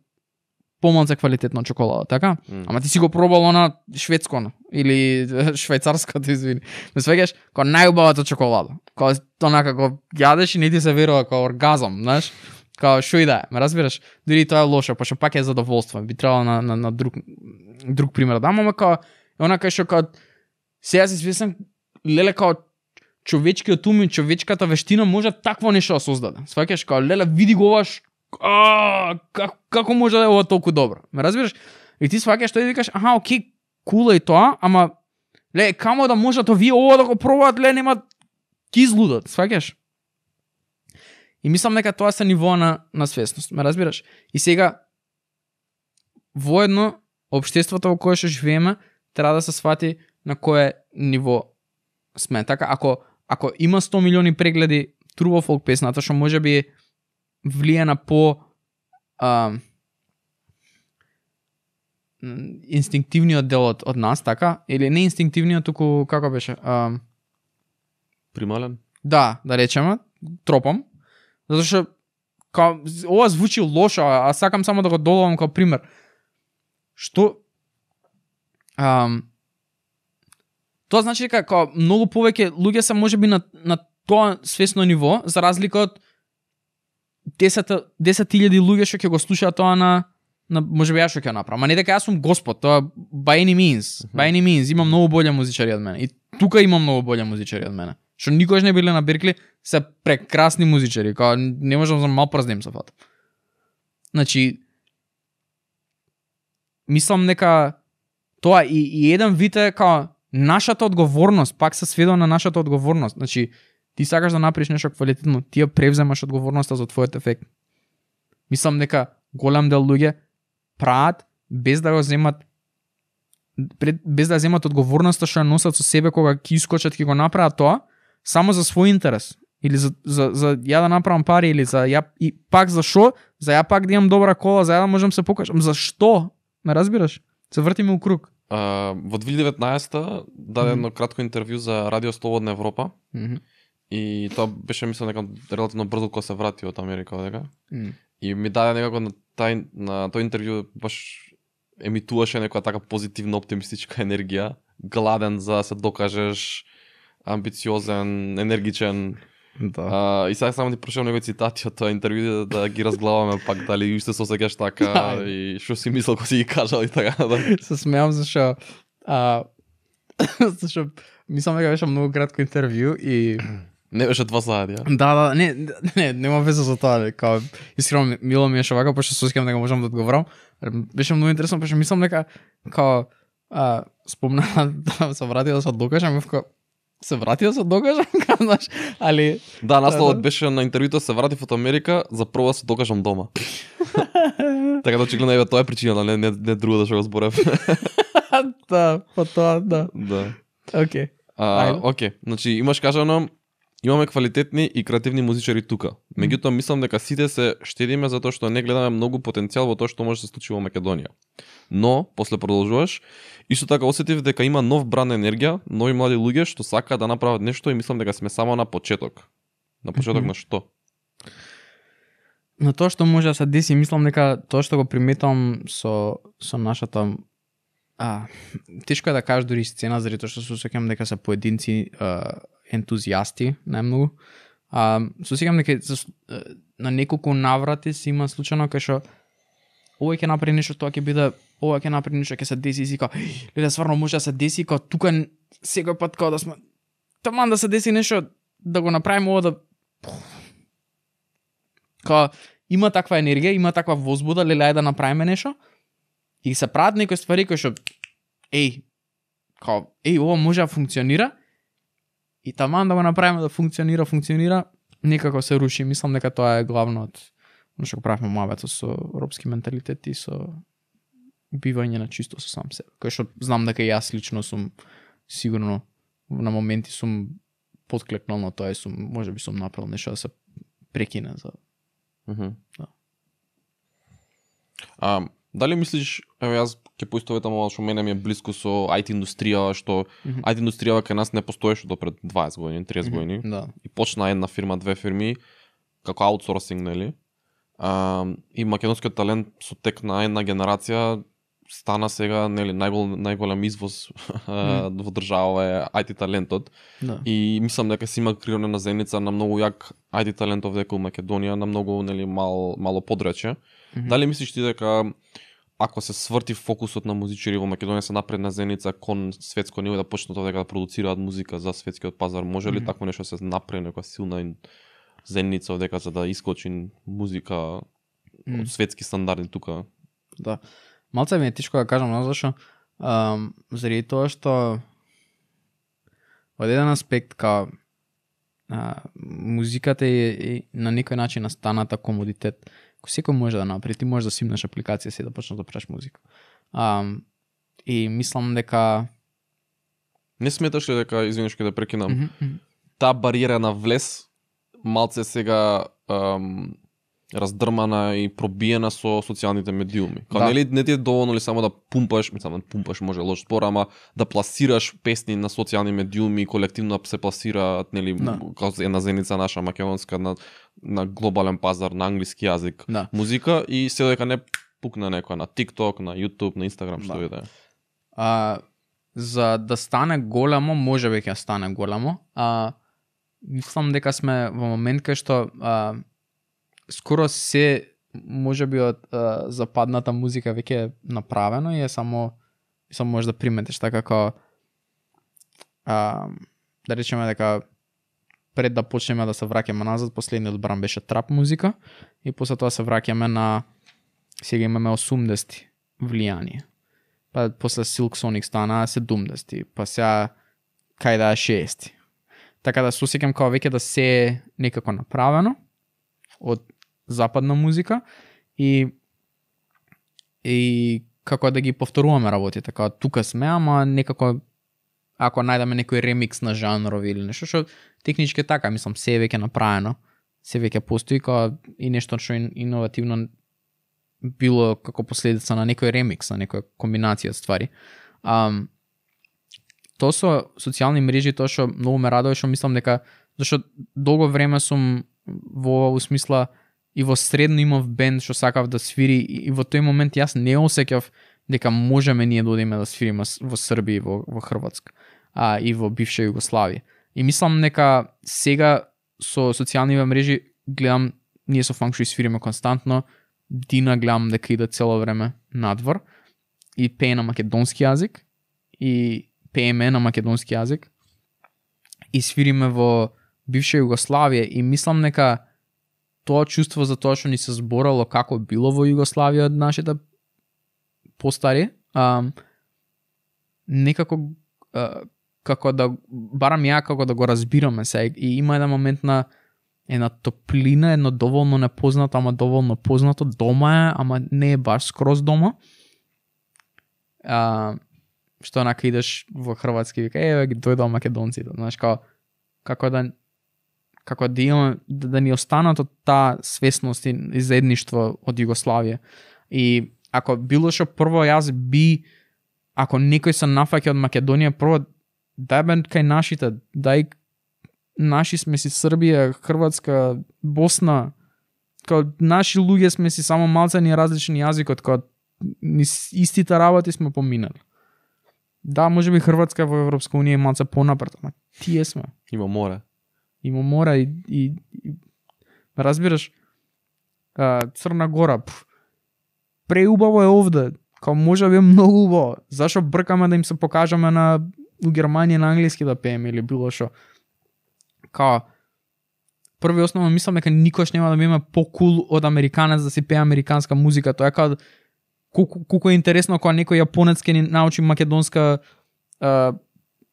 помалку квалитетно чоколада, така? Ама ти си го пробал на шведско или швајцарското, извини. Ме свеќаш као најубавата чоколада. Као онака кога јадеш и не ти се верува као оргазам, знаеш? Као шо и да е, ме разбираш? Дури тоа е лошо, пошто пак е задоволство. Би требало на друг пример да ама као онака што као сега се свесен леле као човечкиот ум и човечката вештина може такво нешто да создаде. Сваќаш као леле види го ваш како може да е ова толку добро? Ме разбираш? И ти сваќаш тоа и викаш, аха, окей, кул е тоа, ама ле, камо да можат овие ова да го пробаат, ле, нема ки излудат, сваќаш? И мислам дека тоа се ниво на свесност, ме разбираш? И сега, воедно, општеството во кое што живееме, треба да се свати на кое ниво сме. Така, ако има 100 милиони прегледи турбофолк песната, што може би влие на по инстинктивниот дел од нас, така? Или не инстинктивниот, туку како беше? Примален? Да речеме, тропам. Затоа што ова звучи лошо, а сакам само да го доловам како пример. Што тоа значи дека како многу повеќе луѓе се можеби на тоа свесно ниво, за разлика од 10.000 луѓе што ќе го слушаат тоа на можеби јас што ќе направам. Ама не дека јас сум Господ, тоа by any means, има многу боле музичари од мене. И тука има многу боле музичари од мене. Што никогаш не биле на Беркли, се прекрасни музичари, као не можам за мал прст да им се фатам. Значи мислам дека тоа и еден вид е као нашата одговорност, пак се сведува на нашата одговорност. Значи ти сакаш да направиш нешто квалитетно, ти ја превземаш одговорноста за твојот ефект. Мислам дека голем дел луѓе прават без да го земат без да земат одговорноста што ја носат со себе кога ќе искочат ќе го направат тоа само за свој интерес или за ја да направам пари или за ја и пак за шо? За ја пак да имам добра кола, за ја да можам се покажам. За што? Ме разбираш? Се вртиме у круг. Во 2019 даде едно кратко интервју за Радио Слободна Европа. И тоа беше мислам дека релативно брзо кога се врати од Америка дека. И ми даде некако на тој интервју баш емитуваше некоја така позитивна оптимистичка енергија, гладен за да се докажеш, амбициозен, енергичен. Да. И сега само ти прошам некои цитати од тоа интервју да ги разглаваме пак дали уште се осеќаш така и што си мислел кога си ги кажал и така. Да. Се смеам зашто мислам дека беше многу кратко интервју и не беше 2 сати, ја? Да, нема веза за тоа, као искрено мило ми е што вака, пошто се осеќам дека можам да одговорам. Беше многу интересно, пошто мислам дека као спомна да се врати да се докажам, се врати да се докажам, знаеш, али да, насловот беше на интервјуто се вратив од Америка, за прво да се докажам дома. Така да очигледно еве тоа е причината, не друго да што го зборев. Да, по тоа, да. Да. Окей. Окей, значи имаш кажано имаме квалитетни и креативни музичари тука. Меѓутоа мислам дека сите се штедиме затоа што не гледаме многу потенцијал во тоа што може да се случи во Македонија. Но, после продолжуваш, исто така осетив дека има нов бран енергија, нови млади луѓе што сакаат да направат нешто и мислам дека сме само на почеток. На почеток на што? На тоа што може да се деси, мислам дека тоа што го приметам со нашата тешко е да кажеш дури сцена, заради тоа што се сеќавам дека се поединци ентузијасти најмногу. Се сеќавам дека на неколку наврати си има случајно кај што ова ќе направи нешто, тоа ќе биде, ова ќе направи нешто, ќе се деси, и као, леле, стварно може да се деси, као тука секој пат као да сме таман да се деси нешто, да го направиме ова да као има таква енергија, има таква возбуда, леле, ајде да направиме нешто. И се прават некои ствари кои што ова може да функционира и таман да го направиме да функционира, некако се руши. Мислам дека тоа е главно од што го правиме муабето со робски менталитет и со бивање на чисто со сам себе. Кој што знам дека јас лично сум сигурно на моменти сум подклекнал на тоа и можеби сум направил нешто да се прекине за. Да. Дали мислиш, еве јас ќе поистоветам ова што мене ми е блиско со IT индустријава, што IT индустријава кај нас не постоеше до пред 20 години, 30 години. Да. И почна една фирма, две фирми како аутсорсинг, нели? И македонскиот талент со тек на една генерација стана сега, нели, најголем извоз во држава е IT талентот. Да. И мислам дека се има креирана на Зеница на многу јак IT талент овде во Македонија, на многу, нели, мало подрече. Дали мислиш ти дека ако се сврти фокусот на музичари во Македонија, се напредна Зеница кон светско ниво да почнат овде да продуцираат музика за светскиот пазар, може ли такво нешто се направи, некоја силна Зеница овдека за да искочи музика од светски стандарди тука? Да. Малце ми е тешко да кажам, зашто заради тоа што од еден аспект као музиката е на некој начин настаната комодитет. Кој секој може да направи, ти можеш да симнеш апликација си да почнеш да правиш музика. И мислам дека не сметаш ли дека, извиниш ке да прекинам, таа бариера на влез малце сега раздрмана и пробиена со социјалните медиуми. Као нели не ти е доволно ли само да пумпаш, мислам, пумпаш може лош збор, ама да пласираш песни на социјални медиуми, колективно се пласираат, нели, како една Зеница наша македонска на глобален пазар на англиски јазик музика и се дека не пукна некоја на TikTok, на YouTube, на Instagram, што и да е. За да стане голямо, може би ќе стане голямо. Мислам дека сме во момент кај што скоро се можеби од западната музика веќе е направено и е само може да приметиш така како да речеме дека пред да почнеме да се враќаме назад, последниот бран беше трап музика и после тоа се враќаме на сега имаме 80-ти влијание. Па после Silk Sonic стана 70-ти, па сега кај да е 60-ти. Така да се осеќам како веќе да се е некако направено од западна музика и како да ги повторуваме работите, така тука сме, ама некако ако најдеме некој ремикс на жанрови или нешто што технички така, мислам, се е веќе направено, се веќе постои како и нешто што иновативно било како последица на некој ремикс, на некоја комбинација ствари. Тоа со социјални мрежи, тоа што многу ме радува, што мислам дека зашто долго време сум во смисла и во средно имав бенд што сакав да свири и во тој момент јас не осеќав дека можеме ние да одиме да свириме во Србија и во Хрватска и во бивша Југославија. И мислам дека сега со социјалните мрежи гледам ние со Фанкшуј свириме константно, Дина гледам дека иде цело време надвор и пее на македонски јазик и пееме на македонски јазик и свириме во бивша Југославија и мислам дека тоа чувство за тоа што ни се зборало како било во Југославија од нашите постари, некако како да барам ја како да го разбираме се и има еден момент на една топлина, едно доволно непознато, ама доволно познато, дома е, ама не е баш скроз дома. Што онака идеш во Хрватски и вика, ги дојдоа македонците, знаеш, како да имаме, да ни останат од таа свесност и заедништво од Југославија. И ако било што прво јас ако некој се нафаќа од Македонија, прво дај бе кај нашите, дај наши сме си Србија, Хрватска, Босна, као наши луѓе сме си, само малце ни различни јазикот, као истите работи сме поминали. Да, може би Хрватска во Европска унија е малце понапред, ама тие сме. Има море. Има мора и разбираш, Црна Гора, преубаво е овде, као може би е многу убаво. Зашо бркаме да им се покажаме на у Германија на англиски да пееме или било што. Као први основно мислам дека никош нема да биме покул од американец да си пее американска музика. Тоа е као колку е интересно кога некој јапонец ќе ни научи македонска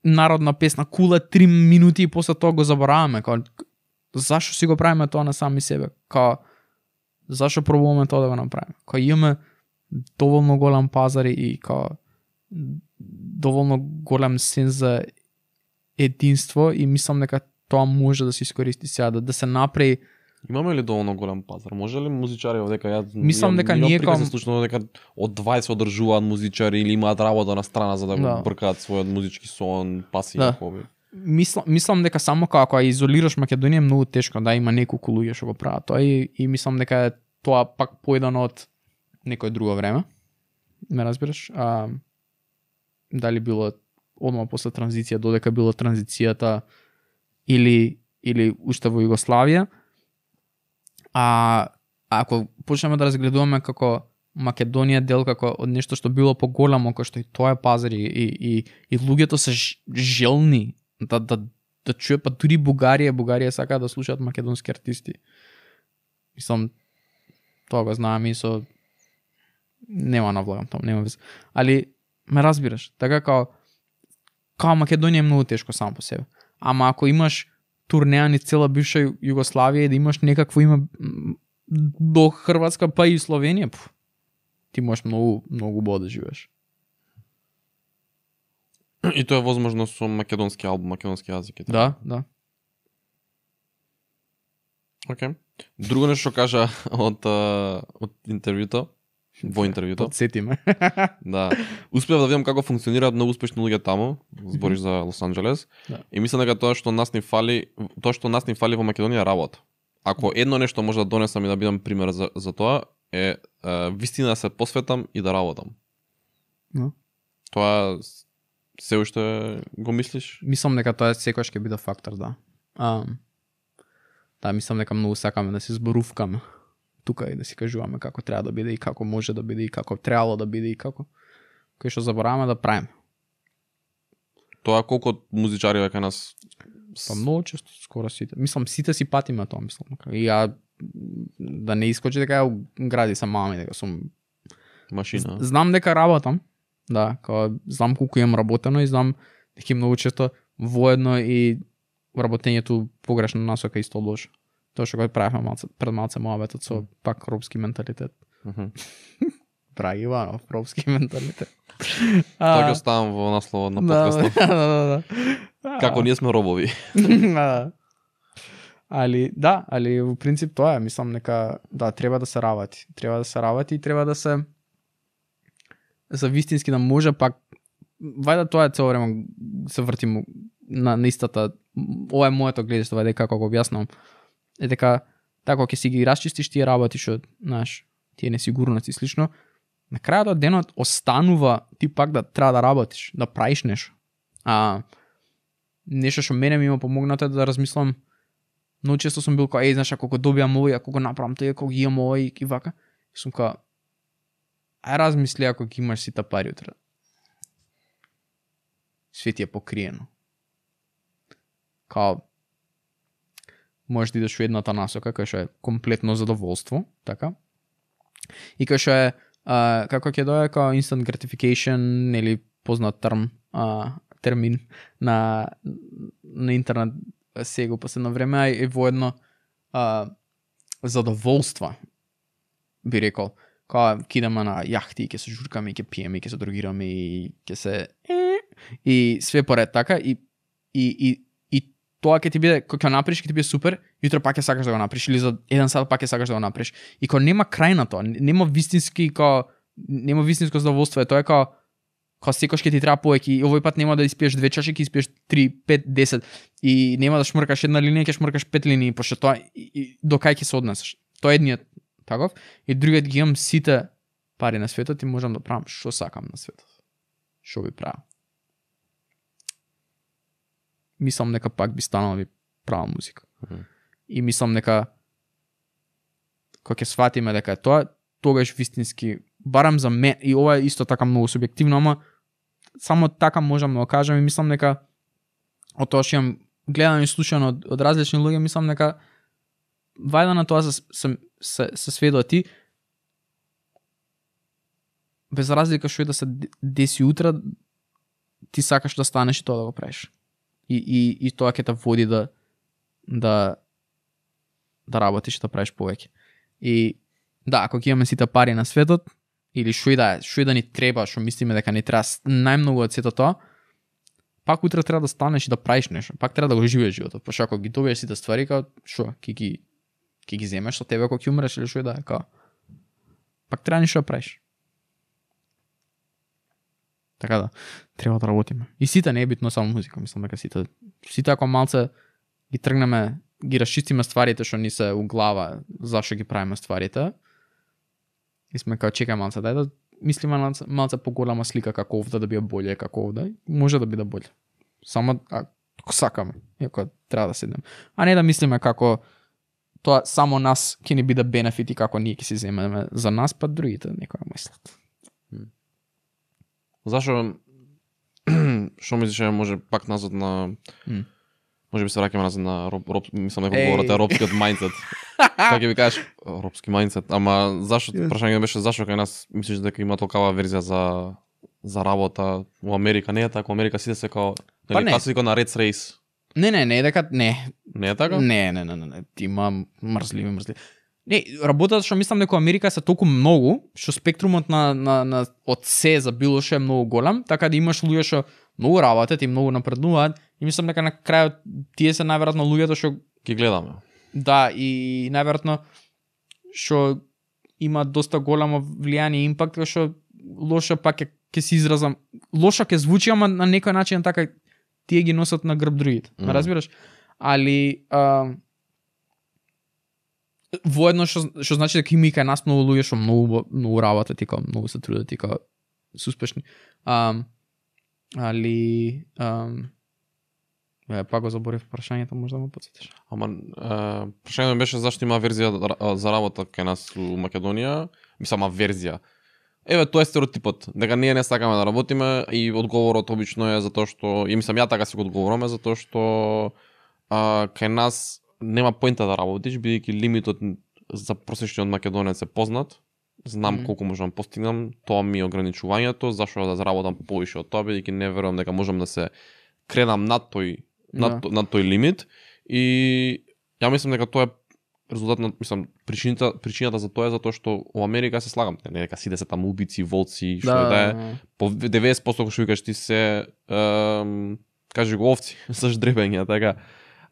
народна песна, кула 3 минути и после тоа го забораваме. Као, зашо си го правиме тоа на сами себе? Као, зашо пробуваме тоа да го направиме? Као, имаме доволно голем пазар и као, доволно голем сенс за единство и мислам дека тоа може да се искористи сега, да се направи. Имаме ли доволно голем пазар? Може ли музичари дека ја Мислам дека ние ком случно дека од 20 одржуваат музичари или имаат работа на страна за да го бркаат својот музички сон, пасија, хоби. Мислам дека само како изолираш Македонија е многу тешко, да има неколку луѓе што го прават тоа и мислам дека е тоа пак поедано од некое друго време. Ме разбираш? Дали било одма после транзиција, додека било транзицијата или уште во Југославија. Ако почнеме да разгледуваме како Македонија дел како од нешто што било поголемо, кој што и тоа е пазар и луѓето се желни да чуе, па дури Бугарија сака да слушаат македонски артисти. Мислам, тоа го знаеме и со нема навлагам там, нема вез. Али ме разбираш, така као Македонија е многу тешко само по себе. Ама ако имаш турнеа низ цела бивша Југославија и да имаш некакво име до Хрватска па и Словенија, ти можеш многу убаво да живееш. И тоа е возможно со македонски албум, македонски јазик. Да. Океј. Друго нешто кажа од интервјуто, во интервјуто. Подсетиме. Да. Успеав да видам како функционираат многу успешни луѓе таму, збориш за Лос Анџелес. Да. И мислам дека тоа што нас ни фали во Македонија е работа. Ако едно нешто може да донесам и да бидам пример за тоа е вистина да се посветам и да работам. No. Тоа се уште го мислиш? Мислам дека тоа секогаш ќе биде фактор, да. Да, мислам дека многу сакаме да се зборувкаме тука и да си кажуваме како треба да биде и како може да биде и како требало да биде и како кој што забораваме да правиме. Тоа колку музичари веќе нас Па многу често, скоро сите. Мислам сите си патиме тоа, мислам. И ја да не искочи дека ја гради сам мами, дека сум машина. Знам дека работам. Да, као знам колку имам работено и знам дека многу често воедно и работењето погрешна насока исто лошо. Тоа што го правиме пред малце моабетот со пак робски менталитет. Драги Иванов, робски менталитет. Тоа ќе оставам во насловот на подкастот. Да. Како ние сме робови. Али во принцип тоа е, мислам дека да треба да се работи. Треба да се работи и треба да се за вистински да може пак вајде тоа е цело време се вртим на истата. Ова е моето гледиште, вајде како го објаснам. Е дека така ќе си ги расчистиш тие работи што, знаеш, тие несигурности слично, на крајот од денот останува ти пак да треба да работиш, да правиш нешто. Нешто што мене ми има помогнато е да размислам. Многу често сум бил кај, знаеш, ако го добиам овој, ако го направам тоа, ако ги имам овој и вака, сум кај, ај размисли ако ги имаш сите пари утре. Све ти е покриено. Као, можеш да идеш во едната насока, кај што е комплетно задоволство, така? И кај што е, како ќе дое, као instant gratification, или познат термин на интернет сега последно време, е воедно задоволства, би рекол. Као, кидаме на јахти и ќе се журкаме, и ќе пиеме, и ќе се другираме, и ќе се... И све поред така, и тоа ќе ти биде, кога ќе направиш, ќе ти биде супер, јутро пак ќе сакаш да го направиш, или за 1 сат пак ќе сакаш да го направиш. И кога нема крај на тоа, нема вистинско задоволство, тоа е кога секој ќе ти треба повеќе, и овој пат нема да испиеш 2 чаши, ќе испиеш 3, 5, 10, и нема да шмркаш една линија, ќе шмркаш 5 линии, пошто тоа и до кај ќе се однесеш. Тоа е едниот таков, и другиот ги имам сите пари на светот и можам да правам што сакам на светот. Што би правил. мислам дека пак би станала би права музика. И мислам дека кога ќе сватиме дека е тоа, тогаш вистински, барам за мен, и ова е исто така многу субјективно, ама само така можам да го кажам и мислам дека од тоа што имам гледано и слушано од различни луѓе, мислам дека вајда на тоа се сведува ти, без разлика што и да се деси утре, ти сакаш да станеш и тоа да го правиш. И тоа ќе те води да работиш, да правиш повеќе. И да, ако ќе имаме сите пари на светот, или што и да ни треба, што мислиме дека ни треба најмногу од сето тоа, пак утре треба да станеш и да правиш нешто. Пак треба да го живееш животот. Пошто ако ги добиеш сите ствари, као што, ќе ги земеш со тебе кога ќе умреш или што и да е, као. Пак треба нешто да правиш. Така да, треба да работиме. И сите не е битно само музика, мислам дека сите ако малце ги тргнеме, ги расчистиме стварите што ни се у глава, зашо ги правиме стварите. И сме као чекај малце, дај да мислиме на малце поголема слика како овде да биде боле, како овде. Може да биде боле. Само ако сакаме, ако треба да седнем. А не да мислиме како тоа само нас ќе ни биде бенефит и како ние ќе си земеме за нас, па другите некоја мислат. Зашо што мислиш може пак назад на може би се враќаме назад на мислам дека говорите робскиот мајндсет. Како ќе ви кажеш робски мајндсет, ама зашо прашањето беше зашо кај нас мислиш дека има толкава верзија за работа во Америка? Не е така, во Америка сите се као нели класика на Red Race. Не, дека не. Не е така? Не. Има мрзливи. Не, работата што мислам дека Америка се толку многу, што спектрумот на од се за било што е многу голем, така да имаш луѓе што многу работат и многу напреднуваат и мислам дека на крајот тие се најверојатно луѓето што ги гледаме. Да, и најверојатно што има доста големо влијание и импакт, што лошо пак ќе се изразам, лошо ќе звучи, ама на некој начин така тие ги носат на грб другите. Разбираш? Али воедно што значи дека има и кај нас многу луѓе што многу работат и као многу се трудат и као се успешни. Али пак го заборив прашањето, може да ме потсетиш. Ама прашањето беше зашто има верзија за работа кај нас у Македонија, мислам верзија. Еве тоа е стереотипот, дека ние не сакаме да работиме и одговорот обично е затоа што и мислам ја така си го одговораме затоа што кај нас нема поинта да работиш, бидејќи лимитот за просечниот македонец е познат. Знам колку можам постигнам, тоа ми е ограничувањето, зашто да заработам повише од тоа, бидејќи не верувам дека можам да се кренам над тој лимит и ја мислам дека тоа е резултат на, мислам, причината за тоа е затоа што во Америка се слагам, не дека сите се таму убици, волци, што да е, по 90% кога што викаш ти се кажи го овци со ждребење, така.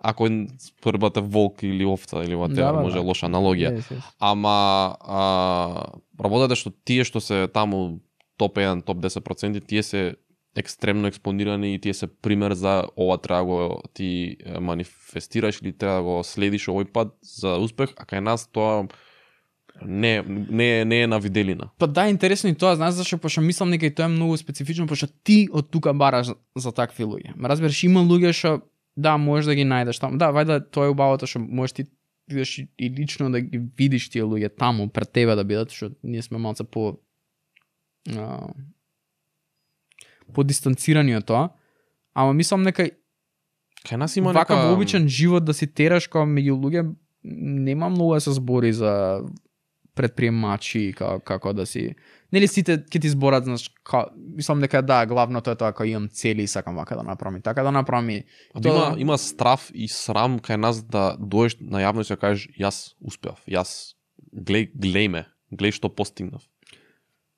Ако спорбате волк или овца или ватера, може лоша аналогија. Ама работата што тие што се таму топ 1, топ 10%, тие се екстремно експонирани и тие се пример за ова треба го ти манифестираш или треба да го следиш овој пат за успех, а кај нас тоа не е на виделина. Па да, интересно и тоа, знаеш зашто, пошто мислам дека и тоа е многу специфично, пошто ти од тука бараш за такви луѓе. Разбираш, има луѓе што да, можеш да ги најдеш таму. Да, вајда тоа е убавото што можеш ти видиш и лично да ги видиш тие луѓе таму пред тебе да бидат, што ние сме малце подистанцирани од тоа. Ама мислам дека кај нас има вака во обичен живот да си тераш као меѓу луѓе нема многу да се збори за предприемачи како да си. Нели сите ќе ти зборат, знаеш, мислам дека да, главното е тоа кога имам цели и сакам вака да направам, така да направам. Има страв и срам кај нас да доеш на јавност и да кажеш јас успеав, јас глеј што постигнав.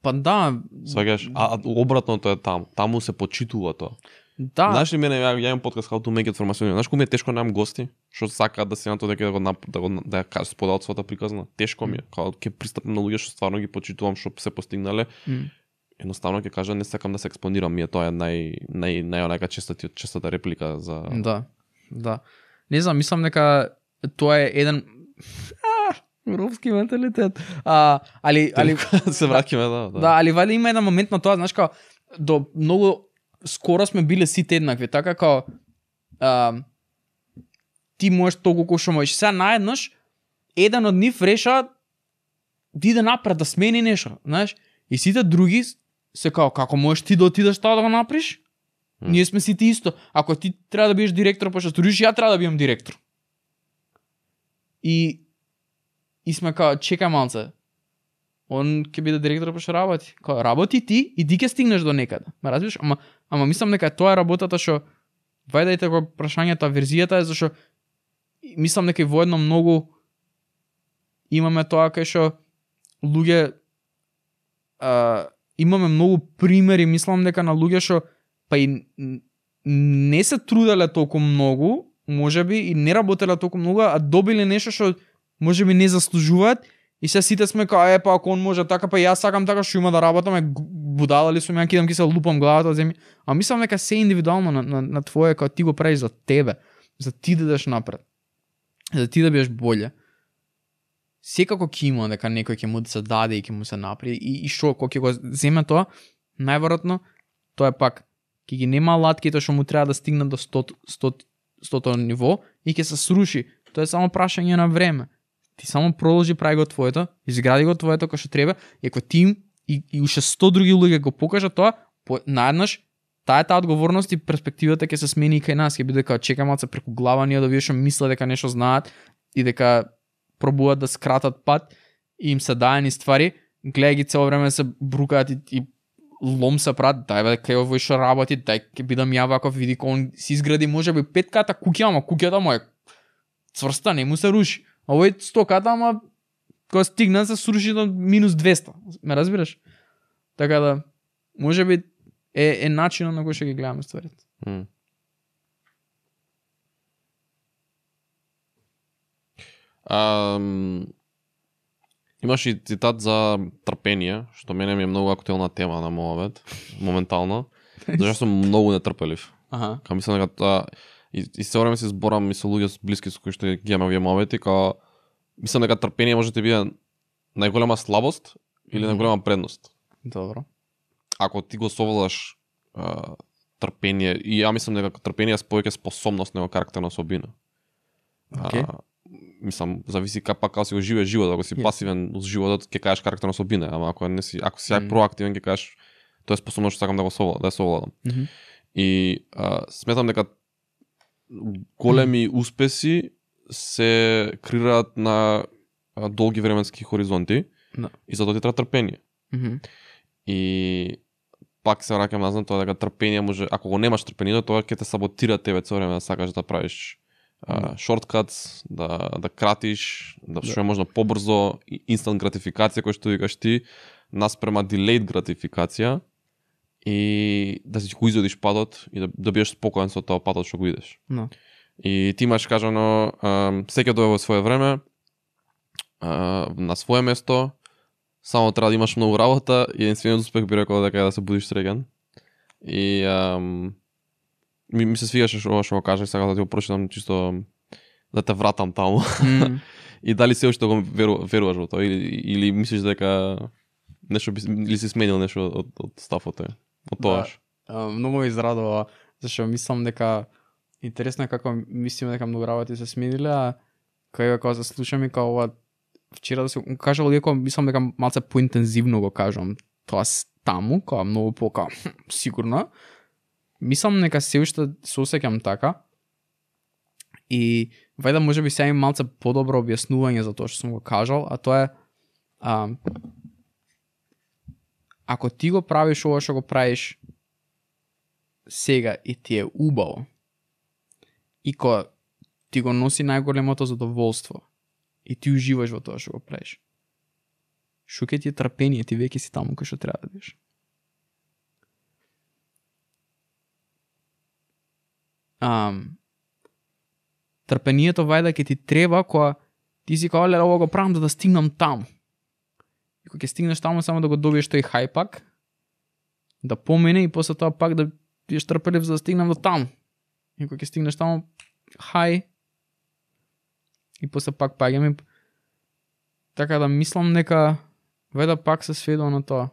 Па да. Сваѓаш, а обратното е таму. Таму се почитува тоа. Да. Знаеш ли, мене ја имам подкаст How to Make It Formacion. Знаеш колку ми е тешко да имам гости, што сакаат да се на тоа дека да ја споделат својата приказна. Тешко ми е, кога ќе пристапам на луѓе што стварно ги почитувам што се постигнале. Едноставно ќе кажа не сакам да се експонирам, ми е тоа најонака честата реплика за Да. Не знам, мислам дека тоа е еден робски менталитет. Али се враќаме, да. Да, али вали има еден момент на тоа, знаеш, као до многу скоро сме биле сите еднакви, така као ти можеш толку колку што можеш. Сега наеднаш еден од нив реша да иде напред, да смени нешто, знаеш? И сите други се као, како можеш ти да отидеш тоа да го направиш? Ние сме сите исто. Ако ти треба да бидеш директор, па што сториш, ја треба да бидам директор. И сме као, чекај малце. Он ќе биде директор, па што работи. Као, работи ти и ти ќе стигнеш до некаде. Ме разбираш? Ама мислам дека тоа е работата што вајдајте го прашањето, верзијата е зашто мислам дека и воедно многу имаме тоа кај што луѓе имаме многу примери, мислам дека на луѓе што па и не се труделе толку многу, можеби и не работеле толку многу, а добиле нешто што можеби не заслужуваат и се сите сме као па ако он може така, па јас сакам така, што има да работам, будала ли сум, ја кидам ки се лупам главата земја. А мислам дека се индивидуално на твое, кога ти го правиш за тебе, за ти да идеш напред, за ти да бидеш боле. Секако ќе има дека некој ќе му се даде и ќе му се направи и што кога ќе го земе тоа, најверојатно тоа е пак ќе ги нема алатките што му треба да стигнат до 100 ниво и ќе се сруши. Тоа е само прашање на време. Ти само продолжи, прави го твоето, изгради го твоето кој што треба, и ако ти и уште 100 други луѓе го покажат тоа, наеднаш таа одговорност и перспективата ќе се смени и кај нас, ќе биде како чекај малце преку глава ние да видиш мислат дека нешто знаат и дека пробуваат да скратат пат и им се даени ствари, гледај ги цело време се брукаат и лом се прават, дај бе кај овој што работи, дај ќе бидам ја ваков, види кој он си изгради можеби 5 ката куќа, ама куќата му е цврста, не му се руши. Овој 100 ката, ама кога стигна се сруши до минус 200. Ме разбираш? Така да, можеби е начинот на кој што ги гледаме стварите. Имаш и цитат за трпение, што мене ми е многу актуелна тема на мојот моментално, зашто сум многу нетрпелив. Ка мислам дека тоа и се време се зборам и со луѓе блиски со кои што ги имам овие моменти, као мислам дека трпение може да биде најголема слабост или најголема предност. Добро. Ако ти го совладаш трпение, и ја мислам дека трпение е повеќе способност него карактерна особина. Мислам, зависи како си го живееш животот, ако си пасивен uz животот, ќе кажеш карактерна особина, ама ако си проактивен, ќе кажеш тоа е способност што сакам да го совладам. И сметам дека големи успеси се крираат на долги временски хоризонти и затоа ти треба трпение. И пак се враќам назад тоа дека трпение може, ако го немаш трпение, тоа ќе те саботира тебе цело време да сакаш да правиш шорткатс, да кратиш, да што е можно побрзо, инстант гратификација кој што викаш ти, наспрема delayed гратификација и да си го изодиш падот и да бидеш спокоен со тоа падот што го идеш. И ти имаш кажано секој дојде во свое време, на свое место, само треба да имаш многу работа и единствениот успех би рекол дека е да се будиш среќен. И ми се свигаше ова што го кажеш, сакам да ти го прочитам чисто да те вратам таму. И дали се уште го веруваш во тоа или мислиш дека нешто или си сменил нешто од стафот од тоаш? Многу ме израдува, зашто мислам дека интересно е како мислиме дека многу работи се смениле, а кога се слушам и како ова вчера да се кажал иако мислам дека малце поинтензивно го кажам тоа таму, кога многу пока сигурно. Мислам дека се уште се осеќам така и вајда можеби сега имам малце подобро објаснување за тоа што сум го кажал, а тоа е ако ти го правиш ова што го правиш сега и ти е убаво и кога ти го носи најголемото задоволство и ти уживаш во тоа што го правиш, што ќе ти е трпение, ти веќе си таму кај што треба да бидеш. Трпението вајда ќе ти треба кога ти си као ова го правам да стигнам таму. И кога ќе стигнеш таму само да го добиеш тој хајпак, да помине и после тоа пак да бидеш трпелив за да стигнам до таму. И кога ќе стигнеш таму, хај, и после пак паѓаме. Така да мислам дека вајда пак се сведува на тоа.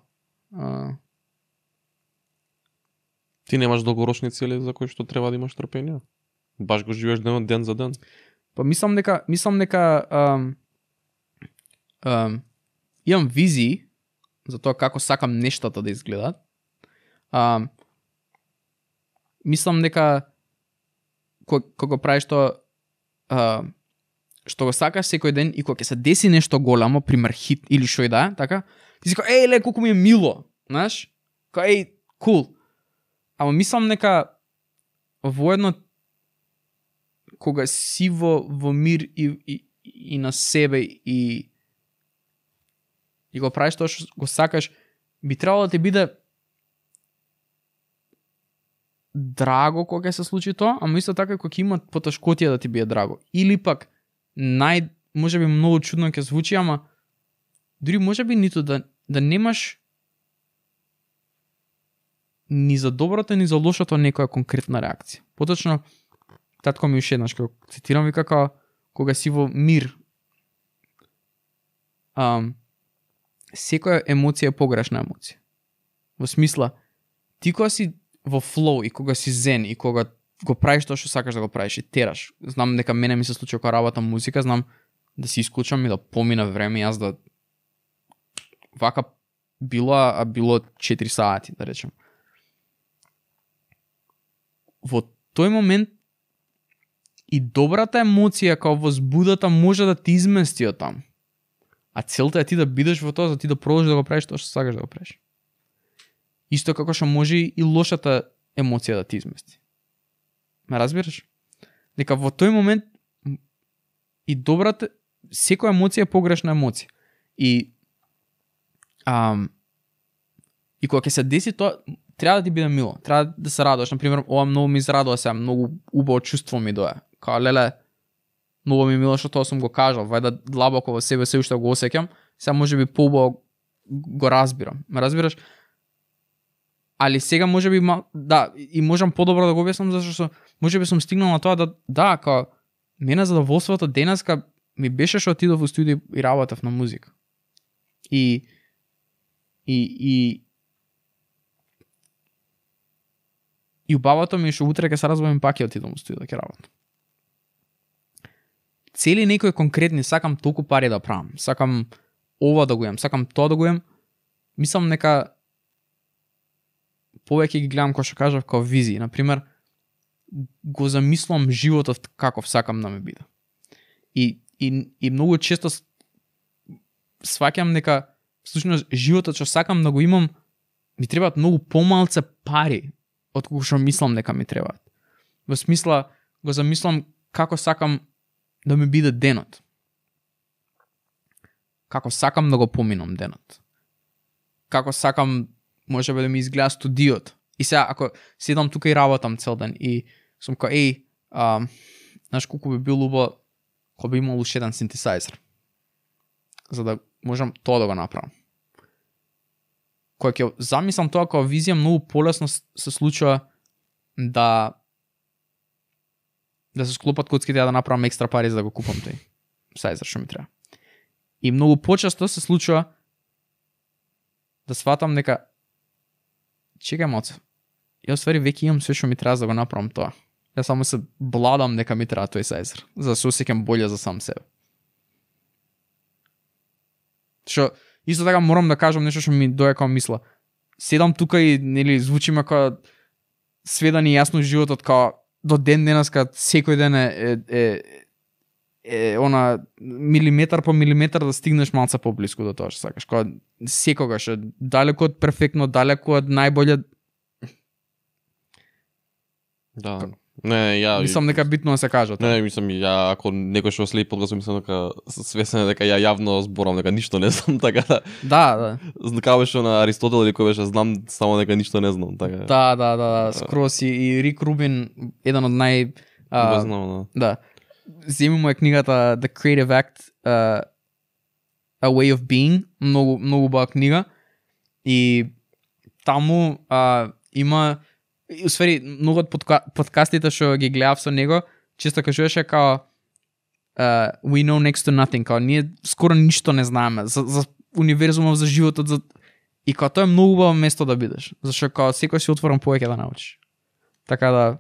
Ти немаш долгорочни цели за кои што треба да имаш трпение? Баш го живееш ден за ден. Па мислам дека имам визии за тоа како сакам нештата да изгледаат. Мислам дека кога го правиш тоа што го сакаш секој ден и кога ќе се деси нешто голямо, пример хит или што и да, така, ти си кажеш, ле, колку ми е мило, знаеш? Кул. Ама мислам дека воедно кога си во мир и на себе и го правиш тоа што го сакаш, би требало да ти биде драго кога се случи тоа, ама исто така кога има потешкотија да ти биде драго. Или пак може би многу чудно ќе звучи, ама дури може би ниту да немаш ни за доброто ни за лошото некоја конкретна реакција. Поточно татко ми уште еднаш кога цитирам вика кога си во мир, секоја емоција е погрешна емоција. Во смисла, ти кога си во флоу и кога си зен и кога го правиш тоа што сакаш да го правиш и тераш. Знам дека мене ми се случи кога работам музика, знам да си исклучам и да помина време, јас да вака било 4 сати, да речем. Во тој момент и добрата емоција као возбудата може да ти измести од таму. А целта е ти да бидеш во тоа, за ти да продолжиш да го правиш тоа што сакаш да го правиш. Исто како што може и лошата емоција да ти измести. Ме разбираш? Дека во тој момент и добрата, секоја емоција е погрешна емоција. И кога ќе се деси тоа, треба да ти биде мило, треба да се радуваш. Например, ова многу ми израдува сега, многу убаво чувство ми дое. Као, леле, многу ми мило што тоа сум го кажал, вајда длабоко во себе се уште го осеќам, сега може би поубаво го разбирам. Ме разбираш? Али сега може би, и можам подобро да го објаснам, зашто може би сум стигнал на тоа као, мене задоволството денеска ми беше што отидов во студио и работев на музика. И убавото ми што утре ќе се разбавим пак ќе отидам во студио да ќе работам. Цели некои конкретни, сакам толку пари да правам, сакам ова да го имам, сакам тоа да го имам, мислам нека повеќе ги гледам кој што кажав као визии. Например, го замислам животот каков сакам да ме биде. И многу често сваќам дека всушност животот што сакам да го имам ми требаат многу помалце пари од кога што мислам дека ми требаат. Во смисла го замислам како сакам да ми биде денот. Како сакам да го поминам денот. Како сакам може би да ми изгледа студиот. И сега ако седам тука и работам цел ден и сум као знаеш колку би било убаво кога би имал уште еден синтесайзер. За да можам тоа да го направам. Кога ќе замислам тоа како визија, многу полесно се случува да се склопат коцките да направам екстра пари за да го купам тој сайзер што ми треба. И многу почесто се случува да сватам дека чекај малце, јас ствари веќе имам све што ми треба за да го направам тоа. Јас само се бладам дека ми треба тој сайзер, за да се осеќам боле за сам себе. Што исто така морам да кажам нешто што ми дое као мисла. Седам тука и нели звучиме као све да ни јасно животот, као до ден денеска секој ден е она милиметар по милиметар да стигнеш малце поблиску до тоа што сакаш. Као секогаш далеку од перфектно, далеку од најболje. Да. Не, мислам дека битно да се кажа. Не, мислам ја ако некој што следи подкастот мислам дека свесен е дека ја јавно зборам дека ништо не знам, така да. Како беше на Аристотел или кој беше знам само дека ништо не знам, така. Да, скрос и Рик Рубин, еден од нај да. Земи му е книгата The Creative Act, A Way of Being, многу убава книга и таму има и усвари многу од подкастите што ги гледав со него, често кажуваше као we know next to nothing, као ние скоро ништо не знаеме за универзумот, за животот, и као тоа е многу убаво место да бидеш, зашто као секој си отворен повеќе да научиш. Така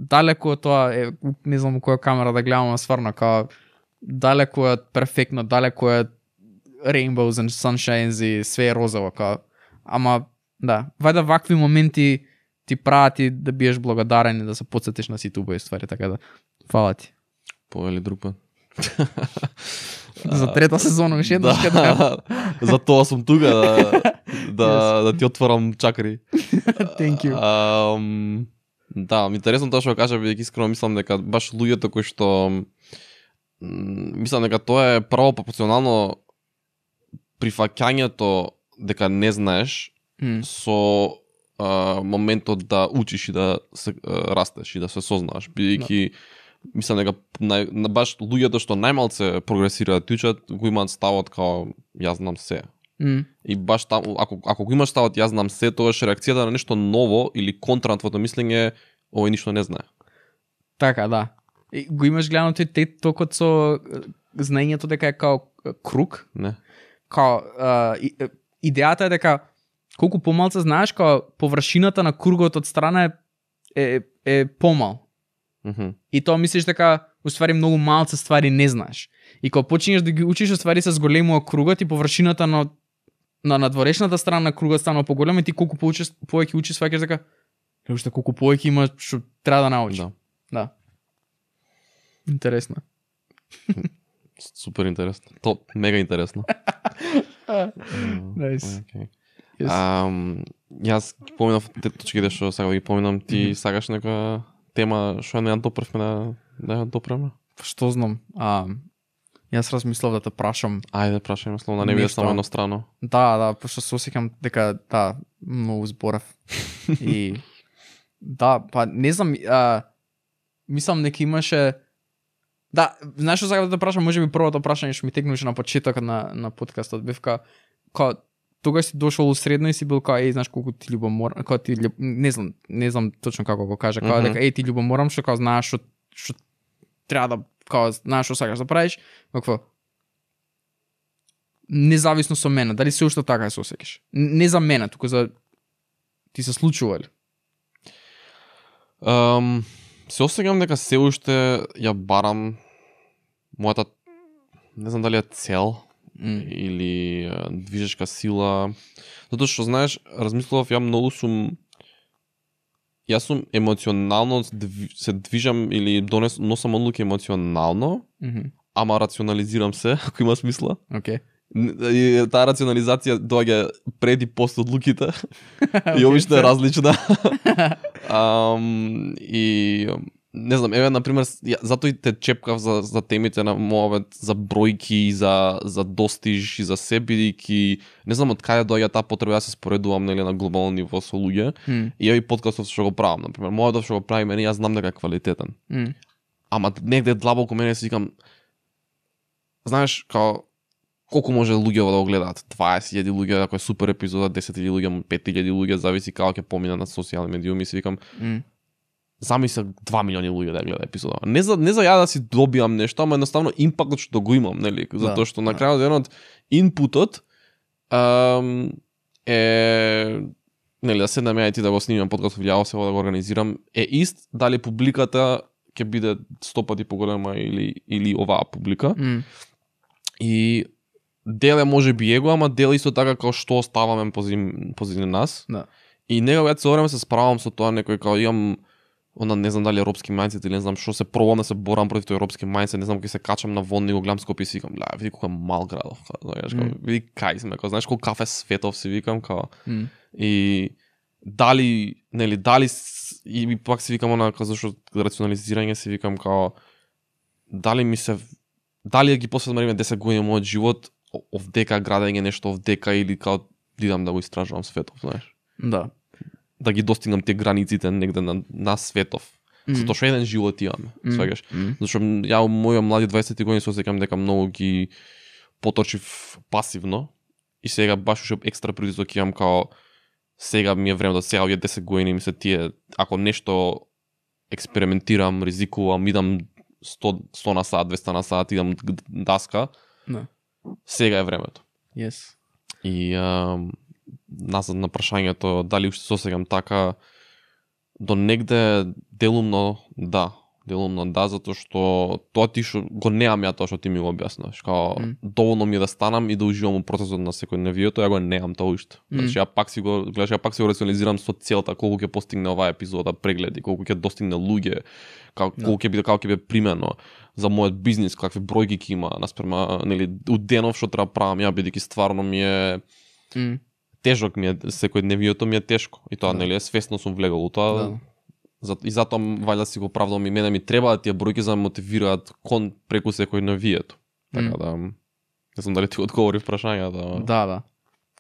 далеку од тоа е, не знам која камера да гледам, стварно као далеку од перфектно, далеку од rainbows and sunshines и све е розово, као. Ама да, вајда вакви моменти ти прават и да биеш благодарен и да се потсетиш на сите убави ствари, така да фала ти. Повели друг пат. За трета сезона уште еднаш Да, за тоа сум тука да ти отворам чакри. Thank you. Да, интересно тоа што кажа, бидејќи искрено мислам дека баш луѓето кои што мислам дека тоа е право пропорционално прифаќањето дека не знаеш со моментот да учиш и да се растеш и да се сознаваш, бидејќи мислам дека на баш луѓето што најмалце прогресираат и учат го имаат ставот као јас знам се. И баш таму ако го имаш ставот јас знам се, тогаш реакцијата на нешто ново или контра на твоето мислење овој ништо не знае. Така, да. И го имаш гледано ти токот со знаењето дека е као круг. Не. Као идејата е дека колку помалце знаеш, као површината на кругот од страна е помал. И тоа мислиш дека уствари многу малце ствари не знаеш. И кога почнеш да ги учиш, уствари се зголемува кругот и површината на надворешната страна на кругот станува поголема и ти колку повеќе учиш, сваќаш дека уште колку повеќе има што треба да научиш. Да. Интересно. Супер интересно. Топ, мега интересно. Nice. Јас ги поминав точките што сега ги поминам, ти сакаш нека тема што не ја допревме да ја допреме? Што знам? Јас размислав да те прашам. Ајде, прашај ме, словно не биде само еднострано. Да, пошто се осеќам дека да, многу зборев. И да, па не знам, мислам дека имаше да, знаеш што сакам да те прашам, можеби првото прашање што ми текнуваше на почетокот на подкастот бевка као тогаш си дошол у средно и си бил као знаеш колку ти љубоморам, као ти не знам точно како го кажа, као дека ти љубоморам што као знаеш што треба да као знаеш што сакаш да правиш, какво независно со мене, дали се уште така се осеќаш? Не за мене, туку за ти се случува ли? Се осеќам дека се уште ја барам мојата, не знам дали е цел или движешка сила, затоа што знаеш, размислував јас сум емоционално се движам или носам одлуки емоционално, ама рационализирам се, ако има смисла. Окей. И таа рационализација доаѓа пред и после одлуките и обично е различна. И не знам, еве например, затоа и те чепкав за темите на мојот, за бројки, за достиж и за се, бидејќи не знам од каде доаѓа таа потреба да се споредувам нели на глобално ниво со луѓе. И овој подкастот што го правам, например, мојот што го прави мене, јас знам дека е квалитетен. Ама негде длабоко мене си викам, знаеш, као колку може луѓе да го гледаат? 20.000 луѓе, ако е супер епизода, 10.000 луѓе, 5.000 луѓе, зависи како ќе помина на социјални медиуми, си викам, замисли 2 милиони луѓе да гледа епизода. Не за ја да си добиам нешто, ама едноставно импактот што го имам, нели? Затоа што на крајот денот инпутот е нели да седнеме и ти да го снимам подкаст, влијао се да го организирам, е ист дали публиката ќе биде 100 пати поголема или оваа публика. И дел е може би его, ама дел исто така како што оставаме позади нас. Да. И некогаш се време се справам со тоа, некој како имам не знам дали европски мајнцет или не знам што, се пробам да се борам против тој европски мајнцет, не знам кога се качам на вон и го гледам Скопје и си викам, види колку е мал градов, види кај сме, знаеш колку кафе светов си викам, и дали и пак си викам она зашто рационализирање си викам као дали ги посветам 10 години мојот живот овдека градење нешто овдека или као идам да го истражувам светов, знаеш. Да. Да ги достигнам тие границите негде на светов. Затоа што еден живот имаме, сваѓаш. Зашто ја моја млади 20 години се осеќам дека многу ги поточив пасивно и сега баш уште екстра притисок имам као сега ми е време да сега 10 години ми се тие, ако нешто експериментирам, ризикувам, идам 100 на сат, 200 на сат, идам даска, сега е времето. Yes. И назад на прашањето дали уште се осеќам така, до негде делумно да, затоа што тоа ти што го неам ја тоа што ти ми го објаснуваш. Као доволно ми е да станам и да уживам во процесот на секој навието, ја го неам тоа уште. Значи ја пак си го рационализирам со целта колку ќе постигне оваа епизода прегледи, колку ќе достигне луѓе, колку ќе биде примено за мојот бизнис, какви бројки ќе има наспрема, нели, у денов што треба правам ја, бидејќи стварно ми е тежок ми е секој дневието ми е тешко и тоа нели свесно сум влегол у тоа. И затоа вајда си го правдам и мене ми треба тие бројки за да мотивираат кон преку секој навието. Така да не знам дали ти одговори прашањата. Да.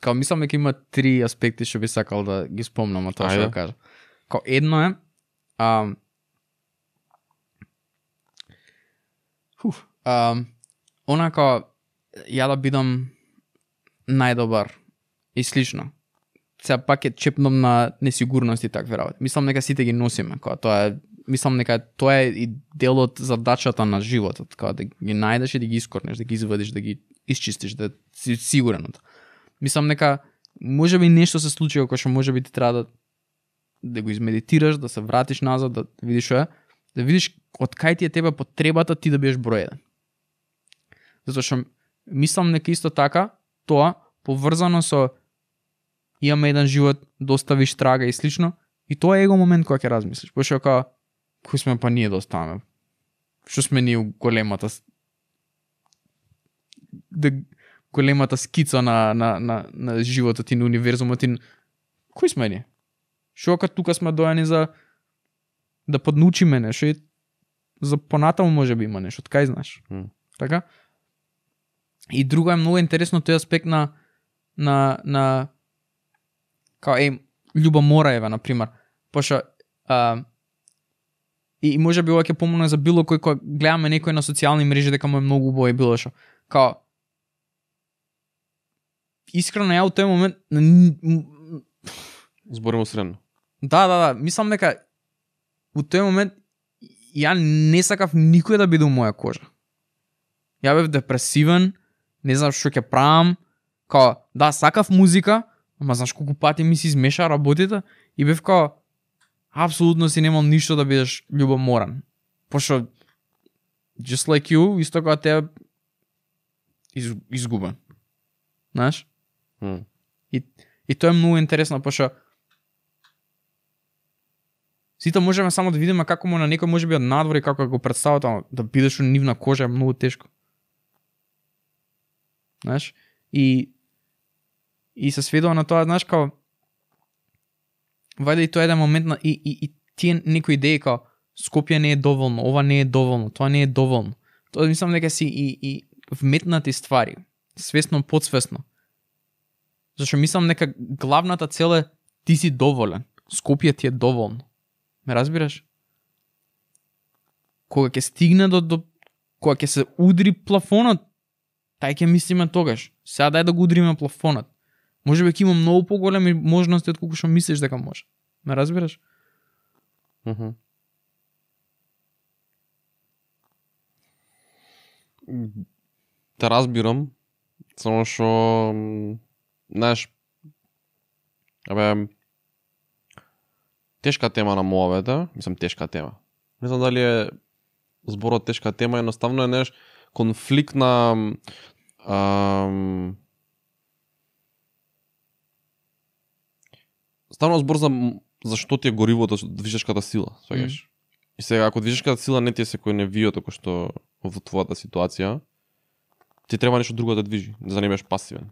Као мислам дека има 3 аспекти што би сакал да ги спомнам од тоа што да кажам. Као едно е онака ја да бидам најдобар и слично. Сега пак е чепном на несигурност и такви работи. Мислам дека сите ги носиме, кога тоа е, мислам дека тоа е и дел од задачата на животот, кога да ги најдеш и да ги искорнеш, да ги извадиш, да ги исчистиш, да си сигурен од тоа. Мислам дека можеби нешто се случи кога што можеби ти треба да го измедитираш, да се вратиш назад, да видиш што е, да видиш од кај ти е тебе потребата ти да бидеш број 1. Затоа што мислам дека исто така тоа поврзано со имаме еден живот, доставиш трага и слично, и тоа е его момент кога ќе размислиш. Пошто како кој сме па ние да оставаме? Што сме ние големата скица на животот и на универзумот и кој сме ние? Што ако тука сме дојани за да поднаучиме нешто и за понатаму може би има нешто, кај знаеш. Така? И друго е многу интересно тој аспект на као Љуба Мораева, например, пошто и може би ова ќе помогне за било кој кога гледаме некој на социјални мрежи дека му е многу убаво и било што. Као искрено ја у тој момент зборимо средно. Да, мислам дека у тој момент ја не сакав никој да биде у моја кожа. Ја бев депресивен, не знам што ќе правам, као да сакав музика, ама знаеш колку пати ми се измеша работите и бев као апсолутно си немал ништо да бидеш љубоморан. Пошто just like you, исто како те изгубен. Знаеш? И тоа е многу интересно, пошто сите можеме само да видиме како му на некој може би од надвор и како го представат, ама да бидеш у нивна кожа е многу тешко. Знаеш? И се сведува на тоа, знаеш, као вајде и тоа е еден момент на и тие некои идеи као Скопје не е доволно, ова не е доволно, тоа не е доволно. Тоа мислам дека си и вметнати ствари, свесно, подсвесно. Зашто мислам дека главната цел е ти си доволен. Скопје ти е доволно. Ме разбираш? Кога ќе стигне до кога ќе се удри плафонот, тај ќе мислиме тогаш. Сега дај да го удриме плафонот. Може би ќе има многу поголеми можности од колку што мислиш дека може. Ме разбираш? Те разбирам, само што знаеш, тешка тема на муавета, мислам тешка тема. Не знам дали е зборот тешка тема, едноставно е неш конфликт на ставно збор за што ти е горивото, движешката сила, сваѓаш. И сега ако движешката сила не ти е секој невијот како што во твојата ситуација, ти треба нешто друго да движи, да не бидеш пасивен.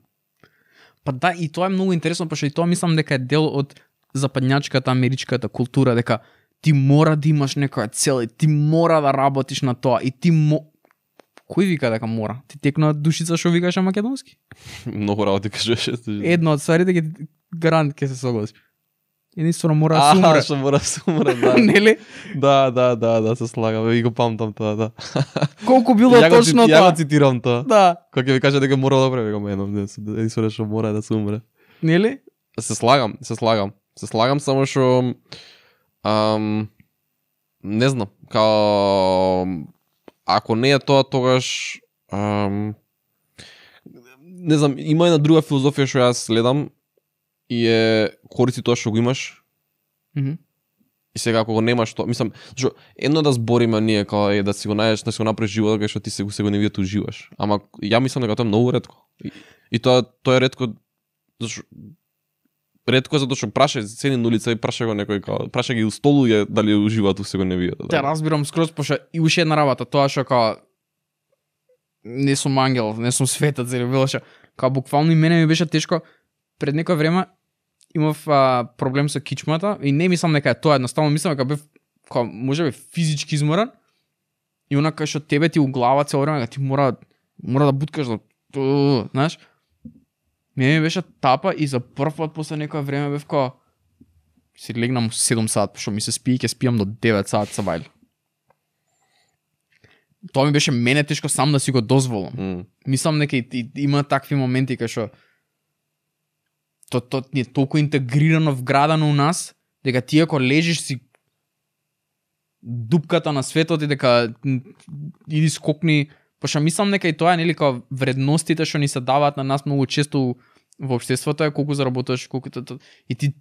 Па да, и тоа е многу интересно, пошто и тоа мислам дека е дел од западњачката, америчката култура, дека ти мора да имаш некоја цел, и ти мора да работиш на тоа, и ти кој вика дека мора? Ти текна душица што викаш на македонски? Многу работи кажеш. Едно од стварите ќе гарант ќе се согласи. Единствено мора да се умре. Што мора да се умре, да. Нели? Да, се слагам. И го памтам тоа, да. Колку било точно тоа? Ја го цитирам тоа. Да. Кога ќе ви каже дека мора да прави, го едно, единствено што мора да се умре. Нели? Се слагам, само што не знам, као ако не е тоа, тогаш не знам, има една друга филозофија што јас следам и е користи тоа што го имаш И сега ако го немаш тоа, мислам, зашо едно да збориме ние као да си го најдеш, да си го направиш животот кај што ти се го не видите уживаш. Ама ја мислам дека тоа е многу ретко. И тоа е ретко зашо ретко е затоа што праша седи на улица и праша го некој као праша ги устолуѓе дали уживаат се го не видат. Те разбирам скроз, пошто и уште една работа, тоа што као не сум ангел, не сум светец или било што, као буквално и мене ми беше тешко пред некој време имав проблем со кичмата и не мислам дека е тоа, едноставно мислам дека бев као можеби физички изморен и онака што тебе ти у глава цело време ти мора да буткаш да знаеш. Мене ми беше тапа и за прв пат после некој време бев као си легнам 7 сат, што ми се спи и ќе спиам до 9 сат са бајле. Тоа ми беше мене тешко сам да си го дозволам. Мислам дека има такви моменти кај што тоа ни е толку интегрирано вградано у нас, дека ти ако лежиш си дупката на светот и дека иди скокни, пошто мислам дека и тоа е нели као вредностите што ни се даваат на нас многу често во општеството е колку заработуваш, колку и ти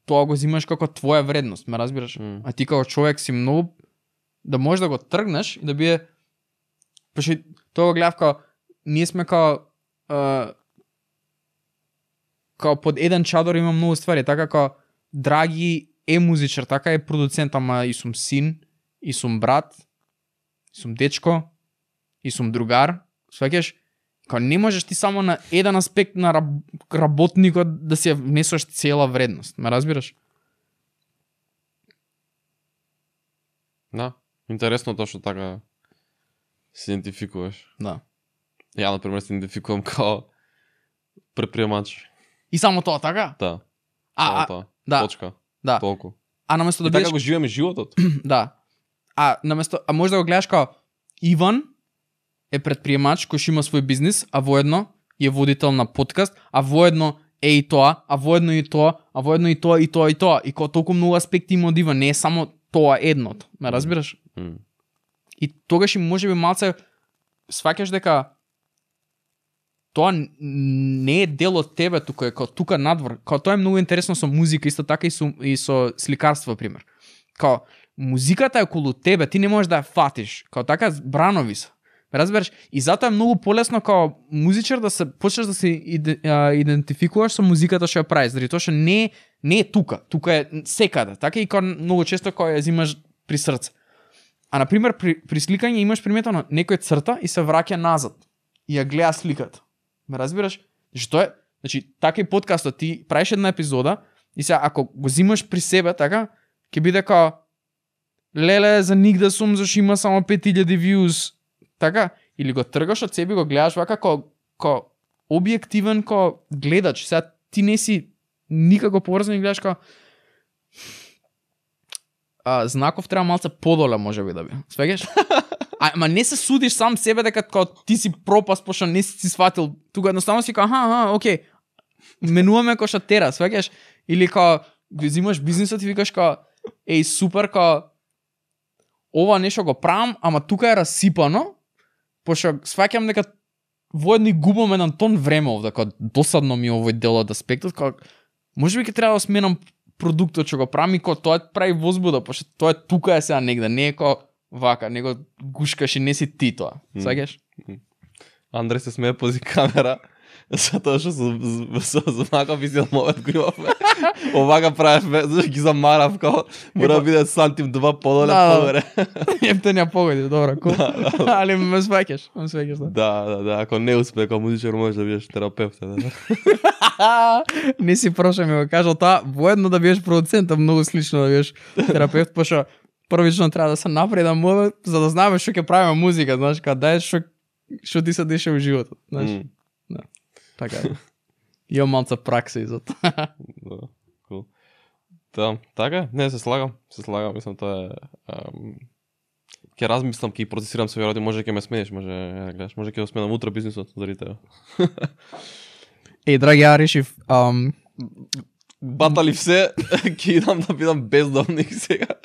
тоа го зимаш како твоја вредност, ме разбираш? А ти како човек си многу да можеш да го тргнеш и да биде пошто тоа го гледав као ние сме као под еден чадор има многу ствари, така као Драги е музичар, така е продуцент, ама и сум син, и сум брат, и сум дечко, и сум другар, сваќаш? Као не можеш ти само на еден аспект на работникот да си внесеш цела вредност, ме разбираш? Да, интересно тоа што така се идентификуваш. Да. Ја, например, се идентификувам као предприемач. И само тоа, така? Да. Само тоа. Да. Точка. Да. Толку. А наместо да и бидеш... така го живееме животот. Да. А може да го гледаш као Иван е предприемач кој што има свој бизнис, а воедно е водител на подкаст, а воедно е и тоа, а воедно и тоа, а воедно и тоа, и тоа, и тоа. И као толку многу аспекти има од Иван, не е само тоа едното. Ме разбираш? И тогаш и можеби малце сваќаш дека тоа не е дел од тебе тука, е као тука надвор. Као тоа е многу интересно со музика, исто така и со сликарство, пример. Као музиката е околу тебе, ти не можеш да ја фатиш. Као така бранови се. Разбереш? И затоа е многу полесно као музичар да се почнеш да се идентификуваш со музиката што ја правиш, заради тоа што не е тука, тука е секаде. Така и као многу често као ја взимаш при срце. А на пример при сликање имаш приметено некој црта и се враќа назад и ја гледа сликата. Ме разбираш? Што е? Значи, така и подкастот, ти правиш една епизода и сега ако го зимаш при себе, така, ќе биде као леле, за нигде сум, зашто има само 5000 views, така, или го тргаш од себе, го гледаш вака као објективен као гледач. Сега ти не си никако поврзан и гледаш као Знаков треба малце подоле можеби да би. Свеѓаш? Ама не се судиш сам себе дека као ти си пропаст пошто не си сватил. Тука едноставно си као окей. Менуваме кој што тера, свеѓаш? Или као го взимаш бизнисот и викаш као еј супер као ова нешто го правам, ама тука е расипано, пошто сваќам дека воедно и губам еден тон време овде, као досадно ми овој дел од аспектот, као можеби ќе треба да сменам продуктот што го правам и као тоа прави возбуда, пошто тоа е тука е сега негде, не е као вака, него гушкаш и не си ти тоа. Сваќаш? Андре се смее пози камера, затоа што со Знаков и момент го имавме. Овака правевме, зашто ги замарав као мора да биде сантим 2 подоле погоре. Ептенја погоди, добро, кул. Али ме сваќаш, да. Да, ако не успее како музичар можеш да бидеш терапевт, да. Не си проша ми го кажал тоа, воедно да бидеш продуцент, многу слично да бидеш терапевт, пошто првично треба да се напреда мова, за да знаеме што ќе правиме музика, знаеш, као дај што ти се деша во животот, знаеш. Да. Така е. Имам малца пракса и за тоа. Да, кул. Да, така, не, се слагам, мислам тоа е... Ќе размислам, ќе процесирам се веројатно, може ќе ме смениш, може ќе го сменам утре бизнисот заради тебе. Еј, драги, ја решив, батали все, ќе идам да бидам бездомник сега.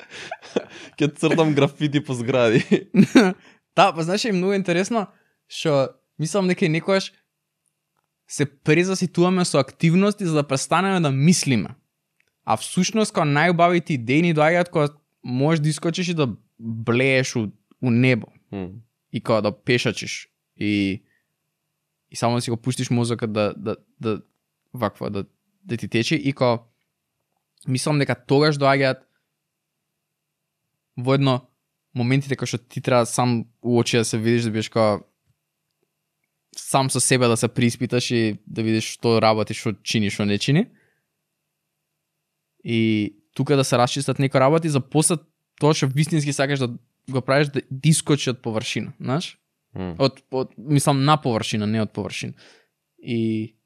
Ќе цртам графити по згради. Да, па знаеш, е многу интересно, што мислам дека некојаш се презаситуваме со активности за да престанеме да мислиме. А всушност кога најубавите идеи ни доаѓаат кога можеш да искочиш и да блееш у небо. И кога да пешачиш и само да си го пуштиш мозокот да ваква да ти тече и кога мислам дека тогаш доаѓаат воедно моментите кога што ти треба сам у очи да се видиш, да бидеш кога сам со себе да се приспиташ и да видиш што работиш, што чиниш, што не чини. И тука да се расчистат некои работи за после тоа што вистински сакаш да го правиш да искочи од површина, знаеш? Мислам на површина, не од површина. И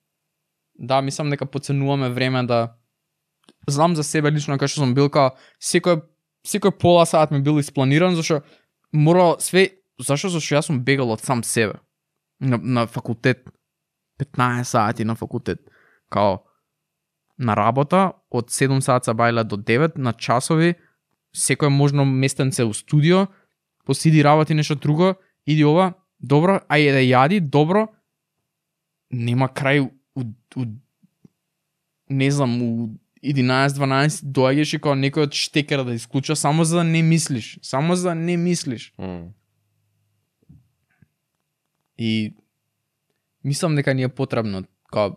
да, мислам дека поценуваме време да знам за себе лично кога што сум бил као секој пола сат ми бил испланиран зашто морало све зашто јас сум бегал од сам себе. На факултет 15 сати на факултет. Као на работа од 7 сати бајла до 9 на часови, секој можно местенце у студио, посиди работи нешто друго, иди ова, добро, ајде да јади, добро. Нема крај не знам, у 11-12 доаѓаш и као некој од штекера да исклуча само за да не мислиш. Само за да не мислиш. И мислам дека ни е потребно као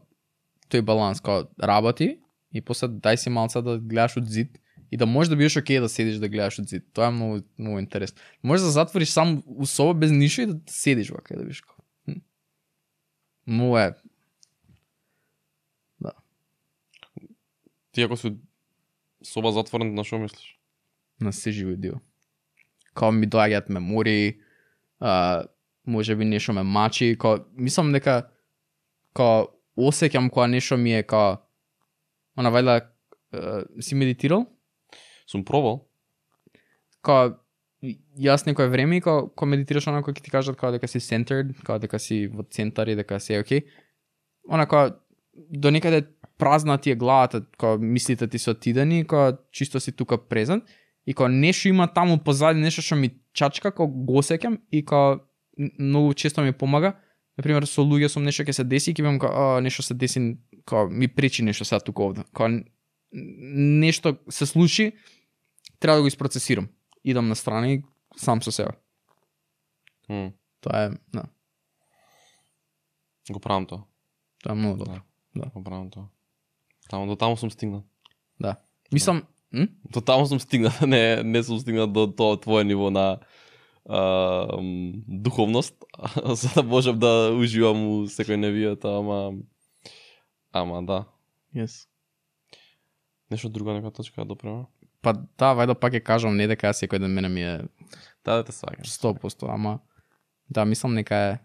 тој баланс, као работи и после дај си малца да гледаш од зид и да можеш да бидеш окей да седиш да гледаш од зид. Тоа е многу, многу интересно. Можеш да затвориш сам у соба без ништо и да седиш вака да видиш. Многу е. Да. Ти ако си соба затворен, на што мислиш? На се живи дел. Као ми доаѓаат мемории, може би нешто ме мачи, као мислам дека као осеќам кога нешто ми е као она вајда си медитирал? Сум пробал. Као јас некој време кога медитираш онако ќе ти кажат као дека си centered, као дека си во центар и дека си окей. Она као до некаде празна ти е главата, као мислите ти се отидени, као чисто си тука презент и као нешто има таму позади, нешто што ми чачка, као го осеќам и као многу често ми помага. Например, со луѓе сум нешто ќе се деси и ќе бидам као нешто се деси, као ми пречи нешто сега тука овде. Као нешто се случи, треба да го испроцесирам. Идам на страна и сам со себе. Тоа е, да. Го правам тоа. Тоа е многу добро. Да. Го правам тоа. До таму сум стигнал. Да. Мислам, До таму сум стигнал, не сум стигнал до тоа твое ниво на духовност, за да можам да уживам у секој невијата, ама да. Yes. Нешто друго нека точка да допрема? Па да, вајда пак ќе кажам, не дека секој ден мене ми е Да, те сваќам. 100%, ама да, мислам нека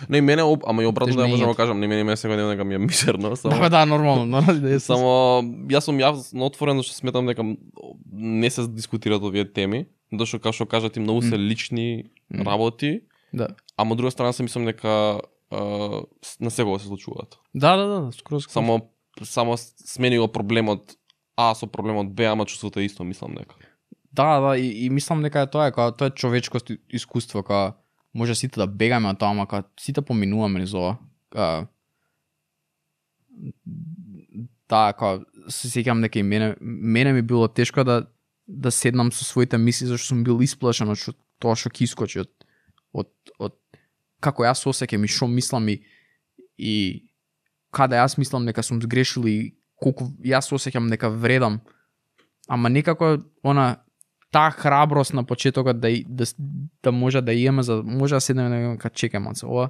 Не, мене, ама и обратно да можам да тежнењето. кажам, не мене секој ден дека ми е мизерно, Да, нормално да е. само јас сум јавно отворен зашто сметам дека не се дискутираат овие теми, зашто како што кажа ти многу се лични работи, Да. ама од друга страна се мислам дека на секој се случуваат. Да, скроз. Само смени го проблемот А со проблемот Б, ама чувството е исто, мислам дека. Да, и мислам дека е тоа, тоа е човечко искуство, кога може сите да бегаме од тоа, ама кога сите поминуваме низ ова. Да, кога се сеќам дека и мене ми било тешко да седнам со своите мисли, зашто сум бил исплашен од тоа што ќе искочи од како јас осеќам и што мислам и каде јас мислам дека сум сгрешил и колку јас осеќам дека вредам. Ама некако таа храброст на почетокот да може да имаме, за може да седнеме да имаме чекаме се ова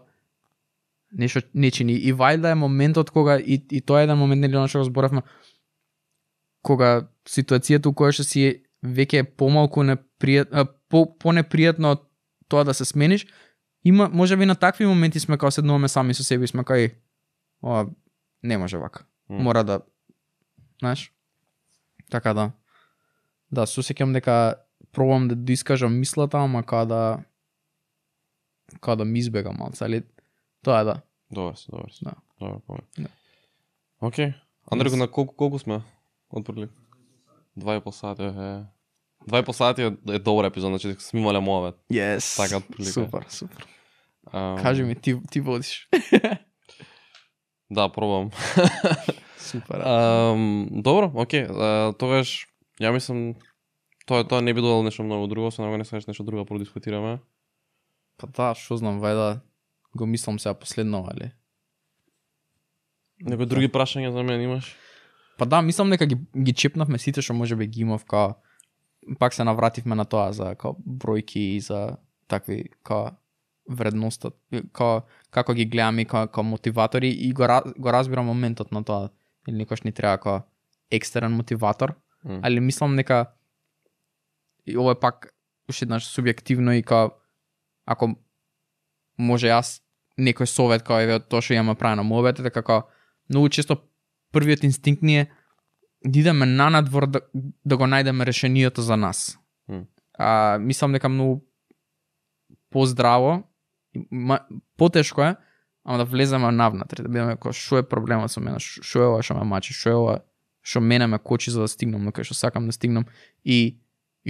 нешто не чини. И вајда е моментот кога и тоа е еден момент нели она што го зборавме, кога ситуацијата у која што си веќе помалку понепријатно од тоа да се смениш, има можеби на такви моменти сме кога седнуваме сами со себе и сме кај ова не може вака. Мора да, знаеш? Така да. Да, сосеќам дека пробам да искажам мислата, ама кога да ми избега малце, али тоа е да. Добар си. Да. Добар, помня. Да. Океј. Андреко, на колку сме отпрли? 2,5 сати. 2,5 сати е добар епизод, значи сме имале мовет. Yes. Така отприлика. Супер. Кажи ми, ти водиш. Да, пробам. Супер. Добро, окей. Тогаш ја мислам тоа не би додало нешто многу друго, се не сакаш нешто друго продискутираме. Па да, што знам, вајда го мислам сега последно, али? Некои други прашања за мене имаш? Па да, мислам дека ги чепнавме сите што можеби ги имав, као пак се навративме на тоа за као бројки и за такви као вредноста, као како ги гледаме као мотиватори и го разбирам моментот на тоа. Или некош ни треба као екстерен мотиватор, али мислам дека и ова е пак уште еднаш субјективно и као ако може јас некој совет као еве тоа што имаме правено мовет е дека као многу често првиот инстинкт ни е да идеме на надвор да го најдеме решението за нас. Мислам дека многу поздраво, потешко е, ама да влеземе навнатре, да бидеме кој што е проблемот со мене, што е ова што ме мачи, што е ова што мене ме кочи за да стигнам на кај што сакам да стигнам и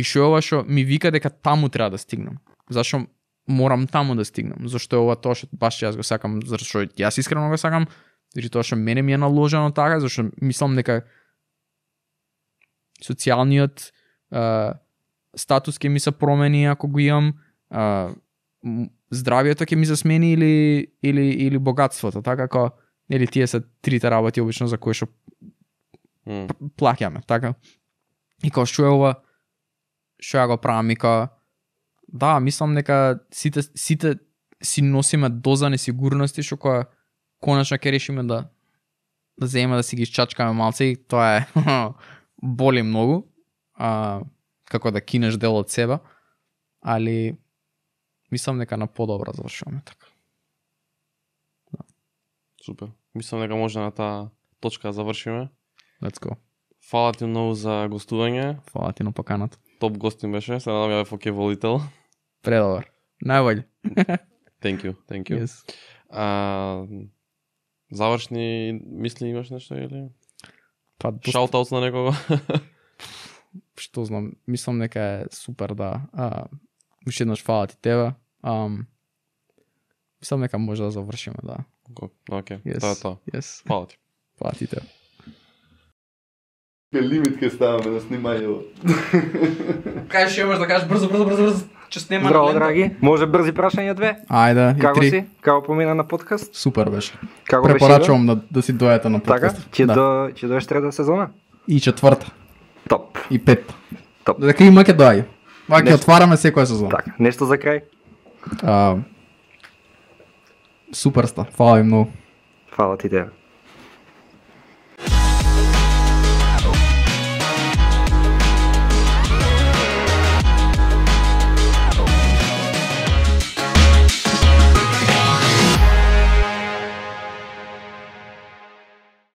што е ова што ми вика дека таму треба да стигнам. Зашто морам таму да стигнам? Зашто е ова тоа што баш јас го сакам, зашто јас искрено го сакам, или тоа што мене ми е наложено така, зашто мислам дека социјалниот статус ќе ми се промени ако го имам, здравието ќе ми се смени или богатството, така како или тие се трите работи обично за кои што плаќаме, така. И као што е ова што ја го правам и као да, мислам дека сите си носиме доза несигурности што која конечно ќе решиме да земеме да си ги чачкаме малце и тоа е боли многу, како да кинеш дел од себе, али мислам дека на подобро завршуваме така. Да. Супер. Мислам дека може на таа точка да завршиме. Let's go. Фала ти многу за гостување. Фала ти на поканата. Топ гостин беше, се надам ја фоке волител. Предобар. Најбољ. Thank you. Yes. Завршни мисли имаш нешто или? Па Шаутаут на некого? Што знам, мислам дека е супер да. Уште еднаш фала ти тебе. Мислам дека може да завршиме, да. Окей, Yes. тоа е тоа. Yes. Фала ти. Фала ти тебе. Лимит ке ставаме на снимањето. Кај што имаш да кажеш брзо, че снема Здраво, на лента? драги. Може брзи прашања две? Ајде, Како и 3. си? Како помина на подкаст? Супер беше. Како беше? Препорачувам да си дојдете на Така? подкаст. Ќе Да. доеш трета сезона? И четврта, Топ. и петта. Топ. Дека има ќе доаѓа. Ваќе Нешто- отвараме секоја сезона. Така, нешто за крај? Суперста. Фала ви многу. Фала ти тебе.